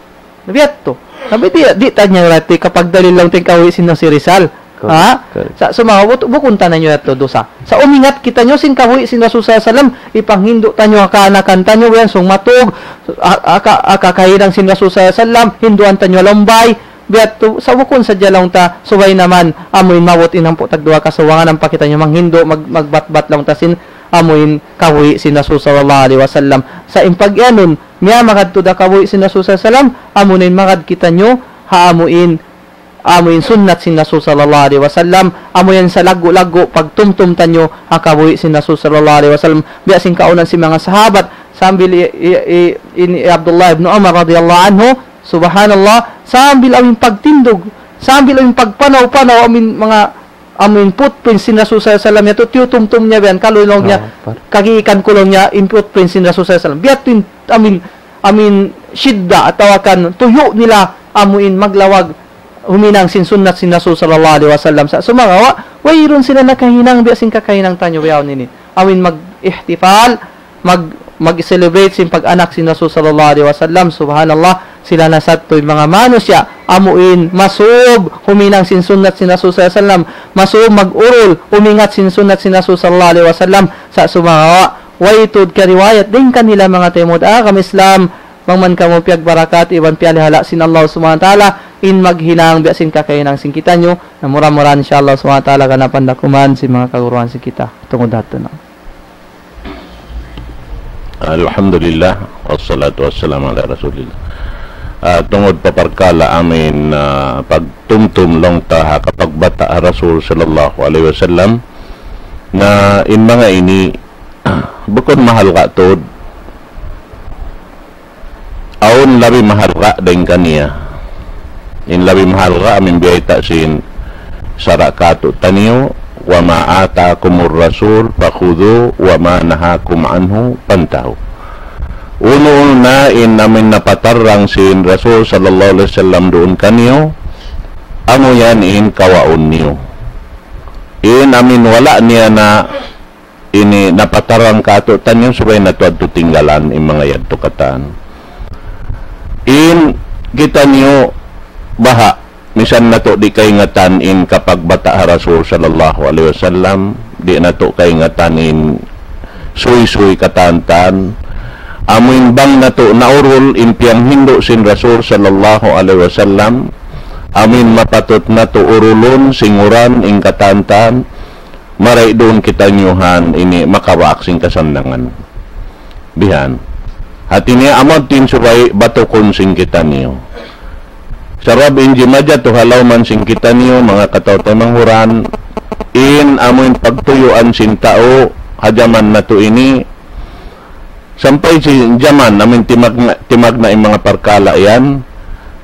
Na biya' yadtu. Na biya' di', di' ta niya rati kapagdalil laung ta in kabuhi' sin Jose Rizal. Correct, ha? Correct. Sa', sumagawa', bu-, bukun ta na niyu yadtu dusa. Sa' umingat kitaniyu sin kabuhi' sin Rasul sallallahu alayhi wasallam, ipanghindu' taniyu ha kaanakan taniyu, yan, sung matug, a-, aka-, aka kahinang sin Rasul sallallahu alayhi wasallam, hinduan taniyu ha lumbay, biya' yadtu, sa' bukun sadja laung ta, subay naman, amuin maabut in hangpu' tagduwa kasubangan, ampa kitaniyu manghindu', mag-, magbatbat laung ta sin, amuin kabuhi' sin Rasul sallallahu alayhi wasallam. Sa' in pag-iyanun, miyamagad tuud ha kabuhi' sin Rasul sallallahu alayhi wasallam, amuin magad kitaniyu, ha amuin, amuin sunnat sin Rasul sallallahu alayhi wasallam, amuin salaggu'-laggu' pagtumtum taniyu, ha kabuhi' sin Rasul sallallahu alayhi wasallam, biya' sin kaunan sin manga sahabat, sambil i-, i-, i-, in Abdullah ibn Umar radiyallahu anhu, Subhanallah, sambil amuin pagtindug, sambil amuin pagpanaw-panaw, amuin manga, amuin footprints sin Rasul sallallahu alayhi wasallam, yadtu tiyutumtum niya biya' yan, kalu laung niya, ah, par- kagiikan ku laung niya, in footprints sin Rasul sallallahu alayhi wasallam. Biya' yadtu in, amuin, amuin shidda atawa kan tuyu' nila, amuin maglawag, huminang sin sunnat sin Rasul sallallahu alayhi wasallam. Sa' sumagawa', wayruun sila nakahinang, biya' sin kakahinang taniyu, biya' yan ini. Amuin mag-ihtifal, mag-, mag-celebrate sin pag-anak sin Rasul sallallahu alayhi wasallam. Subhanallah, sila na sadtu in manga manusiya', amuin, masub, huminang sin sunnat sin Rasul sallallahu alayhi wasallam, masub, mag-urul, umingat sin sunnat sin Rasul sallallahu alayhi wasallam, sa' sumagawa', way tuud kariwayat dayn kanila manga taymanghud ku ha agama Islam, bang man kamu piyagbarakat, iban piyalihala' sin Allah subhanahu wa ta'ala, in maghinang biya' sin kakahinang sin kitaniyu, na mura-murahan insha Allah subhanahu wa ta'ala ganapan da kuman sin manga kaguruhan sin kita. Tungud hadtu na. Alhamdulillah, wassalatu wassalamu ala rasulillah. Ah, tungud pa parkala' amuin, ah, pagtumtum laung ta ha kapagbata' ha Rasul sallallahu alayhi wasallam, na in manga ini, bukun mahalga' tuud. Awn labi mahalga' dayn kaniya. In labi mahalga' amuin biyayta' sin sara' kātu'niyu, وما آتاكم الرسول فخذوه وما نهاكم عنه فانتهوا. Unu-unu na in amuin napatarrang sin Rasul sallallahu alayhi wasallam duun kaniyu, amu yan in kawaun niyu. In amuin wala' niya na ini napatarrang kātu'niyu, subay natu' yadtu tinggalan in manga yadtu katan. In kitaniyu baha', misan natu' di' kaingatan in kapagbata' ha Rasul sallallahu alayhi wasallam, di' natu' kaingatan in suysuy katantan, amuin bang natu' naurul in piyanghindu' sin Rasul sallallahu alayhi wasallam, amin mapatut natu' urulun, singuran, in katan-katan, mari duun kitaniyu ha ini makabaak sin kasannangan. Bihan. Hati niya amu in subay batukun sin kitaniyu. Sabab in jimatu ha lawm sin kitaniyu, manga kataw-taymanghuran, in amu in pagtuyuan sin tau, ha jaman natu' ini, sampay sin jaman, amu in timagna', timagna' in manga parkala' yan,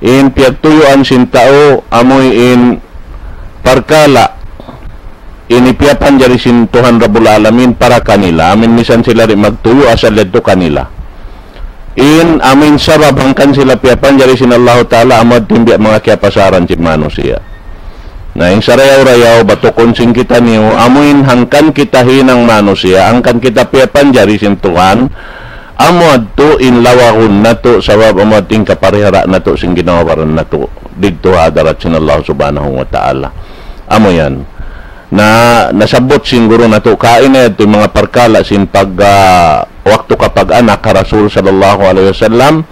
in piyagtuyuan sin tau, amu in parkala', ini piyapanjari sin Tuhan Rabbul Alamin para kanila, amu in misan sila di' magtuyu' asal yadtu kanila. In amu in sabab hangkan sila piyapanjari sin Allahu Ta'ala, amu in biya' manga kiyapasaran sin manusiya'. Na in sarayaw-rayaw, batukun sin kitaniyu, amu in hangkan kita hinang manusiya', hangkan kita piyapanjari sin Tuhan, amu yadtu in lawagun natu', sabab amu yadtu in kaparihala' natu' sin ginhawa-baran natu' didtu ha hadarat sin Allah Subhanahu wa Ta'ala. Amu yan. Na, nasabbut sin guru natu' kaina yadtu in manga parkala' sin pag, ah, waktu kapag-anak ha Rasul sallallahu alayhi wasallam.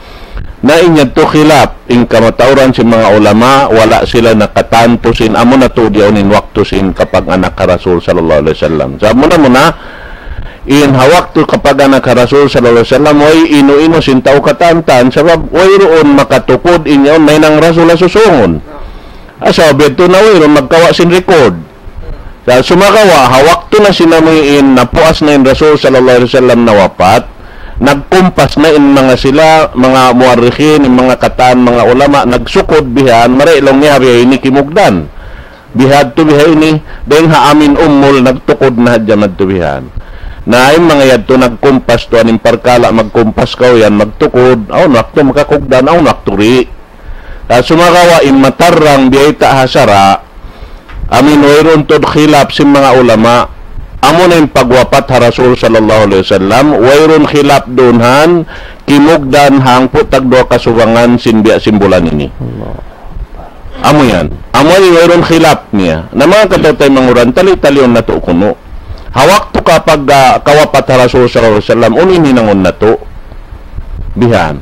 Na in yadtu khilaf, in kamatauran sin manga ulama, wala' sila nakatantu sin amu na tuud yaun in waktu sin kapag-anak ha Rasul sallallahu alayhi wasallam. Sa' muna-muna, in ha waktu kapag-anak ha Rasul sallallahu alayhi wasallam, way inu-inu sin tau katan-katan, sabab wayruun makatukud in yaun mahinang Rasul ha susungun. Asa biya' tu na wayruun magkawa' sin record. Sa' sumagawa', ha waktu na sin amu in napuas na in Rasul sallallahu alayhi wasallam nawapat, nagkumpas na in manga sila, manga muwarrikhin, in manga katan, manga ulama, nagsukud bihan, mari laung niya biya' ini kimugdan. Bihadtu biha ini, dayng ha amin umul, nagtukud na hadja madtu bihan. Na in manga yadtu nagkumpas tuwan in parkala', magkumpas kaw yan, magtukud, awn waktu makakugdan, awn waktu di'. Ah, sumagawa' in matarrang biyayta' ha sara', amu in wayruun tuud khilaf sin manga ulama, amu na in pagwapat ha Rasul sallallahu alayhi wasallam, wayruun khilaf duun han, kimugdan hangpu' tagduwa kasubangan sin biya' sin bulan ini. Allah. Amu yan. Amu in wayruun khilaf niya. Na manga kataw-taymanghuran, tali-taliun natu' kunu'. Ha waktu kapag, ah, kawapat ha Rasul sallallahu alayhi wasallam, unu in hinangun natu'? Bihan.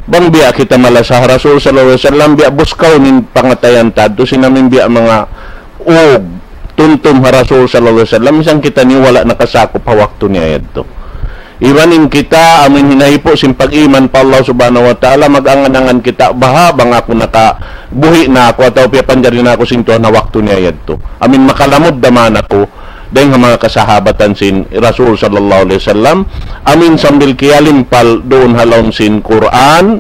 Bang biya' kita malasa ha Rasul sallallahu alayhi wasallam, biya' buskaw in pangatayan ta yadtu, sin amu in biya' manga ug, tumtum ha Rasul sallallahu alayhi wasallam, misan kitaniyu wala' nakasakup ha waktu niya yadtu. Iban in kita, amu in hinahipu' sin pag-iman pa Allah subhanahu wa ta'ala, mag-angan-angan kita, baha' bang aku nakabuhi' na aku, atawa piyapanjari na aku sin Tuhan ha waktu niya yadtu. Amu in makalamud da man aku, dayng ha manga kasahabatan sin Rasul sallallahu alayhi wasallam, amu in sambil kiyalimpal duun ha lawm sin Qur'an,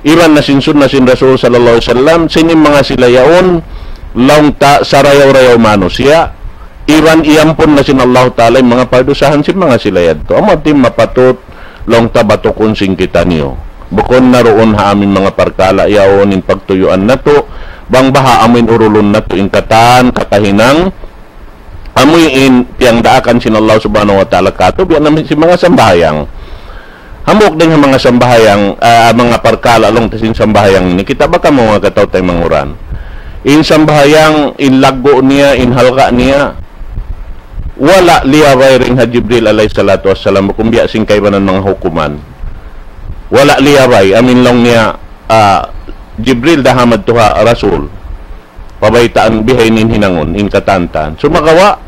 iban na sin sunna sin Rasul sallallahu alayhi wasallam, sin in manga sila yaun, laung ta sarayaw-rayaw manusiya', iban iyampun na sin Allah Ta'ala in manga pardusahan sin manga sila yadtu. Amu in mapatut, laung ta batukun sin kitaniyu. Bukun na duun ha amu in manga parkala' yaun in pagtuyuan natu', bang baha' amu in urulun natu' in katan, kakahinang, amu in piyangdaakan sin Allah subhanahu wa ta'ala katu', biya' na sin manga sambahayang. Hambuuk dayng ha manga sambahayang, ah, manga parkala' laung ta sin sambahayang ini, kita' ba kamu manga kataw-taymanghuran. In sambahayang, in laggu' niya, in halga' niya, wala' liyabay dayng ha Jibril alayhi salatu wassalam, bukun biya' sin kaibanan manga hukuman. Wala' liyabay, amu in laung niya, ah, Jibril da ha madtu ha Rasul. Pabaytaan bihaini in hinangun, in katan-katan. Sumagawa',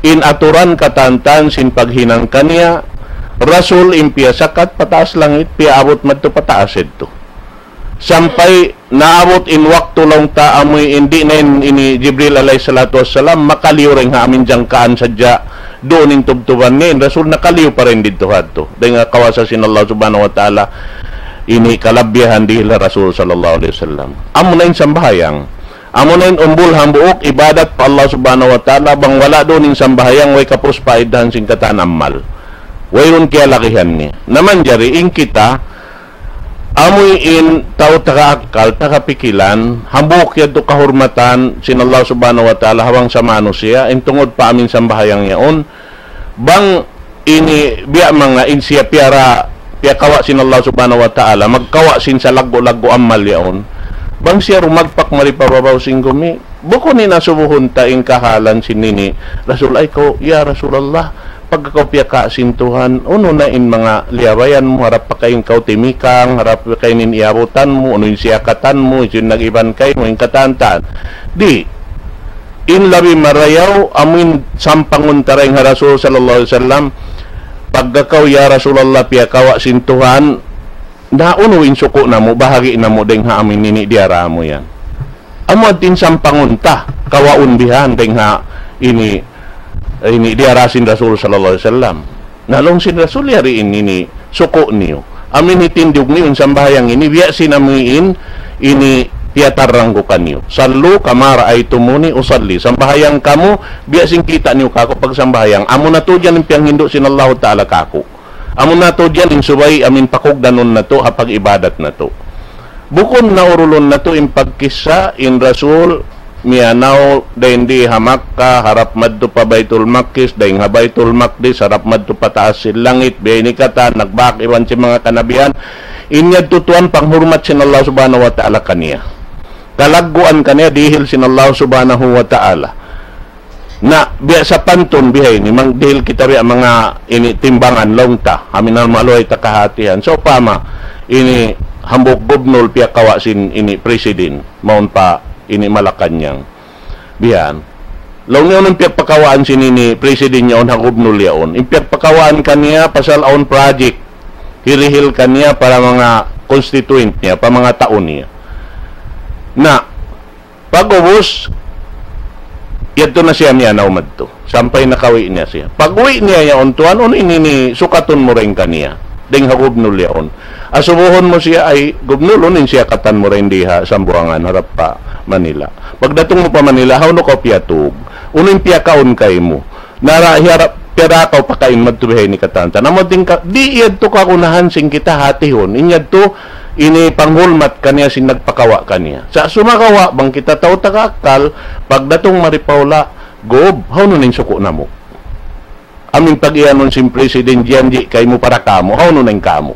in aturan katan-katan sin paghinang kaniya, Rasul in piyasakat pataas langit, piyaabut madtu pataas yadtu. Sampay naabut in waktu laung ta amu in di' na in ini Jibril alayhi salatu wassalam, makaliyu dayng ha amu in jangkaan sadja, duun in tubtuban niya, in Rasul nakaliyu pa dayn didtu hadtu. Dayng ha kawasa sin Allah subhanahu wa ta'ala, ini kalabbihan dihil ha Rasul sallallahu alayhi wasallam. Amu na in sambahayang. Amu na in umbul hambuuk ibadat pa Allah subhanahu wa ta'ala, bang wala' duun in sambahayang, way kapus paidahan sin katan amal. Wayruun kiyalagihan niya. Na manjari in kita, amu in tau taga akkal, taga pikilan, hambuuk yadtu kahurmatan sin Allah subhanahu wa ta'ala ha bangsa manusiya', in tungud pa amu in sambahayang yaun, bang ini biya' manga in siya piyara, piyakawa' sin Allah subhanahu wa ta'ala, magkawa' sin salaggu'-laggu' amal yaun. Bang siya rumagpak mari pa babaw sin gumi, bukun in asubuhun ta in kahalan sin ini. Rasul ay kaw, ya Rasulullah, Pagka kaw piyaka sin Tuhan, unu na in manga liyabayan mu, harap pa kaw in kaw timikang, harap pa kaw in iyabutan mu, unu in siyakatan mu, in nag-iban kaymu, in katan-katan. Di', in labi marayaw, amu in sampangun ta dayn ha Rasul sallallahu alayhi wasallam, pagka kaw, "Ya Rasulullah, piyakawa' sin Tuhan, na unu in suku' namu', bahagi' namu' dayn ha amu in ini diyara mu yan." Amu in sampangun ta, kawaun bihan dayn ha ini, ini diyara sin Rasul sallallahu alayhi wasallam. Na laung sin Rasul, "Yari in ini suku' niyu. Amu in hitindug niyu in sambahayang ini, biya' sin amu in ini piyatarrang ku kaniyu. صلوا كما رأيتموني أصلي. Sambahayang kamu, biya' sin kita' niyu kaku' pagsambahayang. Amu na tuud yan in piyanghindu' sin Allahu Ta'ala kaku'. Amu na tuud yan in subay amu in pakugdanun natu' ha pag-ibadat natu'." Bukun na urulun natu' in pagkissa in Rasul miyanaw dayn di ha Makkah, harap madtu pa Baytul Maqdis, dayn ha Baytul Maqdis, harap madtu pa taas sin langit, biya' ini katan, nagbak iban sin manga kanabihan, in yadtu tuwan panghurmat sin Allah Subhanahu wa Ta'ala kaniya. Kalagguan kaniya dihil sin Allah Subhanahu wa Ta'ala. Na, biya' sapantun bihaini, mang dihil kita biya' manga ini timbangan laung ta, amu in maluhay ta kahatihan. Sawpama, ini hambuuk gubnul piyakawa' sin ini president, mawn pa ini Malacañang. Biya' yan. Laung niya unu in piyagpakawaan sin ini president yaun ha gubnul yaun. In piyagpakawaan kaniya pasal awn project, hirihil kaniya para manga constituent niya, pa manga tau niya. Na, pag-ubus, yadtu na siya miyanaw madtu. Sampay nakawi' niya siya. Pag-uwi' niya yaun tuwan, unu in ini sukatun mu dayn kaniya. Dayn ha gubnul yaun. Asubuhun mu siya, "Ay, gubnul, unu in siyakatan mu dayn di ha Sambuwangan, harap pa Manila. Pagdatung mu pa Manila, hawnu kaw piyatug? Unu in piyakaun kaymu? Nara hiyarap piyara kaw pakain madtu bihaini katan-katan." Amu in ka, di' yadtu kagunahan sin kita hatihun. In yadtu, ini panghulmat kaniya sin nagpakawa' kaniya. Sa' sumagawa', bang kita tau taga akkal, pagdatung mari pa hula', "Gub, hawnu na in suku' namu'? Amu in pag-iyanun sin president, jiyanji' kaymu para kāmu', hawnu na in kāmu'?"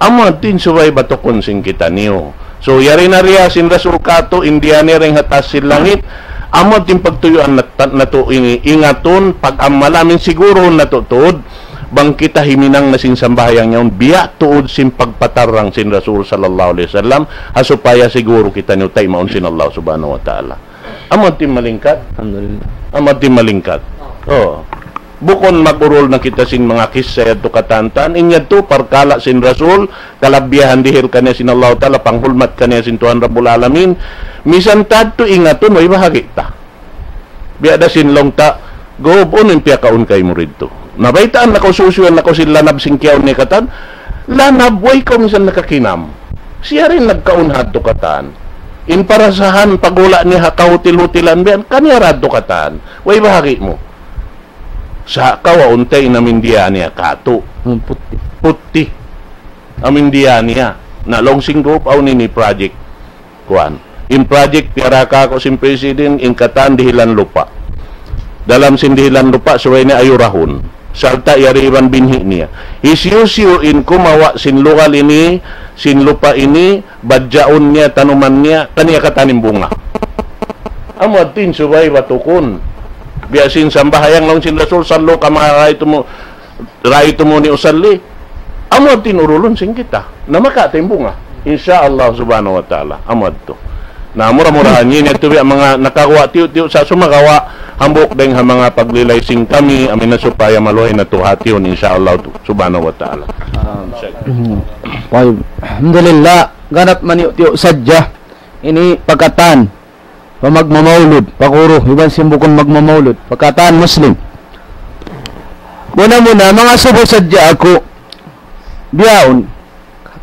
Amu yadtu in subay batukun sin kitaniyu. So, yari na riya sin Rasul katu', in diyā niya dayn ha taas sin langit, amu yadtu in pagtuyuan nat-, natu' ini, ingatun, pag-amala, amu in siguruhun natu' tuud, bang kita himinang na sin sambahayang yaun, biya' tuud sin pagpatarrang sin Rasul sallallahu alayhi wasallam, ha supaya siguru kitaniyu taymaun sin Allah Subhanahu wa Ta'ala. Amu yadtu in malingkat. Alhamdulillah. Amu yadtu in malingkat. Oo. Bukun mag-urul na kita sin manga kissa yadtu katan-katan. In yadtu parkala' sin Rasul, kalabihan dihil kaniya sin Allah Ta'ala, panghulmat kaniya sin Tuhan Rabbul Alamin. Misan ta yadtu ingatun, way bahagi' ta. Biya' da sin laung ta, "Gub, unu in piyakaun kaymu didtu?" Nabaytaan na kaw, susuyuan na kaw sin lanab sin kiyaun niya katan. Lanab, way kaw misan nakakinam. Siya da in nagkaun ha yadtu katan. In parasahan, pagula' niya ha kahutil-hutilan, biya' yan, kaniya da yadtu katan. Way bahagi' mu. Sa' kawaun ta in amu in diyā niya katu'. Hmm, puti'. Puti'. Amu in diyā niya. Na laung sin gub, awn ini project. Kuwan. In project piyara kāku' sin president, in katan dihilan lupa'. Dalam sin dihilan lupa', subay niya ayurahun. Sarta' yari iban binhi' niya. Hisiyu-siyu in kumawa' sin lugal ini, sin lupa' ini, badjaun niya, tanuman niya, kaniya katan in bunga. Amu yadtu in subay batukun. Biya' sin sambahayang laung sin Rasul, "صلوا كما رأيتمو-, رأيتموني أصلي." Amu yadtu in urulun sin kita. Na makawa' ta in bunga. Insya Allah Subhanahu wa Ta'ala. Amu yadtu. Na mura-murahan ini yadtu biya' manga nakaguwa' tiyu'-tiyu' sa' sumagawa' hambuuk dayn ha manga paglilay sin kami, amu in supaya maluhay natu' hatihun, insya Allah tu-, Subhanahu wa Ta'ala. Ah, Sheikh. Hmm. Tayyib. Alhamdulillah, ganap maniyu'-tiyu' sadja. Ini pa katan. Pa magmamaulud, pa guru, iban sin bukun magmamaulud, pa katan Muslim. Muna-muna, mangasubu sadja aku, bihaun,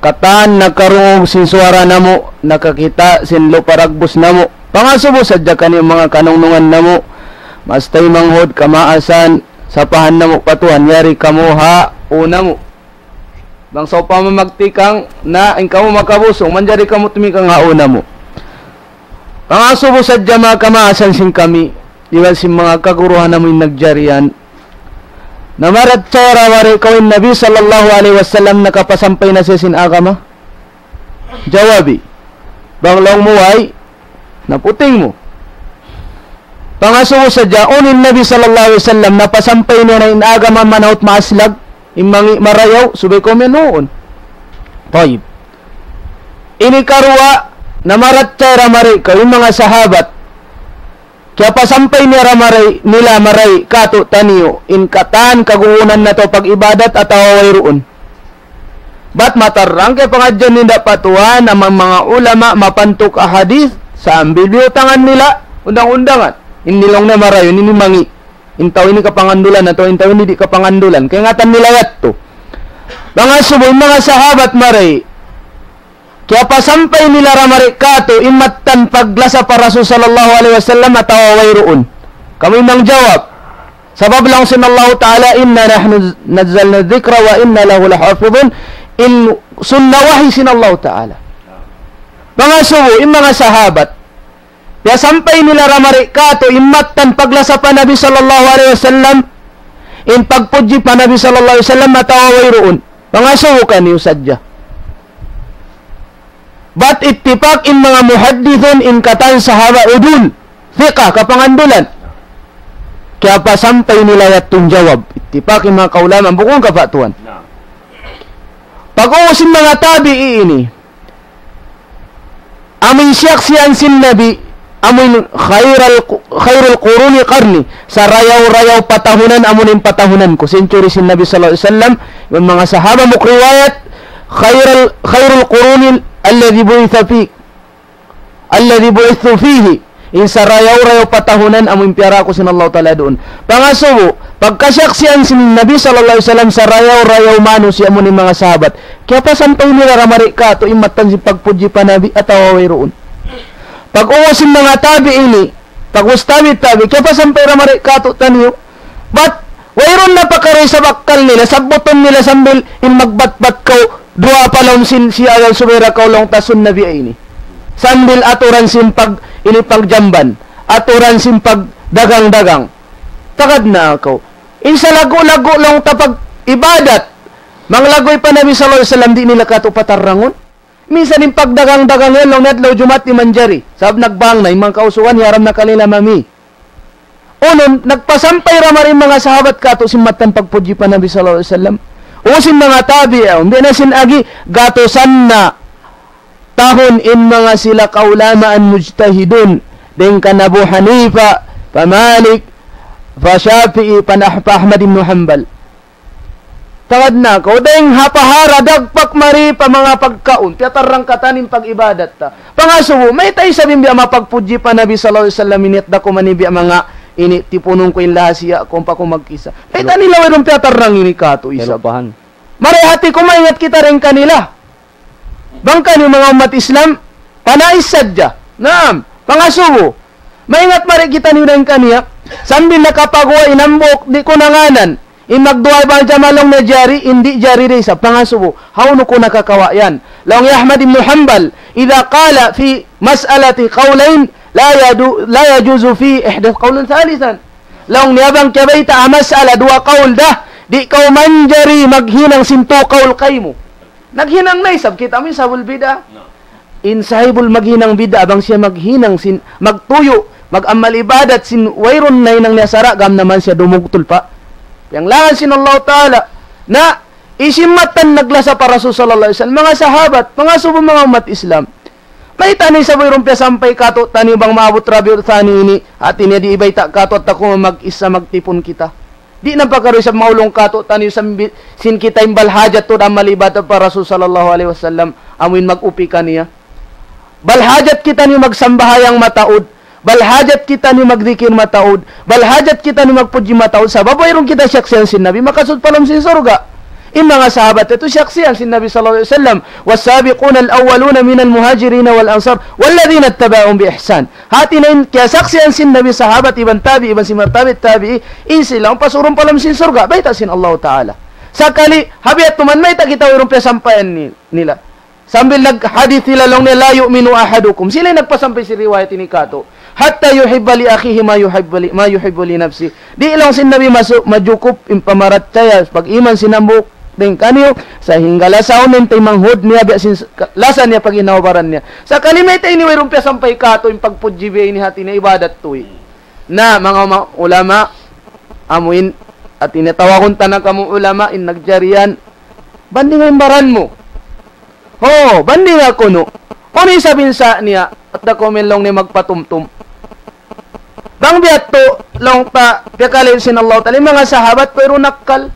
katan nakarungug sin suwara namu', nakakita' sin lupa' dagbus namu'. Pangasubu sadja kaniyu manga kanungnungan namu', maas taymanghud, kamaasan, sapahan namu' pa Tuhan, yari kamu ha ū namu'. Bang sawpama magtikang na in kamu makabusung, manjari kamu tumikang ha ū namu'. Pangasubu sadja manga kamaasan sin kami, iban sin manga kaguruhan namu' in nagjari yan. Na maratsaya ra wari' kaw in Nabi sallallahu alayhi wasallam nakapasampay na siya sin agama? Jawabi. Bang laung mu way, na puting mu. Pangasubu sadja, unu in Nabi sallallahu alayhi wasallam, napasampay niya na in agama manaut maaslag, in mangi' marayaw, subay kaw mayan huun. Tayyib. Ini karuwa, namarachaya ra mari kaw, in manga sahabat, kiyapasampay niya ra mari, nila mari, katu' taniyu, in katan kaguunan natu' pag-ibadat atawa wayruun. Bat matarrang kay pangadjian ninda pa Tuhan, amang manga ulama mapantuk ahadith, sambil biyutangan nila undang-undangan. In laung niya marayaw, ini mangi'. In tau ini kapangandulan atawa in tau ini di' kapangandulan. Kaingatan nila yadtu. Manga subu, in manga sahabat mari. Kiyapasampay nila ra mari katu', in mattan paglasa pa Rasul sallallahu alayhi wasallam atawa wayruun. Kamu in mangjawab. Sabab laung sin Allahu Ta'ala, إنا نحن نزلنا الذكر وإنا له لحافظون. In sunnah wahi sin Allahu Ta'ala. Manga subu, in manga sahabat, piyasampay nila ra mari katu', in mattan paglasa pa Nabi sallallahu alayhi wasallam, in pagpudji pa Nabi sallallahu alayhi wasallam, atawa wayruun. Manga subu kaniyu sadja. Bat ittipak in manga muhaddithun, in katan sahabat udul, thiqah, kapangandulan. Kiyapasampay nila yadtu in jawab. Ittipak in manga kaulamaan, bukun ka pa Tuhan. Pag-ubus in manga tabi'i ini, amu in siyaksian sin Nabi, amu in خير ال-, خير القرون قرني, sarayaw-rayaw patahunan, amu in patahunan ku, century sin Nabi sallallahu alayhi wasallam, in manga sahaba mukriwayat, خير ال-, خير القرون الذي بعث في الذي بعثت فيه, in sarayaw-rayaw patahunan amu in piyara aku sin Allahu Ta'ala duun. Pangasubu, pagkasiyaksian sin Nabi sallallahu alayhi wasallam sarayaw-rayaw manusiya' amu in manga sahabat. Kiyapasampay nila ra mari katu' in mattan sin pagpudji pa Nabi atawa wayruun. Pag-ubus sin manga tabi'i ini, pag-ubus tabi', tabi', kiyapasampay ra mari katu' taniyu. Bat, wayruun na pakaruy sa bakkal nila, sabbutun nila sambil in magbatbat kaw, duwa pa laum sin siya yan subay ra kaw laung ta sun Nabi ini. Sambil aturan sin pag, ini pagjamban, aturan sin pagdagang-dagang. Tagad na aku. In sa lagu-lagu laung ta pag-ibadat, manglaguy pa Nabi sallallahu alayhi wasallam, di' nila katu' patarrangun. Minsan in pagdagang-dagang yan, laung niya adlaw Jumaat di' manjari. Sabab nagbang na, in manga kausugan, hiyaram na kanila mami. Unu, nagpasampay ra mari in manga sahabat katu' sin mattan pagpudji pa Nabi sallallahu alayhi wasallam. Ubus in manga tabi'un, biya' na sin agi, gatusan na tahun in manga sila kaulamaan mujtahidun. Dayn kan Abu Hanifa, pa Malik, pa Shafi'i, pa Nah-, pa Ahmad ibn Hanbal. Tagad na aku, dayn ha pahara dagpak mari pa manga pagkaun, piyatarrang katan in pag-ibadat ta. Pangasubu, mayta' isab in biya' mapagpudji pa Nabi sallallahu alayhi wasallam, in yat da kuman in biya' manga ini tipunun ku in lahasiya ku, ampa ku magkisa. Mayta' nila wayruun piyatarrang ini katu' isab. Kalupahan. Mari hati ku maingat kita dayn kanila. Bang kaniyu manga ummat Islam, panais sadja. Naam, pangasubu. Maingat mari kitaniyu dayn kaniya. Sambil nakapaguwa' in hambuuk, di' ku na nganan. In magduwa bang jama laung niya jari, in di' jari da isab, pangasubu. Hawnu ku nakakawa' yan? Laung hi Ahmad ibn Hanbal, إذا قال في مسألة قولين لا يدو-، لا يجوز في إحداث قول ثالثا. Laung niya bang kiyabayta' ha mas'ala duwa kaul da, di' kaw manjari maghinang sin tū kaul kaymu. Naghinang na isab kita, amu in sababul bid'ah. In sahibul maghinang bid'ah, bang siya maghinang sin, magtuyu', mag-amal ibadat sin wayruun nahinang niya sara', gam naman siya dumugtul pa piyanglangan sin Allah Ta'ala. Na, hisiyu in mattan naglasa pa Rasul sallallahu alayhi wasallam, manga sahabat, pangasubu manga ummat Islam. Mayta' na isab wayruun piyasampay katu' taniyu bang maabut Rabiul Thani ini, hati niya di' ibayta' katu' at aku mag-isa magtipun kita. Di' na pakaruy isab maulung katu' taniyu sambi-, sin kita in bal hajat tuud amal ibadat pa Rasul sallallahu alayhi wasallam, amu in mag-upi kaniya. Bal hajat kitaniyu magsambahayang mataud, bal hajat kitaniyu magdikir mataud, bal hajat kitaniyu magpudji mataud, sabab wayruun kita siyaksian sin Nabi, makasud pa lawm sin surga'. In manga sahabat yadtu siyaksian sin Nabi sallallahu alayhi wasallam, والسابقون الأولون من المهاجرين والأنصار والذين اتبعوهم بإحسان. Hati niya in kiyasaksian sin Nabi sahabat iban tabi', iban sin manga tabi' tabi'i, in sila in pasurun pa lawm sin surga', bayta' sin Allah Ta'ala. Sakali, ha biya' tuud man mayta' kita wayruun piyasampayan ni-, nila. Sambil naghadith sila laung niya, لا يؤمن أحدكم. Sila in nagpasampay sin riwayat ini katu'. حتى يحب لأخيه ما يحب ل-، ما يحب لنفسه. Di' laung sin Nabi masu-, majukup in pamarachaya, pag-iman sin hambuuk dayn kaniyu, sahingga lasaun in taymanghud niya, biya' sin s-, ka-, lasa niya pag-inaw baran niya. Sakali mayta' ini wayruun piyasampay katu' in pagpudji biya' ini hati niya ibadat tuud. Na, manga uma-, ulama, amuin, hati niya tawagun ta na kamu ulama, in nagjari yan, bandinga in baran mu. Ho, bandinga kunu'. Unu isab in sa' niya, at da kumin laung niya magpatumtum. Bang biya' tu, laung ta, piyakali sin Allah Ta'ala, in manga sahabat, pero nakkal.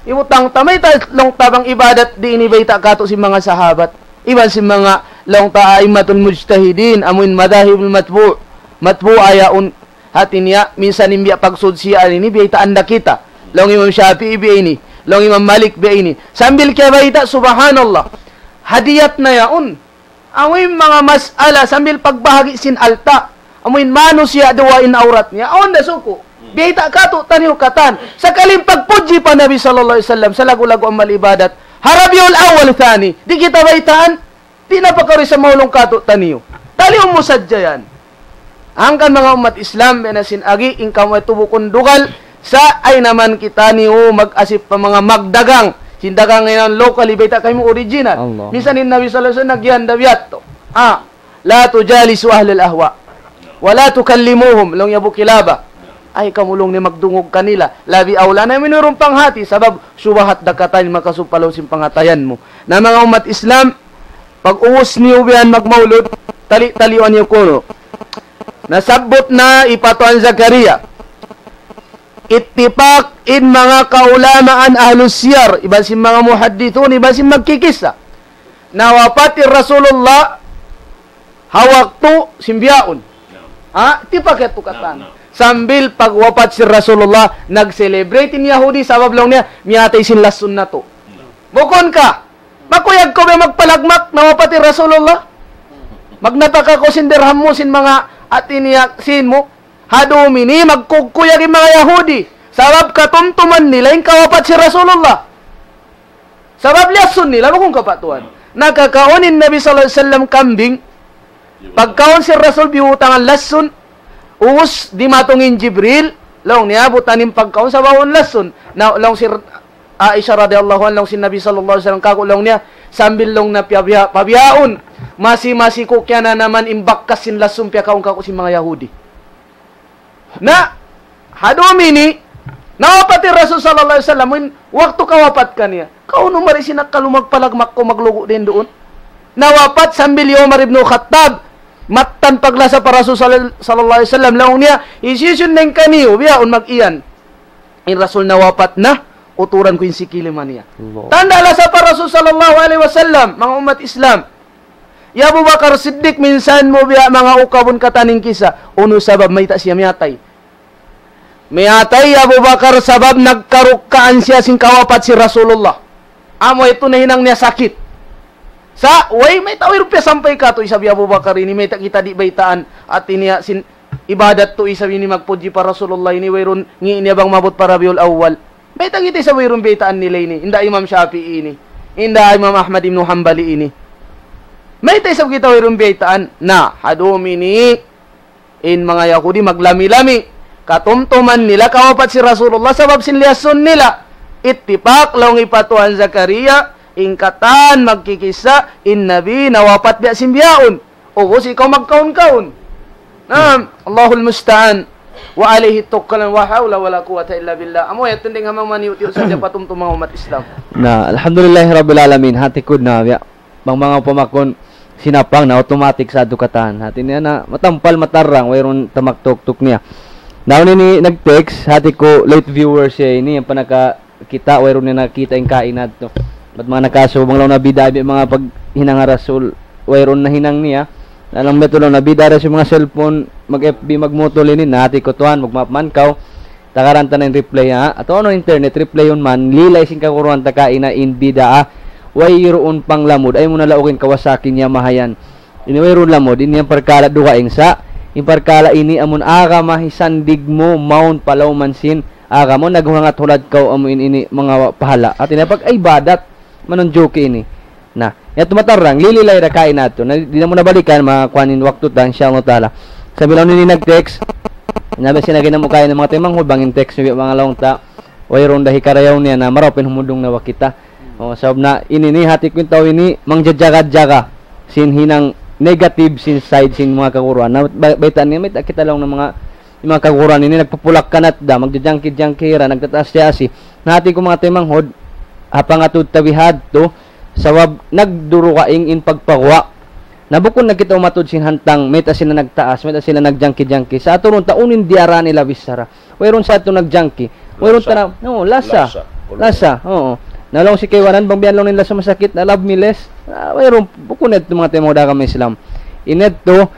Ibutang ta, mayta' laung ta bang ibadat di' ini bayta' katu' sin manga sahabat. Iban sin manga laung ta a'immatul mujtahidin, amuin madahibul matbu', matbu'a yaun. Hati niya, minsan in biya' pagsud siya ini, biyaytaan da kita. Laung Imam Shafi'i biya' ini, laung Imam Malik biya' ini. Sambil kiyabayta', subhanallah. Hadiyat na yaun. Amuin manga mas'ala sambil pagbahagi' sin alta'. Amuin manusiya' duwa in awrat niya. Awn da suku'. Biyayta' katu' taniyu katan. Sakali in pagpudji pa Nabi sallallahu alayhi wasallam, sa lagu-lagu amal ibadat. Ha Rabiul Awwal Thani. Di' kita baytaan. Di' na pakari sa maulung katu' taniyu. Taliun mu sadja yan. Hangkan manga ummat Islam, biya' na sin agi, in kamu itu bukun dugal, sa' ay naman kitaniyu mag-asip pa manga magdagang. Sin dagang yan local, bayta' kaymu original. Allah. Minsan in Nabi sallallahu alayhi wasallam nagyan da biya' tu. Ah, لا تجالسوا أهل الأهواء ولا تكلموهم, laung niya Abu Kilaba. Ay, kamu laung niya magdungug kanila. Labi awla na minurung panghati, sabab subahat da katan makasud pa lawm sin pangatayan mu. Na manga ummat Islam, pag-ubus niyu biya' yan magmaulud, tali-talian niyu kunu'. Nasabbut na hi Pa Tuan Zakaria. Ittipak in manga kaulamaan ahlus siyar, iban sin manga muhaddithun, iban sin magkikissa. Nawapat in Rasulullah, ha waktu sin bihaun. Ha? Tipak yadtu katan. Naam, naam. Sambil pagwapat sin Rasulullah, nag-celebrate in Yahudi, sabab laung niya, miyatay sin lassun natu'. Bukun ka, makuyag kaw ba magpalagmak, nawapat in Rasulullah? Magnapaka kaw sin dirham mu, sin manga hati niya, sin mu. Ha dum ini, magkukuyag in manga Yahudi. Sabab katumtuman nila in kawapat sin Rasulullah. Sabab liyasun nila, bukun ka pa Tuan. Nakakaun in Nabi sallallahu alayhi wasallam kambing. Pagkaun sin Rasul biyutangan lasun. Ubus dimatung in Jibril. Laung niya, butangan in pagkaun sabab awn lasun. Na, laung sin Aisha radiyallahu anha, laung sin Nabi sallallahu alayhi wasallam, kaku' laung niya, sambil laung na piyabiya-, pabiyaun. Masi-masi ku kiyananaman in bakas sin lasun piyakaun kaku' sin manga Yahudi. Na, ha dum ini, nawapat in Rasul sallallahu alayhi wasallam, in waktu kawapat kaniya. Kaunu mari sin akkal mu magpalagmak kaw maglugu' dayn duun. Nawapat sambil hi Umar ibn Khattab, mattan paglasa pa Rasul sal-, sallallahu alayhi wasallam, laung niya, hisiyu-siyu dayn kaniyu, bihaun mag-iyan. In Rasul nawapat na, uturan ku in sikili man niya. Allah. Tanda' lasa pa Rasul sallallahu alayhi wasallam, manga ummat Islam. Hi Abu Bakar Siddiq minsan mu biya' manga ukabun katan in kissa. Unu sabab mayta' siya miyatay? Miyatay hi Abu Bakar sabab nagkarukkaan siya sin kawapat sin Rasulullah. Amu yadtu nahinang niya sakit. Sa', way, mayta' wayruun piyasampay katu' isab hi Abu Bakar ini, mayta' kita di' baytaan, hati niya sin ibadat tu isab ini magpudji pa Rasulullah ini, wayruun ngi' niya bang maabut pa Rabiul Awwal. Mayta' kita isab wayruun biyaytaan nila ini, hinda Imam Shafi'i ini, hinda Imam Ahmad ibn Hanbali ini. Mayta' isab kita wayruun biyaytaan, na, ha dum ini, in manga Yahudi maglami-lami. Katumtuman nila kawapat sin Rasulullah sabab sin liyasun nila. Ittipak laung hi Pa Tuan Zakaria, in katan magkikissa, in Nabi nawapat biya' sin bihaun. Ubus ikaw magkaun-kaun. Naam, Allahul musta'an. وعليه توكلنا ولا حول ولا قوة إلا بالله. Amu yadtu dayn ha manga maniyut-iyut sadja patumtum manga ummat Islam. Na, alhamdulillahi rabbil alamin. Hati ku na, biya'. Bang manga pamakun sinapang na automatic sa atu katan. Hati niya na matampal matarrang, wayruun tamaktuktuk niya. Na unu ini nag-text, hati ku late viewer siya ini, in panaka kita, wayruun niya nakita' in kainat tu. Bat manga nakasu, bang laung na bida', bi manga paghinang ha Rasul, wayruun nahinang niya. Na laung betul laung na bida' ra sin manga cellphone, mag-F B, magmutol ini, na hati ku Tuan, magmaap man kaw. Tagaran ta na in reply, ha? Atawa unu internet, reply yun man, lilay sin kaguruhan ta kaina in bidaa. Wayruun panglamud, ayaw mu na laugin Kawasaki niya mahayan. Ini wayruun lamud, ini in parkala' dugaing sa'. In parkala' ini amun agama hisandig mu, mawn pa lawm sin agama, naghuhangat hulad kaw amu in ini manga pahala'. Hati niya pag-ibadat, manunjuki ini. Na, yadtu matarrang, lililay da kaina yadtu. Na, di' na mu na balikan, makuan in waktu ta, insha Allah ta'ala. Sambil awn ini nag-text, na, biya' sin agi namu' kaina manga taymanghud, bang in text niya, manga laung ta, wayruun da hikarayaw niya na marayaw pa in humundung na wak kita. O, sabab na ini ni hati ku in tau ini, mangjajaga-jaga sin hinang negative sin side sin manga kaguruhan. Na, ba-, baytaan niya, mayta' kita laung na manga In manga kaguruhan ini nagpapulak-kanat da, magjajangki-jangki ra, nagtataas-tiyaasi. Na hati ku manga taymanghud, ha pangatud ta bihadtu, sabab nagdurugaing in pagpaguwa'. Na bukun na kita umatud sin hantang, mayta' sila nagtaas, mayta' sila nagjangki-jangki. Sa' aturun ta unu in diyara nila bichara. Wayruun sa' tuud nagjangki. Wayruun lasa. Tana-, no, lasa. Lasa. Lasa, oo. Na laung sin kaibanan, bang biya' laung nila sumasakit, na love me less. Ah, wayruun, bukun na yadtu manga taymanghud ha agama Islam. In yadtu,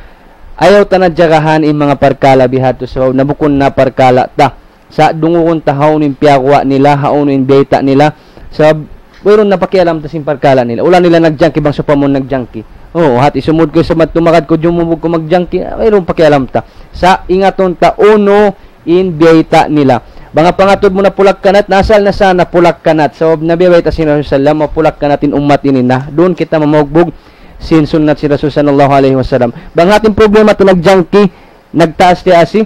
ayaw ta na jagahan in manga parkala' bihadtu sabab na bukun na parkala' ta. Sa' dungugun ta hawnu in piyaguwa' nila, hawnu in biyayta' nila. Sabab wayruun na pakialam ta sin parkala' nila. Ula nila nagjangki bang sawpama nagjangki. Oo, hati sumud ku sa' magtumakad ku, jumubug ku magjangki, ah, wayruun pakialam ta. Sa' ingatun ta unu in biyayta' nila. Bang ha pangatud mu napulak-kanat, na asal na sa' napulak-kanat. Sabab na biya' bayta' sin Rasul sallam, mapulak-kanat in ummat ini na. Duun kita mamugbug sin sunnat sin Rasul sallallahu alayhi wasallam. Bang hati in problema ta nagjangki, nagtaas-tiyaasi,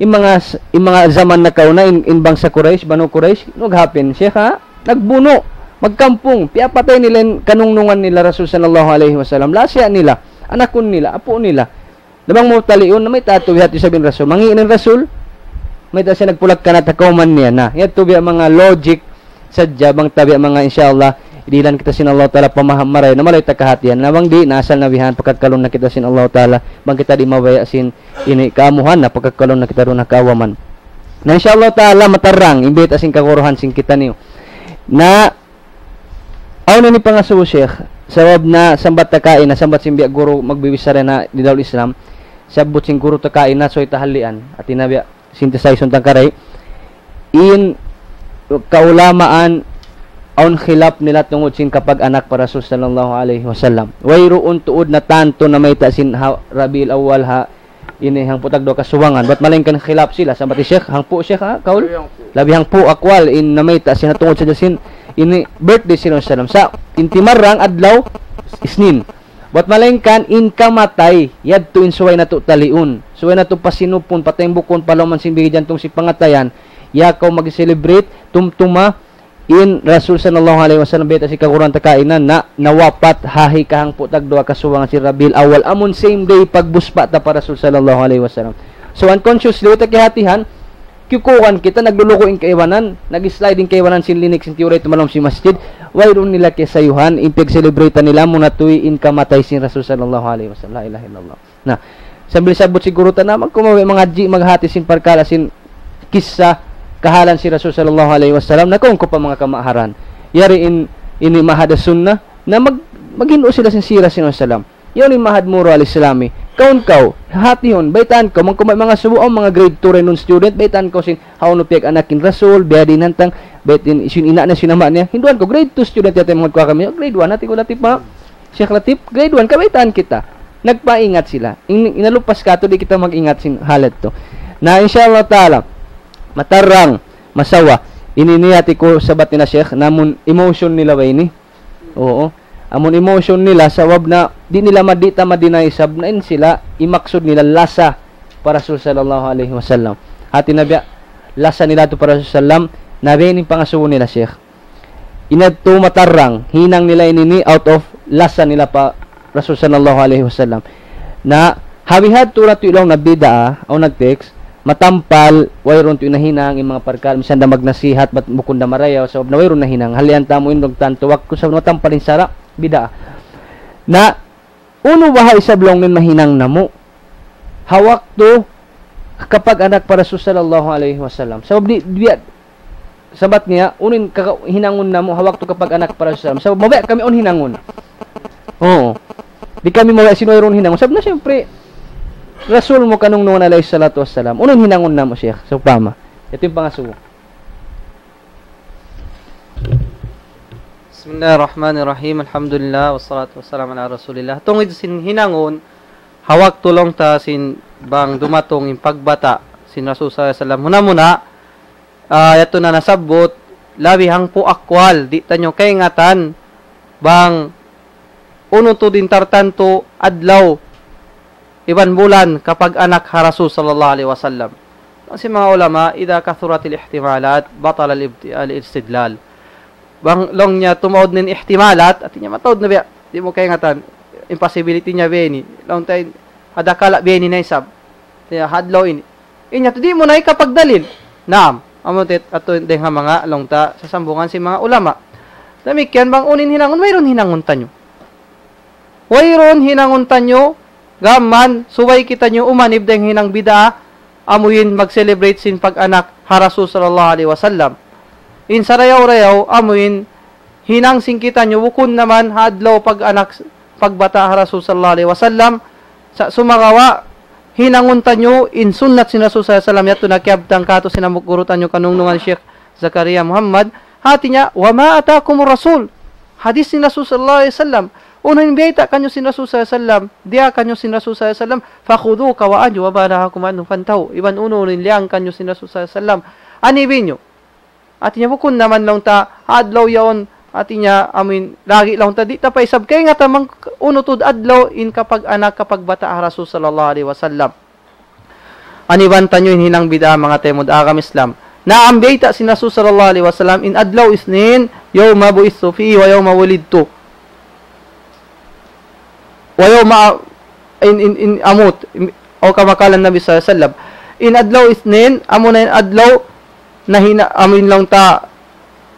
in manga, in manga jaman nakauna, in, in bangsa Quraysh, Banu Quraysh, nag-happen, Sheikh, ha? Nagbunu', magkampung, piyapatay nila in kanungnungan nila Rasul sallallahu alayhi wasallam. Lasa nila, anakun nila, apu' nila. Na bang mu taliun, na mayta' tuud biya' hādtu isab in Rasul. Mangi' in Rasul, mayta' siya nagpulak-kanat ha kawman niya. Na, yadtu biya' manga logic sadja bang ta biya' manga, insya Allah, dihilan kita sin Allah Ta'ala pamaham marayaw, na malayu' ta kahātihan. Na bang di', na asal na bihan, pakakkalun na kita sin Allah Ta'ala, bang kita di' mabaya' sin ini kaamuhan, na pakakkalun na kita duun ha kaawaman. Na insya Allah Ta'ala, matarrang, in bayta' sin kaguruhan sin kitaniyu. Na, awn ini pangasubu, Sheikh, sabab na sambat ta kaina, sambat sin biya' guru magbibichara na di Darul Islam, sabbut sin guru ta kaina, subay tahalian, hāti niya biya' synthesize untang karay, in kaulamaan awn khilaf nila tungud sin kapag-anak pa Rasul sallallahu alayhi wasallam. Wayruun tuud natantu namayta' sin ha Rabiul Awwal ha ini hangpu' tagduwa kasubangan. Bat malaingkan khilaf sila, sambat hi Sheikh, hangpu' Sheikh, ha, kaul? Labi hangpu'. Labi hangpu' aqwal in namayta' sin ha tungud sadja sin ini birthday sin Rasul sallam. Sa' in timarrang adlaw Isnin. Bat malaingkan in kamatay, yadtu in subay natu' taliun. Subay natu' pasinupun, patembukun, palawman sin bigi jantung sin pangatayan. Ya kaw mag-celebrate, tumtuma, in Rasul sallallahu alayhi wasallam, bayta' sin kaguruhan ta kaina, na nawapat ha hikahangpu' tagduwa kasubangan sin Rabiul Awwal. Amun same day pagbuspa' ta pa Rasul sallallahu alayhi wasallam. So, unconsciously, way ta kiyahātihan, kiyukuran kita, naglulugu' in kaibanan, nag-slide in kaibanan sin linik sin tiyuray tumalawm sin masjid, wayruun nila kiyasayuhan, in piyag-celebrate nila, amu na tuud in kamatay sin Rasul sallallahu alayhi wasallam. La ilaha illallah. Na, sambil sabbut sin guru ta na, bang kaw mabaya' mangadji', maghāti sin parkala' sin kissa, kahalan sin Rasul sallallahu alayhi wasallam, na kaun kaw pa manga kamaaharan. Yari in, ini Ma'had Sunnah, na mag-, maghindu' sila sin sira sin Rasul sallam. Yaun in Ma'had Muru Al-Islami. Kaun kaw, hātihun, baytaan kaw, bang kaw mabaya' mangasubu, awn manga grade two ra in student, baytaan kaw sin, hawnu piyag-anak in Rasul, biya' diin hantang, bayta' in, sin ina' niya, sin ama' niya, hinduan kaw, grade two student yadtu in manga kuha kami, grade one, hāti ku Latif, ma-, Sheikh Latif, grade one, kabaytaan kita. Nagpaingat sila. In-, inalupas katu', di' kita mag-ingat sin hal yadtu. Na, insya Allah Ta'ala, matarrang, masawa. Ini niya hāti ku sabat nila Sheikh, na amun emotion nila ba ini? Oo. Amun emotion nila, sabab na di' nila ma-, di' ta ma-deny isab na in sila, in maksud nila lasa pa Rasul sallallahu alayhi wasallam. Hāti niya biya', lasa nila tu pa Rasul sallam, na biya' ini in pangasubu nila, Sheikh. In yadtu matarrang, hinang nila ini ni out of lasa nila pa Rasul sallallahu alayhi wasallam. Na, ha bihadtu ra tuud laung na bid'a, awn nag-text, matampal, wayruun tuud nahinang, in manga parkala', misan da magnasihat, bat bukun da marayaw, sabab na wayruun nahinang. Halian ta mu in nagtantu waktu, sabab matampal in sara', bid'a. Na, unu baha' isab laung niya in mahinang namu'? Ha waktu kapag-anak pa Rasul sallallahu alayhi wasallam. Sabab di', di', sabat niya, unu in kaka-, hinangun namu' ha waktu kapag-anak pa Rasul sallam. Sabab mabaya' kami awn hinangun. Oo. Di' kami mabaya' sin wayruun hinangun. Sabab na siyempre, Rasul mu kanungnungan alayhi salatu wassalam. Unu in hinangun namu', Sheikh? Sawpama. Yadtu in pangasubu. Bismillahirrahmanirrahim. Alhamdulillah, wassalatu wassalamu ala rasulillah. Tungud sin hinangun, ha waktu laung ta sin bang dumatung in pagbata' sin Rasul sallallahu alayhi wasallam. Muna-muna, ah, yadtu na nasabbut, labi hangpu' akwal, di' taniyu kaingatan, bang unu tuud in tartantu adlaw iban bulan kapag-anak ha Rasul sallallahu alayhi wasallam. Laung sin manga ulama, إذا كثرت الاحتمالات بطل الاست-، الاستدلال. Bang laung niya tumaud na in ihtimalat, hāti niya mataud na biya', di' mu kaingatan, impossibility niya biya' ini. Laung ta in, ha dakala' biya' ini na isab. Hāti niya, ha adlaw ini. In yadtu di' mu na hikapagdalil. Naam. Amu yadtu dayn ha manga laung ta sasambungan sin manga ulama. Damikkiyan bang unu in hinangun, wayruun hinangun taniyu. Wayruun hinangun taniyu, gām mayan, subay kitaniyu umanib dayn ha hinang bid'ah, amu in mag-celebrate sin pag-anak ha Rasul sallallahu alayhi wasallam. In sarayaw-rayaw, amu in hinang sin kitaniyu, bukun na mayan ha adlaw pag-anak, pagbata' ha Rasul sallallahu alayhi wasallam, sa' sumagawa', hinangun taniyu in sunnat sin Rasul sallallahu alayhi wasallam, yadtu na kiyabtang kātu' sin hambuuk guru taniyu kanungnungan Sheikh Zakaria Muhammad, hāti niya, وما آتاكم الرسول. Hadith sin Rasul sallallahu alayhi wasallam. Unu in biyayta' kaniyu sin Rasul sallallahu alayhi wasallam, diyā kaniyu sin Rasul sallallahu alayhi wasallam, فخذوه وأجوا ما نهاكم عنه فانتهوا. Iban unu in liyang kaniyu sin Rasul sallallahu alayhi wasallam, anibin niyu. Hāti niya bukun na mayan laung ta, adlaw yaun, hāti niya, amuin, lagi' laung ta, di' ta pa isab kaingatan bang unu tuud adlaw in kapag-anak, kapagbata' ha Rasul sallallahu alayhi wasallam. Aniban taniyu in hinang bid'ah manga taymanghud ha agama Islam. Naam, biyayta' sin Rasul sallallahu alayhi wasallam, in adlaw Isnin, يوم بعثت فيه ويوم ولدت. ويوم أ-، in, in, in أموت, in, أو كما قال النبي صلى الله عليه وسلم. In adlaw Isnin, amuna in adlaw na hina-, amuin laung ta,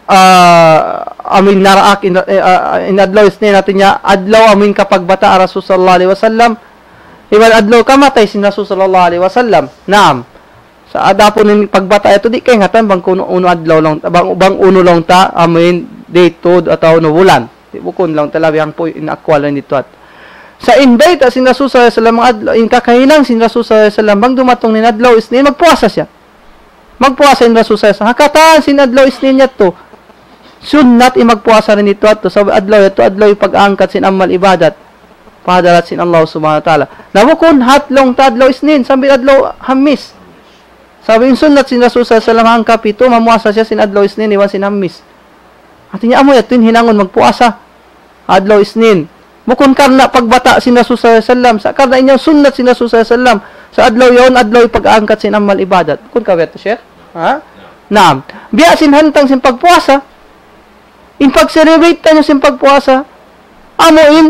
ah, amuin naraak, in, eh, ah, in adlaw Isnin, hāti niya, adlaw amuin kapagbata' Rasul sallallahu alayhi wasallam. Iban adlaw kamatay sin Rasul sallallahu alayhi wasallam. Naam. Sa' adapun in pagbata' yadtu, di' kaingatan bang kunu-, unu adlaw laung, bang, bang unu laung ta, amuin date tuud atawa unu bulan. Di' bukun laung ta labi hangpu' in akwal in didtu yadtu. Sa' in bayta' sin Rasul sallallahu alayhi wasallam adlaw, in kakahinang sin Rasul sallallahu alayhi wasallam, bang dumatung in adlaw Isnin, magpuasa siya. Magpuasa in Rasul sallallahu alayhi wasallam. Ha katan sin adlaw Isnin yadtu. Sunnat in magpuasa dayn didtu yadtu. Sabab adlaw yadtu, adlaw in pag-angkat sin amal ibadat pa hadarat sin Allah subhanahu wa ta'ala. Na bukun hat laung ta adlaw Isnin, sambil adlaw Hamis. Sabab in sunnat sin Rasul sallallahu alayhi wasallam hangkapitu, mamuasa siya sin adlaw Isnin, iban sin Hamis. Hāti niya amu yadtu in hinangun magpuasa adlaw Isnin. Bukun karna' pagbata' sin Rasul sallallahu alayhi wasallam. Sa' karna' in yan sunnat sin Rasul sallallahu alayhi wasallam. Sa' adlaw yaun, adlaw in pag-angkat sin amal ibadat. Bukun ka biya' yadtu, Sheikh? Ha? Naam. Biya' sin hantang sin pagpuasa. In pag-celebrate taniyu sin pagpuasa. Amu in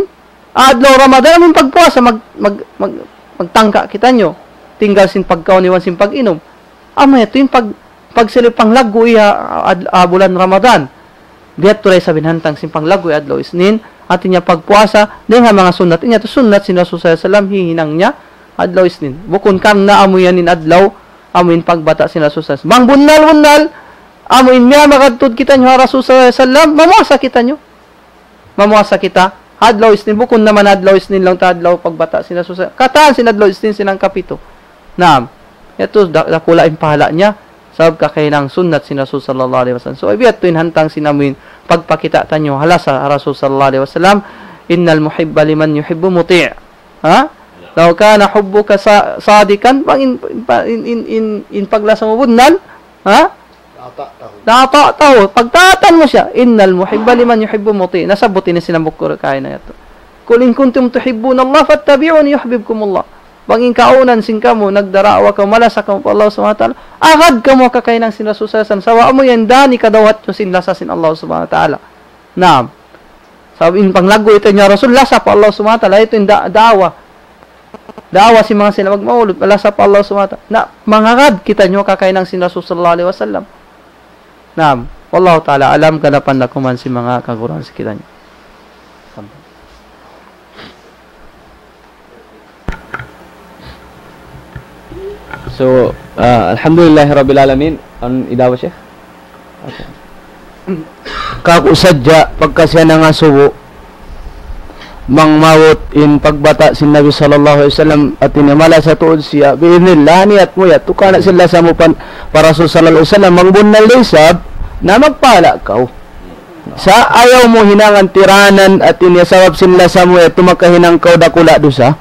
adlaw Ramadan, amu in pagpuasa, mag-, mag-, mag-, magtangka kitaniyu. Tinggal sin pagkaun iban sin pag-inum. Amu yadtu in pag-, pagsilbi panglaggu' ha ad-, ah, bulan Ramadan. Biya' yadtu da isab in hantang sin panglaggu' adlaw Isnin, hāti niya pagpuasa, dayn ha manga sunnat. In yadtu sunnat sin Rasul sallallahu alayhi wasallam, hihinang niya adlaw Isnin. Bukun karna' amu yan in adlaw, amu in pagbata' sin Rasul sallallahu alayhi wasallam. Bang bunnal-bunnal, amu in miyamagad tuud kitaniyu ha Rasul sallallahu alayhi wasallam, mamuasa kitaniyu. Mamuasa kita. Adlaw Isnin, bukun na mayan adlaw Isnin laung ta adlaw pagbata' sin Rasul sallallahu alayhi wasallam. Katan sin adlaw Isnin sin hangkapitu. Naam. Yadtu da-, dakula' in pahala' niya. Sabab kakahinang sunnat sin Rasul sallallahu alayhi wasallam. So, biya' yadtu in hantang sin amuin pagpakita' taniyu ha lasa Rasul sallallahu alayhi wasallam. إن المحب لمن يحب مطيع. Ha? لو كان حبك صا-، صادقا, bang in, in, in, in, in paglasa mu bunnal, ha? لأطعته. لأطعته. Pagtaatan mu siya. إن المحب لمن يحب مطيع. Nasabbut ini sin hambuuk kaina yadtu. قل إن كنتم تحبون الله فاتبعوني يحببكم الله. Bang in kaunan sin kamu, nagdadaawa kamu, malasa kamu pa Allah subhanahu wa ta'ala, agad kamu ha kakahinang sin Rasul sallallahu alayhi wasallam. Sabab amu yan in dān hikadawhat niyu sin lasa sin Allah subhanahu wa ta'ala. Naam. Sabab in panglaggu' yadtu niya Rasul, lasa pa Allah subhanahu wa ta'ala, yadtu in da-, daawa. Daawa sin manga sila magmaulud, lasa pa Allah subhanahu wa ta'ala. Na, mangagad kitaniyu ha kakahinang sin Rasul sallallahu alayhi wasallam. Naam. والله تعالى أعلم, ganapan da kuman sin manga kaguruhan sin kitaniyu. So, ah, alhamdulillahi rabbil alamin. Awn idawat, Sheikh? Okay. Kāku' sadja pagka siya nangasubu, bang maabut in pagbata' sin Nabi sallallahu alayhi wasallam, hāti niya malasa tuud siya, bi'idhnillah, niyat mu yadtu, karna' sin lasa mu pa, pa Rasul sallallahu alayhi wasallam, bang bunnal da isab, na magpahala' kaw. Sa' ayaw mu hinangan tiranan, hāti niya sabab sin lasa mu yadtu makahinang kaw dakula' dusa.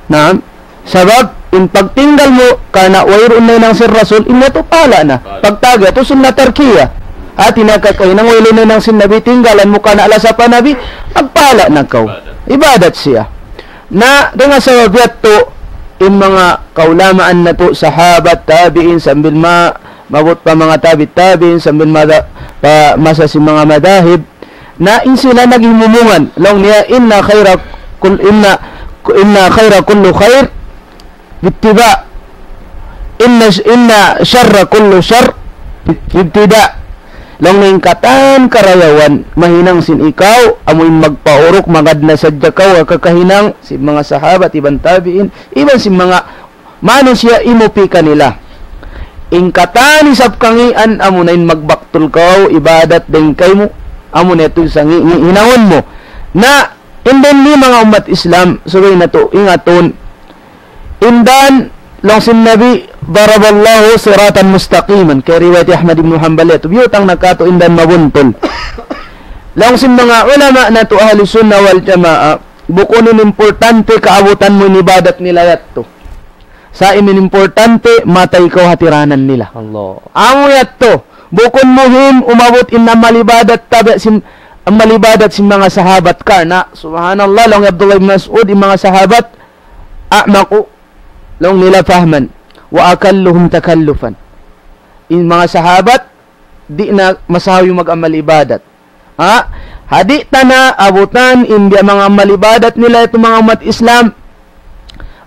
Naam. Sabab, in pagtinggal mu, karna' wayruun nahinang sin Rasul, in yadtu pahala' na. Pagtawag yadtu sunnat tarkiyah. Hāti niya kakahinang wayruun nahinang sin Nabi, tinggalan mu karna' lasa pa Nabi, magpahala' na kaw. Ibadat siya. Na, dayn ha sabab yadtu, in manga kaulamaan natu', sahabat, tabi'in, sambil ma-, maabut pa manga tabi' tabi'in, sambil mada-, pa masa sin manga madahib, na in sila naghimumungan, laung niya, إن خير كل، إن، إن خير كل خير باتباع، إن إن شر كل شر ابتداء. Laung niya in katan karayawan mahinang sin ikaw, amu in magpauruk, magad na sadja kaw ha kakahinang sin manga sahabat iban tabi'in, iban sin manga manusiya' imupi kanila. In katan isab kangīan, amu na in magbaktul kaw ibadat dayn kaymu, amu na yadtu in sangi-, ngi-, hinangun mu. Na, in dayn ini manga ummat Islam, subay natu' ingatun, in dan, laung sin Nabi, ضرب الله صراطا مستقيما. Kay riwayat Ahmad ibn Hanbal yadtu, biyutang na kātu' in dan mabuntul. Laung sin manga ulama natu' Ahlus Sunnah wal Jamaah, bukun in importante kaabutan mu in ibadat nila yadtu. Sa' in importante, matay kaw ha tiranan nila. Allah. Amu yadtu, bukun muhim umabut in amal ibadat tabi' sin, amal ibadat sin manga sahabat. Karna', subhanallah, laung Abdullah ibn Mas'ud, in manga sahabat, أعمق, laung nila, فهما وأكلهم تكلفا. In manga sahabat, di' na masahaw in mag-amal ibadat. Ha? Ha di' ta na abutan in biya' manga amal ibadat nila yadtu manga ummat Islam,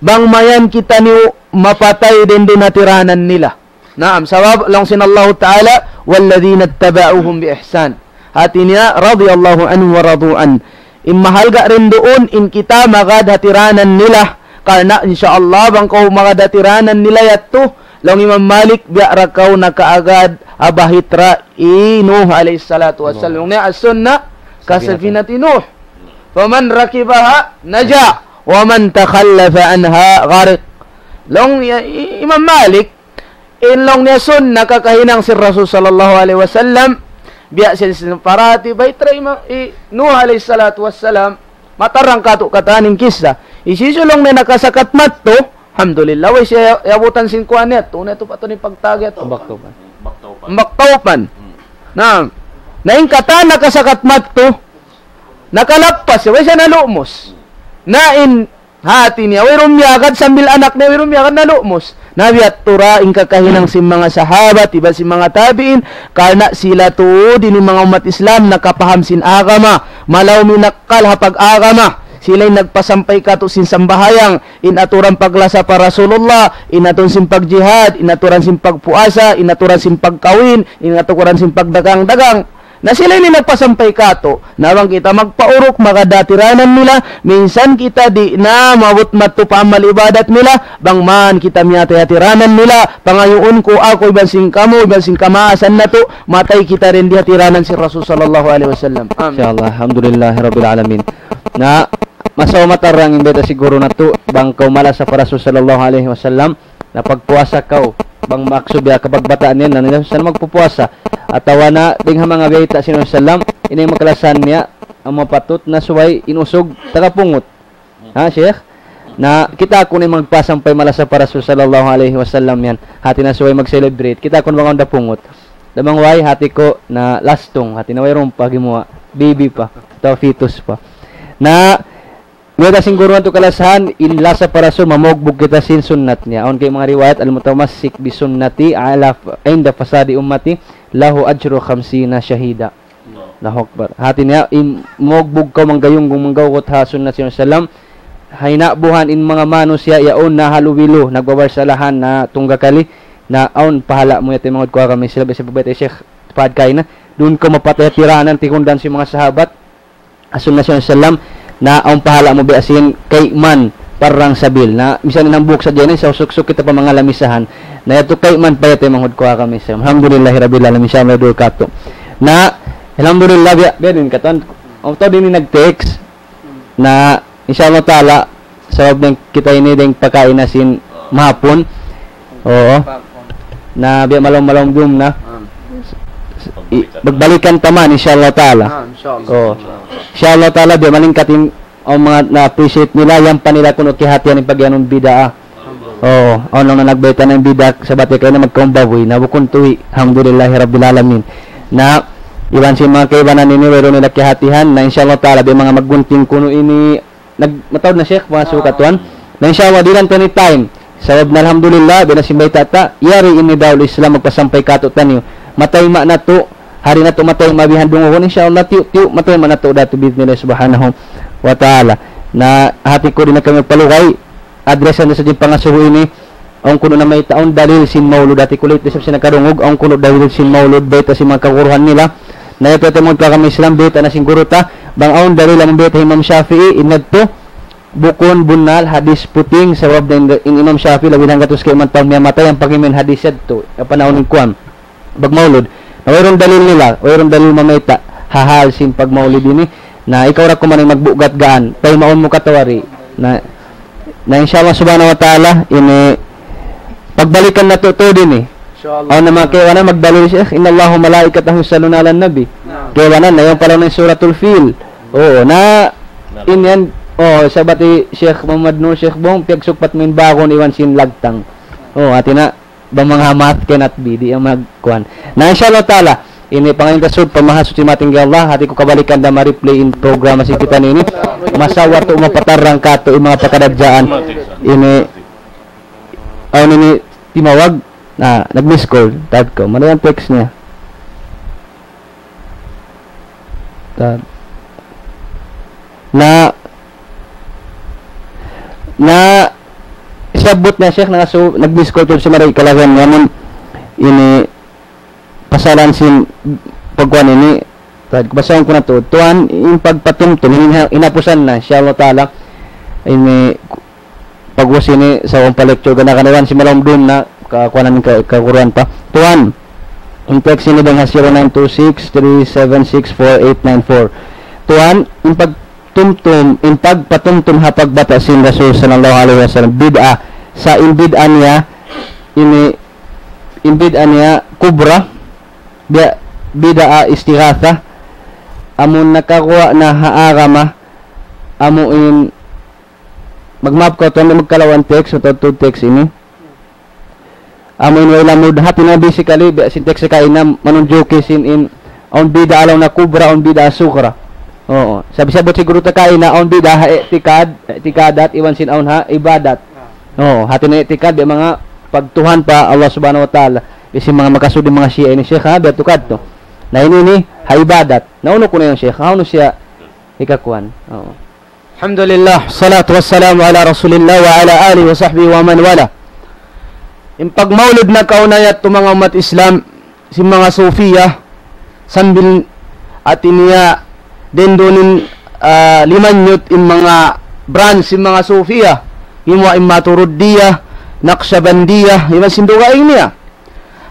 bang mayan kitaniyu mapatay dayn duun ha tiranan nila. Naam, sabab laung sin Allahu Ta'ala, والذين اتبعوهم بإحسان. Hati niya, رضي الله عنهم ورضوا عنه. In mahalga' dayn duun, in kita magad ha tiranan nila. Karna', insya Allah, bang kaw magad ha tiranan nila yadtu, laung Imam Malik, biya' da kaw nakaagad ha bahitra hi Nuh alayhi salatu wassalam. Allah. Laung niya, السنة كسفينة نوح. فمن ركبها نجا ومن تخلف عنها غرق. Laung niya, i-, Imam Malik, in laung niya sunnah kakahinang sin Rasul sallallahu alayhi wasallam, biya' sin, sin parati, bahitra hi Imam, hi Nuh alayhi salatu wassalam, matarang kātu' katan in kissa. Hisiyu laung niya nakasakat madtu, alhamdulillah, way siya yabutan sin kuwan niya, tu na tu pa tu in pagtawag yadtu. Ambak Tawpan. Ambak Tawpan. Hmm. Na, na in katan nakasakat madtu, nakalappas siya, way siya nalumus. Na in hati niya, wayruun miyagad sambil anak niya, wayruun miyagad, nalumus. Na biya' yadtu ra in kakahinang sin manga sahabat, iban sin manga tabi'in, karna' sila tuud in manga ummat Islam nakapaham sin agama, malaw in akkal ha pag-agama. Sila in nagpasampay kātu' sin sambahayang, in aturan paglasa pa Rasulullah, in aturan sin pagjihad, in aturan sin pagpuasa, in aturan sin pagkawin, in aturan sin pagdagang-dagang. Na sila ini nagpasampay kātu'. Na bang kita magpauruk, magad ha tiranan nila, minsan kita di' na maabut madtu pa amal ibadat nila, bang man kita miyatay ha tiranan nila, pangayuun ku aku iban sin kamu, iban sin kamaasan natu', matay kita dayn di ha tiranan sin Rasul sallallahu alayhi wasallam. Amin. Insya Allah, alhamdulillahi rabbil alamin. Na, masawa matarang in bayta' sin guru natu', bang kaw malasa pa Rasul sallallahu alayhi wasallam, na pagpuasa kaw, bang maksud biya' kababata' niya, na niya sa magpupuasa. Atawa na, dayn ha manga bayta' sin Rasul sallam, ini in makalasahan niya, amu in patut na subay in usug, tagapungut. Ha, Sheikh? Na, kita' ku na in magpasampay malasa pa Rasul sallallahu alayhi wasallam yan. Hati na subay mag-celebrate. Kita' ku na bang awn da pungut. Damang way, hati ku na lastung. Hati na wayruun pa gimuwa'. Baby pa. Atawa fetus pa. Na, Mayta' sin guru natu' kalasahan, in lasa pa Rasul, mamugbug kita sin sunnat niya. Awn kay manga riwayat, المتمسك بسنتي على ف-، عند فساد أمتي له أجر خمسين شهيدا. Allahu Akbar. Hati niya, in mugbug kaw manggayunggayung manggawgut ha sunnat sin Rasul sallam, ha hinabuhan in manga manusiya' yaun na halubilu, nagbabarsalahan na tunggakali, na awn pahala' mu yadtu manga udku kami sila, biya' sin pagbayta' hi Sheikh Fahad kaina, duun kaw mapatay ha tiranan, tikundan sin manga sahabat, Rasul sallallahu alayhi wasallam, na awn pahala' mu biya' sin kayman parang sabil. Na, misan in hambuuk sadja ini, sa suksuk kita pa manga lamisahan. Na yadtu kayman pa yadtu manga udku kami sa. Alhamdulillahi Rabbil Alamin, insya Allah duun katu'. Na, alhamdulillah, biya', biya' diin katan. Awn tau diin nag-text. Na, insya Allah ta'ala, sabab dayn kita ini dayn pakain na sin mahapun. Oo. Na biya' malawm-malawm dum na. I-, magbalikan ta man, insya Allah ta'ala. Ah, insya Allah. Oo. Insya Allah ta'ala, biya' malingkat in, awn manga na-appreciate nila, yan pa nila kunu' kiyahatihan in pag'iyanun bid'a. Oo. Awn na nagbayta' na in bid'a, sabab kay na magkaumbabuy, na bukun tuwi'. Alhamdulillahi Rabbil Alamin. Na, iban sin manga kaibanan ini, wayruun nila kiyahatihan, na insya Allah ta'ala, biya' manga maggunting kunu' ini, Nag-, mataud na, Sheikh, manga sukat tuwan. Na insya Allah, di' na tuwan in time. Sabab na alhamdulillah, biya' na sin bayta' ta, yari in Nidaul Islam magpasampay kātu'niyu. Matayma' natu', hari natu' matayma' bihan dungugun, insya Allah, tiyu'-tiyu', matayma' natu' da tu bi'idhnillah subhanahu wa ta'ala. Na hati ku di' na kami magpalugay, address na sadja in pangasubu ini, Awn kunu' na mayta' awn dalil sin maulud, hati ku lit isab sin nakarungug, awn kunu' dalil sin maulud, bayta' sin manga kaguruhan nila. Na yadtu, yadtu manga kami Islam, bayta' na sin guru ta, bang awn dalil amun bayta' Imam Shafi'i, in yadtu, bukun bunnal hadis puting, sabab in, in Imam Shafi'i, labi hanggatus kaiman tahun miyatay, ampa in hadis yadtu, apa na uning kuwan, pagmaulud. Na wayruun dalil nila, wayruun dalil mamayta', ha hal sin pagmaulid ini, na ikaw ra kuman in magbugat gaan, paymaun mu katuwari. Na, na insha Allah subhanahu wa ta'ala, ini pagbalikan natu' tuud ini. Insha Allah. Awn na manga kaibanan magdalil, Sheikh, "Inna Allaha wa malaikatahu yusalluna ala nabi." Naam. Kaibanan na yan pala na Suratul Fil. Oo, na, in yan, oh, sabat hi Sheikh Muhammad Nur, Sheikh Bong, piyagsukpat mu in bagun iban sin lagtang. Oh, hati na, bang manga math cannot be, di' yan magkuhan. Na, insha Allah ta'ala, ini pangayuun ta sud pa Mahasuchi matinggi Allah, hati ku kabalikan da ma-replay in programa sin kita ini. Masa waktu mapatarrang katu' in manga pakadadjaan. Ini, awn ini timawag, na, nag-miss call, tad ko. Mana yan text niya? Tad. Na, na, siyabut niya, Sheikh, na su-, nag-miss call tuud siya, mari kalagan niya, amun ini pasalan sin pagkuhan ini, tad, basahun ku na tuud. Tuwan, in pagpatumtum, in ha-, hinapusan na, insha Allah ta'ala, ini, pag'ubus ini, sa' awn pa lecture, gana-gana iban sin malawm dum na, kakuhanan ka-, kaguruhan pa. Tuwan, in text ini dayn ha zero nine two six three seven six four eight nine four. Tuwan, in pagtumtum, in pagpatumtum ha pagbata' sin Rasul sallallahu alayhi wasallam, bid'ah, sa' in bid'ah niya, ini, in bid'ah niya kubra, bi-, bid'ah istighatha, amun nakaguwa' na ha agama, amu in, magmaap kaw tuwan, di' magkalawan text, atawa tuud text ini. Amu in way lamud, hati na basically, biya' sin text kaina, manunjuki sin in, awn bid'ah laung niya kubra, awn bid'ah sughra. Oo. Sabi-sabi siguru ta kaina, awn bid'ah ha i'tikad, i'tikadat, iban sin awn ha ibadat. Oo, hati na i'tikad, biya' manga pagtuhan pa Allah Subhanahu wa Ta'ala. Biya' sin manga makasud in manga Shia ini, Sheikh, ha, biya' tu kadtu. Na ini, ini, ha ibadat. Na unu kunu' yan, Sheikh, ha, unu siya hikakuan. Oo. Alhamdulillah, salatu wassalamu ala Rasulillah wa ala alihi wa sahbihi wa man wala. In pagmaulud na kauna yadtu manga ummat Islam, sin manga Sufiya, sambil hati niya dindun in, ah, limanyut in manga branch sin manga Sufiya, imu in Maturidiyya, Naqshbandiyya, iban sin dugaing niya.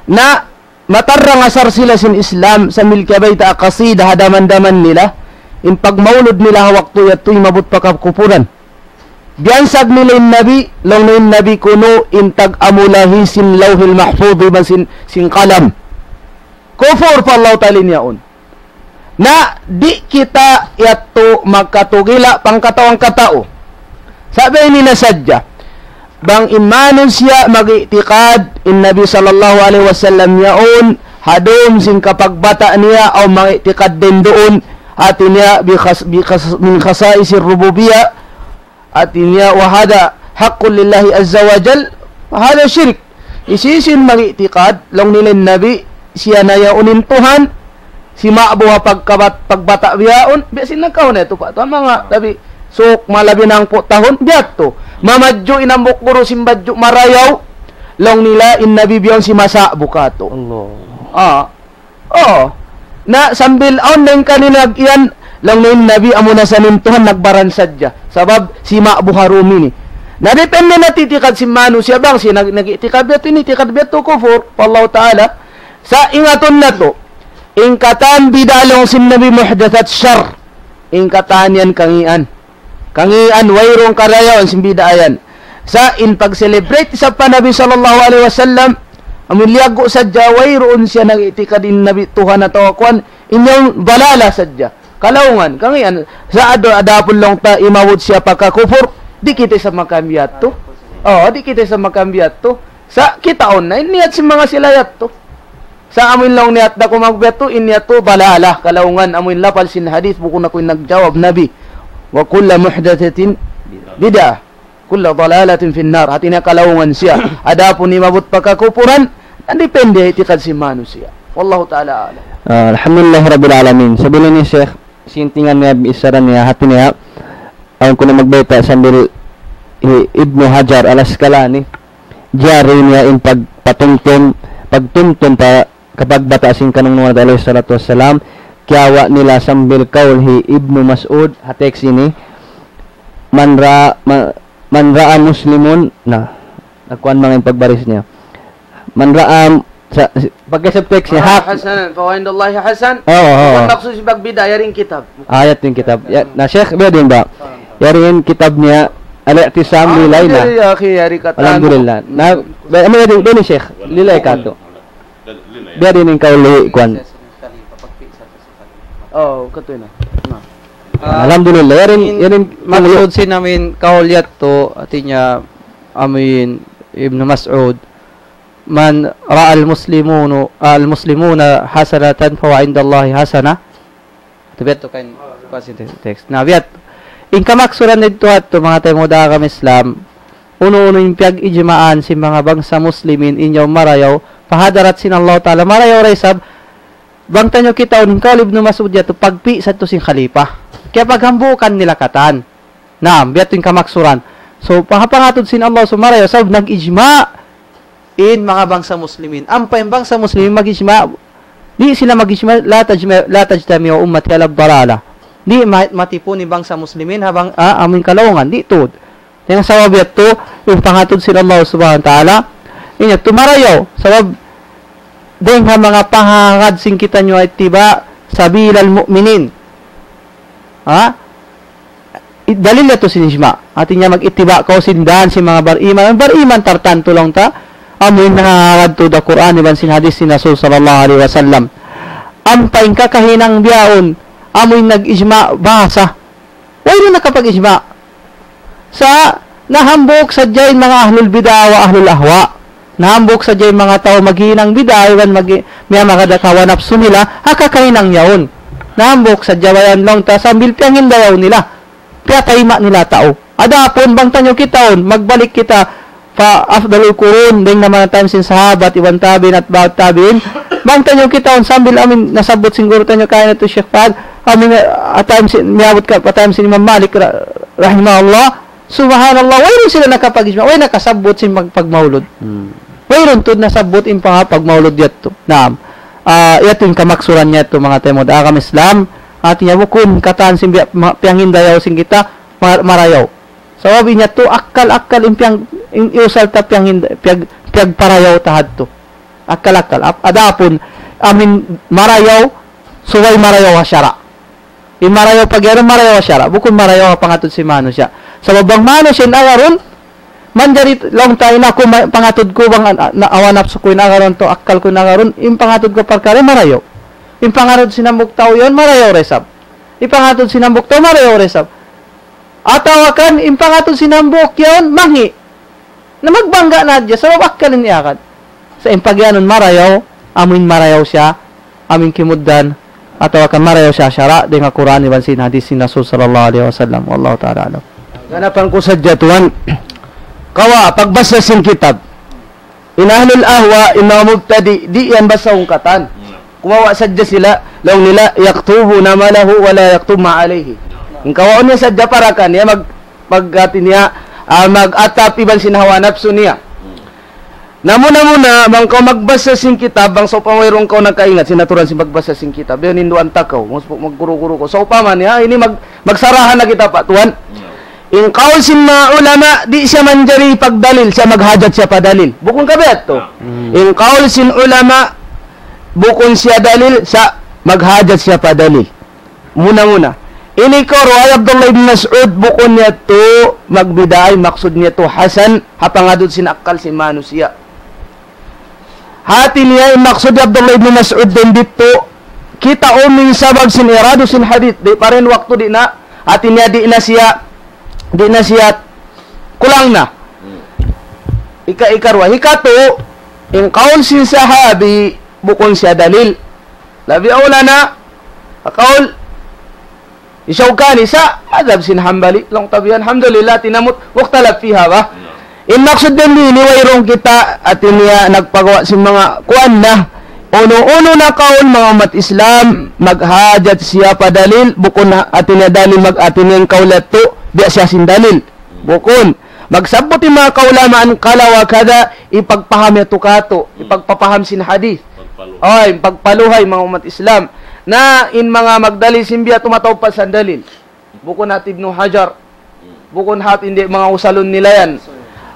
Na matarrang asar sila sin Islam sambil kiyabayta' qasida ha daman-daman nila, in pagmaulud nila ha waktu yadtu imabut pa kakupuran. Biyansag nila in Nabi, laung nila in Nabi kunu' in tag-amulahi sin Lawhil Mahfuz iban sin, sin kalam. Kufur pa Allah Ta'ala in yaun. Na di' kita yadtu magkatugila' pangkatau-katau. Sabab ini na sadja. Bang in manusiya' mag-i'tikad in Nabi sallallahu alayhi wasallam yaun, ha dum sin kapagbata' niya, aw mag-i'tikad dindun, hati niya bi khas-, bi khas-, min khasa'isir rububiyyah, hati niya, وهذا حق لله عز وجل، فهذا شرك. Hisiyu-siyu in mag-i'tikad, laung nila in Nabi, siya na yaun in Tuhan, sima'bu ha pagkabat-, pagbata' bihaun, biya' sin nagkauna yadtu pa. Tuhan manga Nabi, suk malabi hangpu' tahun, biya' tu. Mamadju' in hambuuk guru sin badju' marayaw, laung nila in Nabi bihaun simasa'bu katu'. Allah. Ah. Oo. Na sambil awn dayn kanila iyan, laung nila in Nabi amuna sa in Tuhan nagbaran sadja. Sabab sima'bu ha dum ini. Na depende na i'tikad sin manusiya' bang siya nag-, nag-i'tikad biya' tu, in i'tikad biya' tu kufur pa Allah Ta'ala. Sa' ingatun natu', in katan bid'ah laung sin Nabi muhdathat shar. In katan yan kangīan. Kangīan, wayruun karayawan sin bid'ah yan. Sa' in pag-celebrate isab pa Nabi sallallahu alayhi wasallam, amun liyaggu' sadja, wayruun siya nag-i'tikad in Nabi Tuhan atawa kuwan, in yan dalala sadja. Kalaungan, kangīan. Sa' adu-, adapun laung ta imabut siya pa kakufur, di' kita isab makambiya' tu. Oo, di' kita isab makambiya' tu. Sa' kitaun na, in niyat sin manga sila yadtu. Sa' amu in laung niyat da ku magbiya' tu, in niyat tu dalala, kalaungan, amu in lapal sin hadith, bukun aku in nagjawab, Nabi. وكل محدثة بدعة وكل ضلالة في النار. Hati niya kalaungan siya. Adapun imabut pa kakupuran, yan depende i'tikad sin manusiya'. Wallahu ta'ala a'lam. Ah, alhamdulillah rabbil alamin. Sabab ini, Sheikh, sintingan niya, bichara niya, hati niya, awn ku na magbayta' sambil hi Ibnu Hajar Al-Asqalani. Jari niya in pagpatumtum, pagtumtum pa kapagbata' sin kanungnungan natu' alayhi salatu wassalam, kiyawa' nila sambil kaul hi Ibnu Mas'ud, ha text ini, man ra-, ma-, man ra'a muslimun, na, nakuan manga in pagbaris niya. Man ra'a, sa, pagka sa text niya, hak. حسنا فهو عند الله حسن. Oo, oo. Bukan maksud sin pagbida', yari in kitab. Ayat in kitab. Ya, na, Sheikh, biya' diin ba? Yari in kitab niya, Al-I'tisam li Layla. Alhamdulillah, akhi, yari katan. Alhamdulillah. Na, ba, ano yari, diin, Sheikh? Lilay katu'. Biya' diin in kaul hi kuwan. Oh, katu' na. Na. Ah, alhamdulillah. Yari in, in yari in maksud sin amin kaul yadtu, hatinya amin Ibnu Mas'ud, من رأى المسلمون، المسلمون حسنة فهو عند الله حسنة. Atu biya' tu kan, kuwan sin te-, text. Na, biya' tu. In kamaksuran didtu atu, manga taymanghud ku ha agama Islam, unu-unu in piyag-ijma'an sin manga bangsa Muslimin, in yaun marayaw, pa hadarat sin Allah Ta'ala, marayaw da isab, bang taniyu kitaun in kaul Ibnu Mas'ud yadtu, pagpi' sadtu sin khalifa. Kaya paghambuukan nila katan. Naam, biya' tu in kamaksuran. So, pa-, pangatud sin Allah, so marayaw, sabab nag-ijma' in manga bangsa Muslimin. Ampa in bangsa Muslimin mag-ijma', di' sila mag-ijma', لا تجمع، لا تجتمع أمتي على ضلالة. Di' ma-, matipun in bangsa Muslimin ha bang-, ah, amuin kalaungan, di' tuud. Dayn ha sabab yadtu, in pangatud sin Allah Subhanahu wa Ta'ala, in yadtu marayaw, sabab dayn ha manga pangagad sin kitaniyu اتباع سبيل المؤمنين. Ha? I-, dalil yadtu sin ijma'. Hatinya mag-ittiba' kaw sin dan sin manga bariman. Bariman tartantu laung ta, amuin nangagad tuud ha Qur'an iban sin hadith sin Rasul sallallahu alayhi wasallam. Ampa in kakahinang bihaun, amuin nag-ijma' bahasa. Wayruun nakapag-ijma'. Sa' nahambuuk sadja in manga ahlul bid'ah wa ahlul ahwa. Nahambuuk sadja in manga tau maghinang bid'ah iban mag-, miyamagad ha hawa napsu nila, ha kakahinang yaun. Nahambuuk sadja, bayan laung ta, sambil piyangindayaw nila. Piyatayma' nila tau. Adapun bang taniyu kitaun, magbalik kita pa afdalul qurun, dayn ha manga time sin sahabat, iban tabi'in, atba'ut tabi'in. Bang taniyu kitaun sambil amin nasabbut sin guru taniyu kaina tu Sheikh Fahd, amin, ah, time sin, miyabut ka pa time sin Imam Malik ra-, rahimahullah. Subhanallah, wayruun sila nakapag-ijma', way nakasabbut sin mag-, pagmaulud. Hmm. Wayruun tuud nasabbut in panga-, pagmaulud yadtu. Naam. Ah, yadtu in kamaksuran niya yadtu, manga taymanghud ku ha agama Islam. Hatinya bukun katan sin biya', ma-, piyangindayaw sin kita, ma-, marayaw. Sabab in yadtu akkal-akkal in piyang-, in iyusal ta piyanginda-, piyag-, piyagparayaw ta hadtu. Akkal-akkal. Ap-, adapun, amin marayaw, subay marayaw ha sara'. In marayaw pag-iyanun, marayaw ha sara'. Bukun marayaw ha pangatud sin manusiya'. Sabab bang manusiya' in agarun, manjari laung ta in aku ma-, pangatud ku bang an-, na, hawa napsu ku in agarun, akkal ku in agarun, in pangatud ku parkala' marayaw. In pangatud sin hambuuk tau yaun, marayaw da isab. In pangatud sin hambuuk tau, marayaw da isab. Atawa kan, in pangatud sin hambuuk yaun, mangī'. Na magbangga' na hadja, sabab akkal in iyagad. Sa' in pagiyanun marayaw, amuin marayaw siya, amuin kimugdan, atawa kan marayaw siya sara', dayn ha Qur'an iban sin hadith sin Rasul sallallahu alayhi wasallam. Wallahu ta'ala a'lam. Ganapan ku sadja tuwan, kawa', pagbasa sin kitab. In ahlul ahwa, in manga mubtadi', di' yan basahun katan. Kumawa' sadja sila, laung nila, يكتب ما له ولا يكتب ما عليه. In kawaun niya sadja para kaniya mag-, mag-, hati niya, ah, mag-atap iban sin hawa napsu niya. Na muna-muna, bang kaw magbasa sin kitab, bang sawpama wayruun kaw nakaingat sin aturan sin pagbasa sin kitab, yan hinduan ta kaw, mag-, magguru-guru kaw. Sawpama niya, ini mag-, magsarahan na kita pa tuwan. In kaul sin manga ulama, di' siya manjari pagdalil, siya maghajat siya pa dalil. Bukun ka biya' tu? Hmm. In kaul sin ulama, bukun siya dalil, siya maghajat siya pa dalil. Muna-muna. Ini kaw, riwayat Abdullah ibn Mas'ud, bukun niya tu magbid'ah, maksud niya tu hasan, ha pangatud sin akkal sin manusiya'. Hati niya, in maksud hi Abdullah ibn Mas'ud dayn didtu, kitaun in sabab sin iradu sin hadith, di' pa rin waktu di' na, hati niya di' na siya, di' na siya kulang na. Ika-, ikaruwa, hikatu, in kaul sin sahabi, bukun siya dalil. Labi awla na, kaul, Shawkani sa madhab sin Hanbali, laung ta biya' yan, alhamdulillah, tinamut, mukhtalaf fiha ba? In maksud dayn dini, wayruun kita, hati niya, nagpagawa' sin manga kuwan na. Unu-unu na kaul manga ummat Islam, maghajat siya pa dalil, bukun ha-, hati niya dalil mag-, hati niya in kaul yadtu, biya' siya sin dalil. Bukun. Magsabbut in manga kaulamaan kala wa kada, hipagpaham yadtu katu', hipagpapaham sin hadith. Pagpaluhay. Ay, pagpaluhay, manga ummat Islam. Na in manga magdalil sin biya' yadtu mataud pa sin dalil. Bukun hat Ibnu Hajar. Bukun hat, di' manga usalun nila yan.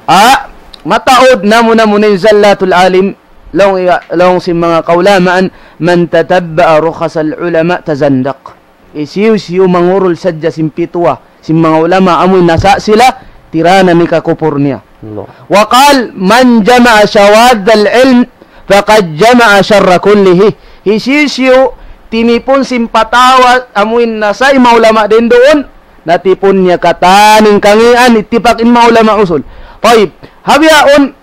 Ah, mataud namu-namu in Zallatul Alim. Laung iya, laung sin manga kaulamaan, من تتبع رخص العلماء تزندق. Hisiyu-siyu mangurul sadja sin pituwa sin manga ulama amuin nasa' sila, tiranan niya kakupur niya. Allah. وقال: من جمع شواذ العلم فقد جمع الشر كله. Hisiyu-siyu timipun sin patawa amuin nasa' in manga ulama dayn duun, natipun niya katan in kangīan, ittipak in manga ulama usul. Tayyib, ha bihaun,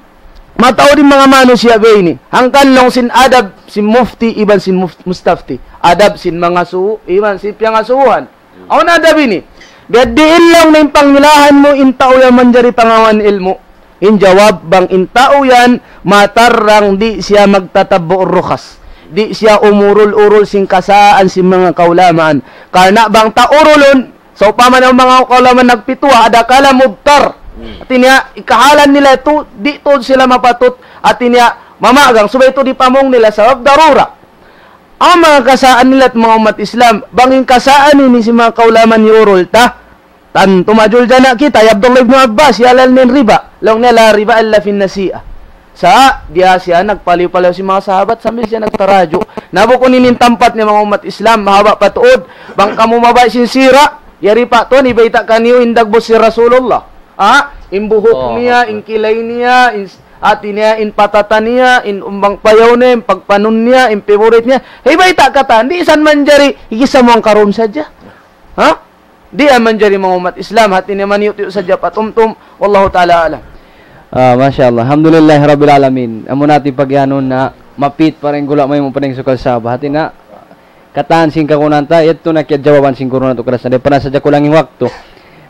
mataud in manga manusiya' biya' ini. Hangkan laung sin adab sin mufti iban sin muf-, mustafti. Adab sin mangasubu iban sin piyangasubuhan. Awn adab ini. Biya' diin laung na in pangilahan mu in tau yan manjari pangawn ilmu'. In jawab, bang in tau yan matarrang di' siya magtatabbu' rukhas. Di' siya umurul-urul sin kasaan sin manga kaulamaan. Karna' bang ta urulun, sawpama na in manga kaulamaan nagpituwa, adakala mubtar. Hmm. Hati niya, ikahalan nila yadtu, di' tuud sila mapatut. Hati niya, mamagang, subay tuud hipamung nila, sabab darura. Awn manga kasaan nila, manga ummat Islam, bang in kasaan ini sin manga kaulamaan iyurul ta, tantu majul jana kita, hi Abdullah ibn Abbas, hiyalal niya in riba. Laung niya, لا ربا إلا في النسيئة. Sa', diya siya nagpaliw-paliw sin manga sahabat sambil siya nagtaraju'. Na bukun ini in tampat niya, manga ummat Islam, mahaba' pa tuud. Bang kamu mabaya' sin sira', yari pa tuud, hibayta' kaniyu in dagbus sin Rasulullah. Ha? In buhuk niya, in kilay niya, in s-, hati niya, in patata niya, in umbang payaw niya, in pagpanun niya, in favorite niya. Hibayta' katan, di' san manjari, hikisa mu hangkarun sadja. Ha? Di' yan manjari, manga ummat Islam, hati niya maniyut-yut sadja patumtum. Wallahu ta'ala a'lam. Ah, masha Allah. Alhamdulillahi Rabbil Alamin. Amu na hati pagiyanun na mapit pa rin gula' may mu pa rin sukal saba. Hati na, katan sin kakunan ta, yadtu na kiyajawaban sin guru natu' kalasahan. Di' pa na sadja kulang in waktu.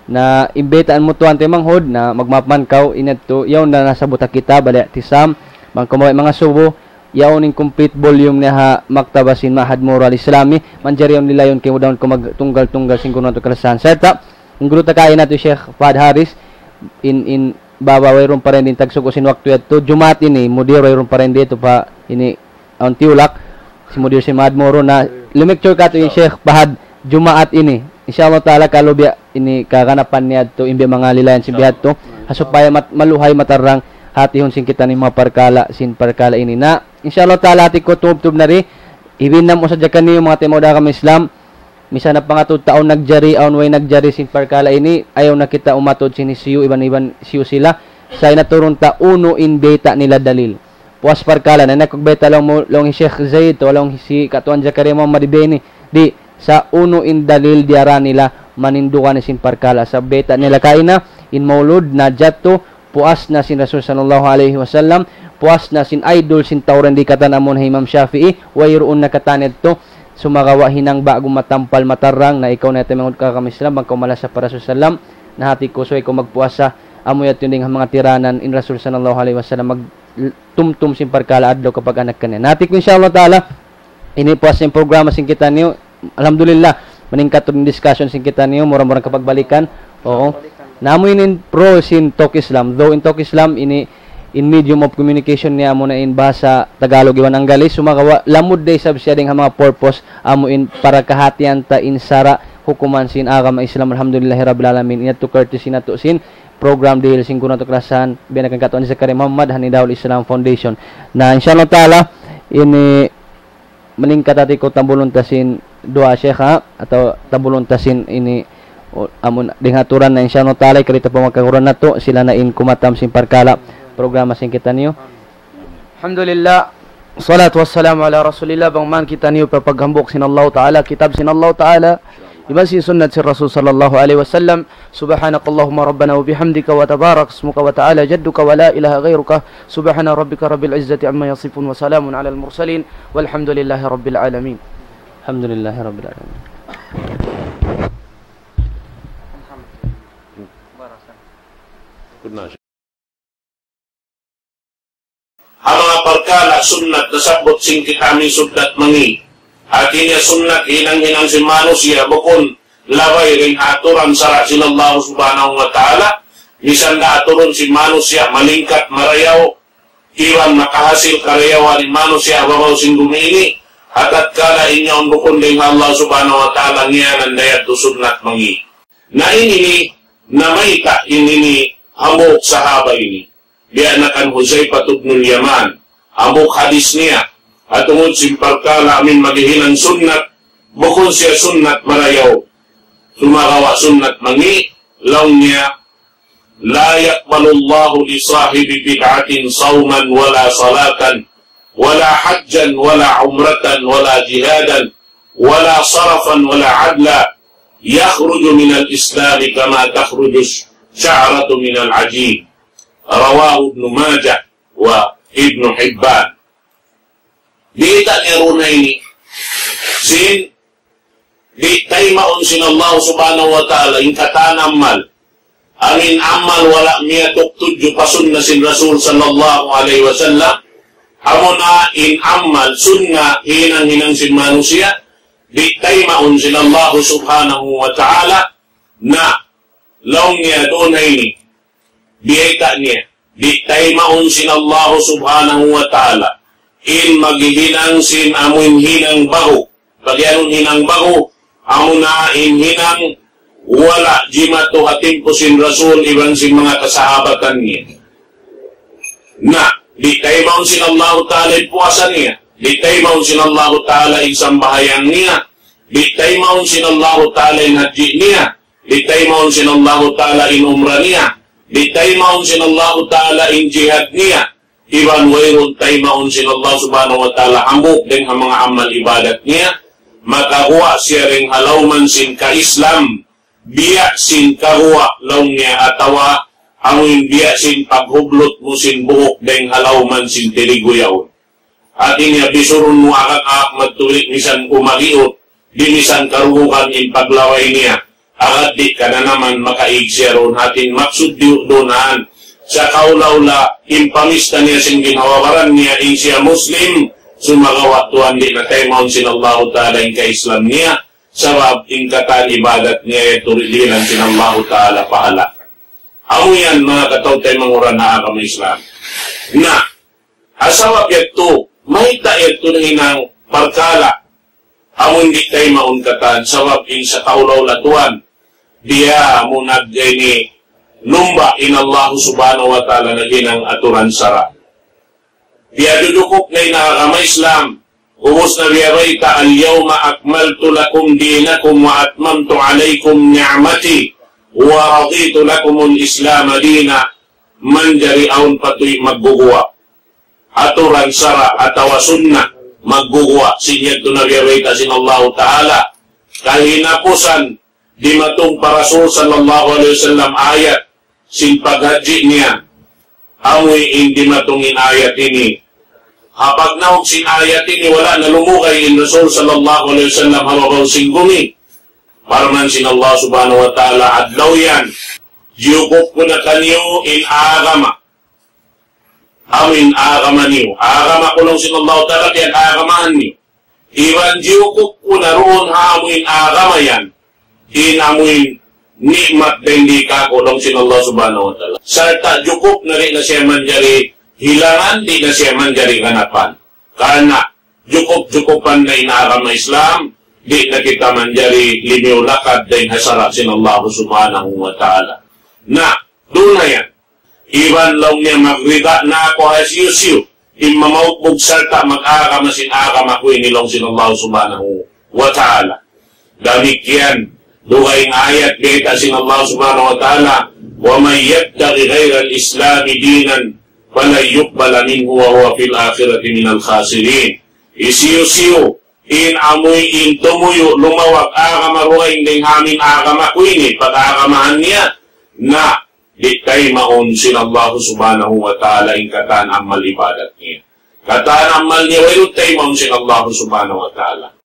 Na imbitahan mu tuwan te manghud, na magmaap man kaw, in yadtu, yaun na nasa buta kita, balik tisam, bang kamu mangasubu, yaun in complete volume niya ha maktaba sin Ma'had Moro Al-Islami, manjari yaun lilayun kaymu daun ku magtunggal-tunggal sin guru natu' kalasahan. Sarta', in guru ta kaina tu Sheikh Fahad Haris, in, in, baba wayruun pa rin din tagsuku sin waktu yadtu, Jumaat ini, mudir wayruun pa rin dito pa, ini, awn tiyulak, sin mudir sin Ma'had Moro na, lumiktur katu' in Sheikh Fahad, Jumaat ini. Insya Allah Ta'ala, kalu biya' ini kaganapan niya tu, in biya' manga lilayan sin biya' tu, ha supaya mat-, maluhay matarrang hatihun sin kita in manga parkala', sin parkala' ini. Na, insya Allah Ta'ala, hati ku tubtub na di, ibinam usa jakan niyu manga taymanghud ku ha agama Islam, misan na pangatud ta awn nagjari, awn way nagjari sin parkala' ini, ayaw na kita umatud sin hisiyu, iban-iban hisiyu sila, sa' in aturun ta unu in bayta' nila dalil. Puas parkala', na nakug bayta' laung mu, laung hi Sheikh Zaid, atawa laung hi si Katuan Zakaria Muhammad Ibeni, di', sa' unu in dalil diyara nila manindugan sin parkala'. Sa' bayta' nila kaina, in maulud na jatu, puas na sin Rasul sallallahu alayhi wasallam, puas na sin idol sin Tawran di' katan amun hi Imam Shafi'i, wayruun na katan yadtu, sumagawa' hinang ba'gu matampal matarrang, na ikaw na yadtu manghud ka kami Islam, bang kaw malasa pa Rasul sallam, na hati ku subay kaw magpuasa, amu yadtu in dayn ha manga tiranan, in Rasul sallallahu alayhi wasallam, mag-, tumtum sin parkala' adlaw kapag-anakan niya. Na hati ku, insya Allah Ta'ala, ini puas sin programa sin kitaniyu. Alhamdulillah, maningkat tuud in discussion sin kitaniyu, mura-mura kapagbalikan. Oo. Na amu ini in pro sin Talk Islam. Though in Talk Islam, ini in medium of communication niya, amu na in bahasa Tagalog iban Anggalis, sumagawa' lamud da isab siya dayn ha manga purpose, amu in para kahatihan ta in sara' hukuman sin agama Islam, alhamdulillahi rabbil alamin. In yadtu courtesy natu' sin program dihil sin guru natu' kalasahan, biya' na kan Katuan Zakaria Muhammad, ha Nidahul Islam Foundation. Na, insya Allah Ta'ala, ini malingkat hati ku tambulun ta sin duwaa, Sheikh, ha? Atawa tambulun ta sin ini, o, amun, dayn ha aturan na, insya Allah Ta'ala, karita' pa manga kaguruhan natu', sila na in kumatam sin parkala', programa sin kitaniyu. Alhamdulillah. Salatu wassalamu ala Rasulillah. Bang man kitaniyu pa paghambuuk sin Allah Ta'ala, kitab sin Allah Ta'ala, iban sin sunnat sin Rasul sallallahu alayhi wasallam. سبحانك اللهم ربنا وبحمدك وتبارك اسمك وتعالى جدك ولا إله غيرك. سبحان ربك رب العزة عما يصفون وسلام على المرسلين والحمد لله رب العالمين. الحمد لله رب العالمين. Ha manga parkala' sunnat nasabbut sin kita amu in sunnat mangi'. Hati niya sunnat hinang-hinang sin manusiya', bukun labay dayn ha aturan sara' sin Allah Subhanahu wa Ta'ala. misan da aturun sin manusiya' malingkat marayaw, iban makahasil karayawan in manusiya' ha babaw sin bumi ini, ha tatkala in yaun bukun dayn ha Allah Subhanahu wa Ta'ala, ngiyanan da yadtu sunnat mangi'. Na ini ini, namayta' ini ini hambuuk sahaba ini. Biya' na kan Huzaifa ibnul Yaman, hambuuk hadis niya, ha tungud sin parkala' amin maghihinang sunnat, bukun siya sunnat marayaw, sumagawa' sunnat mangi', laung niya, لا يقبل الله لصاحب بدعة صوما ولا صلاة ولا حجا ولا عمرة ولا جهادا ولا صرفا ولا عدلا يخرج من الإسلام كما تخرج الشعرة من العجين. رواه ابن ماجه وابن حبان. Biyayta' niya duun ha ini, sin di' taymaun sin Allah Subhanahu wa Ta'ala in katan amal. Amin amal wala' miyatuk tudju pa sunna sin Rasul sallallahu alayhi wasallam. Amuna in amal sunna hinang-hinang sin manusiya', di' taymaun sin Allah Subhanahu wa Ta'ala. Na, laung niya duun ha ini, biyayta' niya, di' taymaun sin Allah Subhanahu wa Ta'ala in maghihinang sin amuin hinang ba'gu. Pag-iyanun hinang ba'gu, amuna in hinang wala' jimatu ha timpu sin Rasul iban sin manga kasahabatan niya. Na, di' taymaun sin Allah Ta'ala in puasa niya, di' taymaun sin Allah Ta'ala in sambahayang niya, di' taymaun sin Allah Ta'ala in haji niya, di' taymaun sin Allahu Ta'ala in umrah niya, di' taymaun sin Allahu Ta'ala in jihad niya, iban wayruun taymaun sin Allah Subhanahu wa Ta'ala hambuuk dayn ha manga amal ibadat niya, makaguwa' siya dayn ha lawman sin ka-Islam, biya' sin kaguwa' laung niya atawa amuin biya' sin paghublut mu sin buhuk dayn ha lawman sin tirigu yaun. Hati niya bisurun mu agak-agak magtulik misan umagiut, di' misan karugugan in paglaway niya, agad di' kananaman makaig siya duun. Hati in maksud diyu duun han, sa kaula-ula in pamista niya sin ginhawa-baran niya in siya Muslim, sumagawa' tuwan di' na taymaun sin Allahu Ta'ala in ka-Islam niya, sabab in katan ibadat niya yadtu dihilan sin Allahu Ta'ala pahala. Amu yan manga kataw-taymanghuran ha agama Islam. Na, ha sabab yadtu, mayta' yadtu nahinang parkala', amun di' taymaun katan, sabab in sa kaula-ula tuwan, biya' mu nag-, ini, lumba' in Allah Subhanahu wa Ta'ala naghinang aturan sara'. Biya' dudukup na in agama Islam, ubus na biya' bayta', اليوم أكملت لكم دينكم وأتممت عليكم نعمتي ورضيت لكم الإسلام دينا. Manjari awn patuy magguguwa'. Aturan sara' atawa sunna magguguwa'. Sin yadtu na biya' bayta' sin Allahu Ta'ala. Kahinapusan dimatung pa Rasul sallallahu alayhi wasallam ayat sin paghajji niya. Amuin dimatung in ayat ini. Ha pagnaug sin ayat ini, wala' na lumugay in Rasul sallallahu alayhi wasallam ha babaw sin gumi. Parman sin Allah Subhanahu wa Ta'ala, adlaw yan, jiyukup ku na kaniyu in agama. Amuin agama niyu. Agama ku laung sin Allah Ta'ala, biya' agamahan niyu. Iban jiyukup ku na duun ha amuin agama yan, in amuin ni'mat dayn di kāku' laung sin Allah Subhanahu wa Ta'ala. Sarta' jukup na di' na siya manjari hilangan, di' na siya manjari ganapan. Karna' jukup-jukupan na in agama Islam, di' na kita manjari limiyu lakad dayn ha sara' sin Allah Subhanahu wa Ta'ala. Na, duun na yan. Iban laung niya magrida na aku ha hisiyu-siyu in mamaukbug sarta' mag-agama sin agama ku ini laung sin Allah Subhanahu wa Ta'ala. Damikkiyan, dugaing ayat bayta' sin Allah Subhanahu wa Ta'ala, ومن يبتغ غير الإسلام دينا فلن يقبل منه وهو في الآخرة من الخاسرين. Hisiyu-siyu in amuin tumuyu' lumawag agama dugaing dayn ha amuin agama ku ini, pag-agamahan niya, na di' taymaun sin Allah Subhanahu wa Ta'ala in katan amal ibadat niya. Katan amal niya wayruun taymaun sin Allah Subhanahu wa Ta'ala.